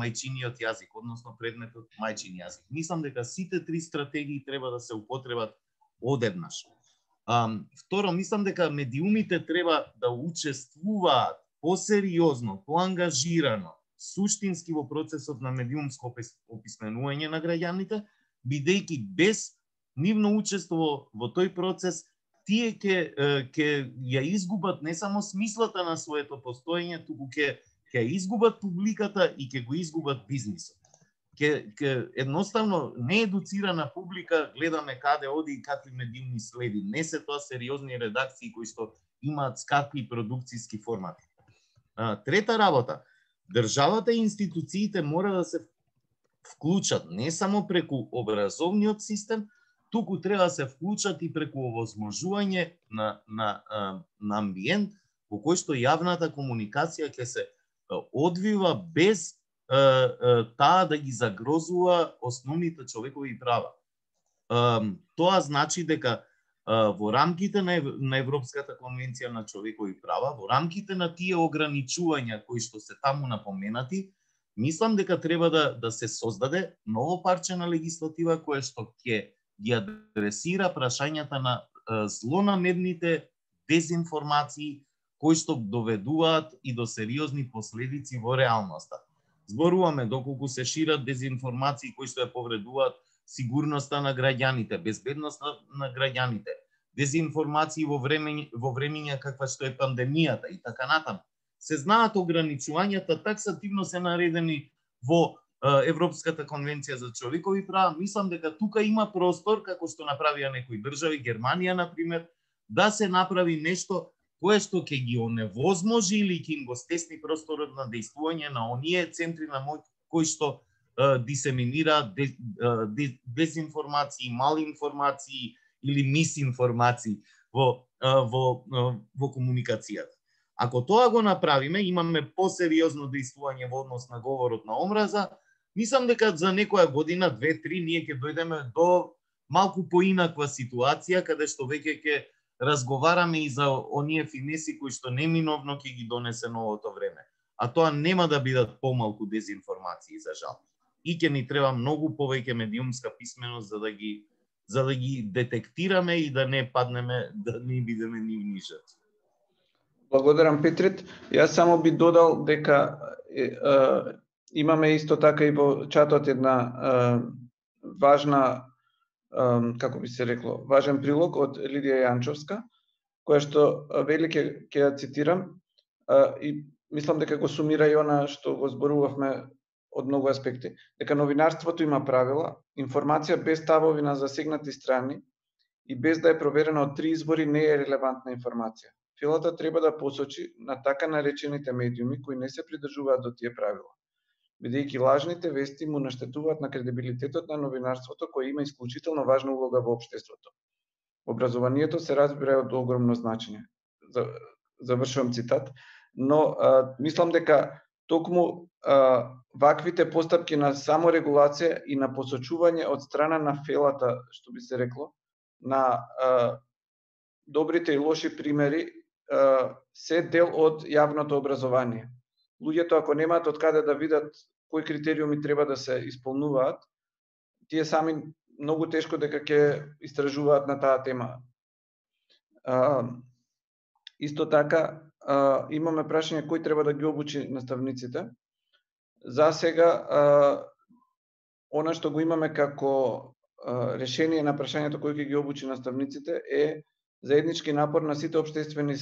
мајчиниот јазик, односно предметот мајчин јазик. Мислам дека сите три стратегии треба да се употребат одеднаш. Второ, мислам дека медиумите треба да учествуваат посериозно, поангажирано, суштински во процесот на медиумско описменување на граѓаните, бидејќи без нивно учество во тој процес, тие ќе ја изгубат не само смислата на своето постоење, туку ќе изгубат публиката и ќе го изгубат бизнисот. Едноставно неедуцирана публика гледаме каде оди и какви медиумни следи. Не се тоа сериозни редакции кои што имаат скапи продукцијски формати. Трета работа, државата и институциите мора да се вклучат не само преку образовниот систем, туку треба да се вклучат и преку овозможување на амбиент во кој што јавната комуникација ќе се одвива без таа да ги загрозува основните човекови права. Тоа значи дека во рамките на Европската конвенција на човекови права, во рамките на тие ограничувања кои што се таму напоменати, мислам дека треба да се создаде ново парче на легислатива кое што ќе ги адресира прашањата на злонамерните дезинформации кои што доведуваат и до сериозни последици во реалноста. Зборуваме доколку се шират дезинформации кои што ја повредуваат сигурноста на граѓаните, безбедноста на граѓаните, дезинформации во времења каква што е пандемијата и така натаму. Се знаат ограничувањата, таксативно се наредени во Европската конвенција за човекови права. Мислам дека тука има простор, како што направија некои држави, Германија например, да се направи нешто кое што ќе ги оневозможи или ќе им го стесни просторот на дејствување на оние центри на моќ кои што дисеминираат дезинформации, малинформации или мисинформации во комуникацијата. Ако тоа го направиме, имаме посериозно дејствување во однос на говорот на омраза, мислам дека за некоја година, 2-3, ние ќе дојдеме до малку поинаква ситуација, каде што веќе ќе разговараме и за оние финеси кои што неминовно ќе ги донесе новото време. А тоа нема да бидат помалку дезинформации, за жал. И ќе ни треба многу повеќе медиумска писменост за да ги детектираме и да не паднеме, да не бидеме нивни жртви. Благодарам, Петрит. Јас само би додал дека имаме исто така и во чатот една важна, како би се рекло, важен прилог од Лидија Јанчовска, која што вели, ќе ја цитирам, и мислам дека го сумира и она што го зборувавме од многу аспекти, дека новинарството има правила, информација без ставови на засегнати страни и без да е проверена од 3 извори не е релевантна информација. Филата треба да посочи на така наречените медиуми кои не се придржуваат до тие правила, бидејќи лажните вести му наштетуваат на кредибилитетот на новинарството кој има исклучително важна улога во општеството. Образованието се разбира од огромно значење. Завршувам цитат, но мислам дека токму ваквите постапки на саморегулација и на посочување од страна на фелата, што би се рекло, на добрите и лоши примери се дел од јавното образование. Луѓето ако немаат од каде да видат кои критериуми треба да се исполнуваат, тие сами многу тешко дека ќе истражуваат на таа тема. Исто така, имаме прашање кој треба да ги обучи наставниците. За сега, она што го имаме како решение на прашањето кој ќе ги обучи наставниците е заеднички напор на сите општествени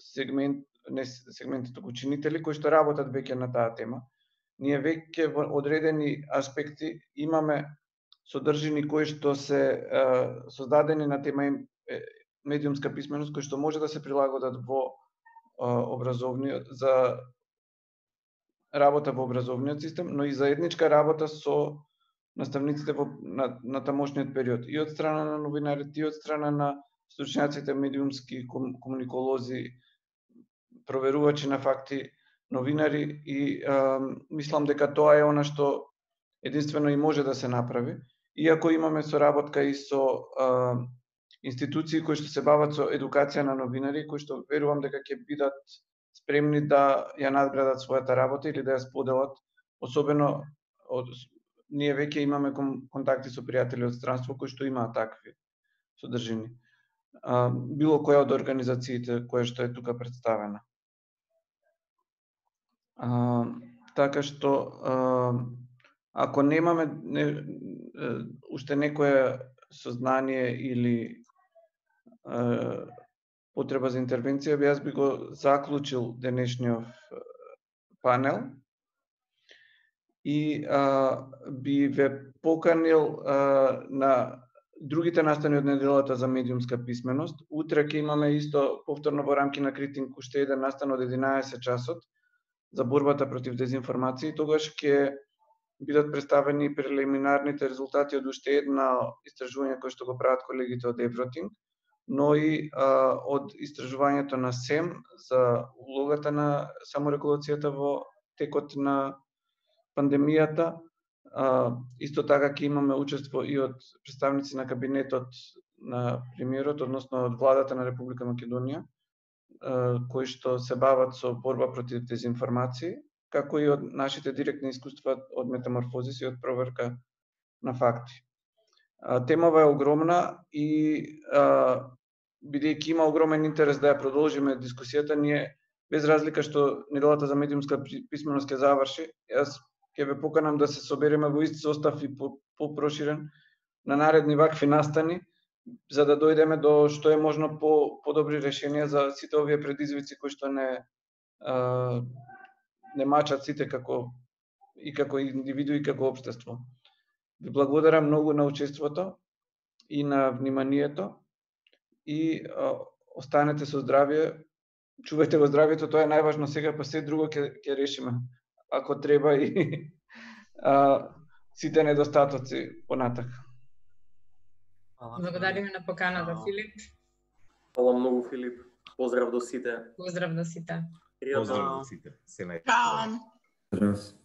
сегменти ученители кои што работат веќе на таа тема. Ние веќе во одредени аспекти имаме содржини кои што се создадени на тема медиумска писменост, кои што може да се прилагодат во образовниот за работа во образовниот систем, но и заедничка работа со наставниците на тамошниот период, и од страна на новинарите, и од страна на стручњаците медиумски комуниколози, проверувачи на факти, новинари, и мислам дека тоа е она што единствено и може да се направи. Иако имаме соработка и со институции кои што се бават со едукација на новинари, кои што верувам дека ќе бидат спремни да ја надградат својата работа или да ја споделат, особено ние веќе имаме контакти со пријатели од странство кои што имаат такви содржини. Било која од организациите која што е тука представена. Така што, ако немаме уште некое сознание или потреба за интервенција, јас би го заклучил денешниот панел и би ве поканил на другите настани од неделата за медиумска писменост. Утре ќе имаме исто повторно во рамки на Критинг уште еден настан од 11 часот за борбата против дезинформација. Тогаш ќе бидат представени прелиминарните резултати од уште една истражување кој што го прават колегите од Евротинг, но и од истражувањето на СЕМ за улогата на саморегулацијата во текот на пандемијата. Исто така ќе имаме учество и од представници на кабинетот на премиерот, односно од владата на Република Македонија, кои што се бават со борба против дезинформации, како и од нашите директни искуства од метаморфозис и од проверка на факти. Темава е огромна и бидејќи има огромен интерес да ја продолжиме дискусијата, ние без разлика што неделата за медиумска писменост ќе заврши, јас ќе ве поканам да се собереме во ист состав и попроширен на наредни вакви настани, за да дојдеме до што е можно подобри решенија за сите овие предизвици кои што не мачат сите како индивидуи и како општество. Ви благодарам многу на учеството и на вниманието и останете со здравје. Чувајте го здравјето, тоа е најважно сега, па се друго ќе решиме, ако треба, и сите недостатоци понатак. Благодариме на поканата, Филип. Фала многу, Филип. Поздрав до сите. Поздрав до сите. Поздрав до сите. Се најдобро. Чао.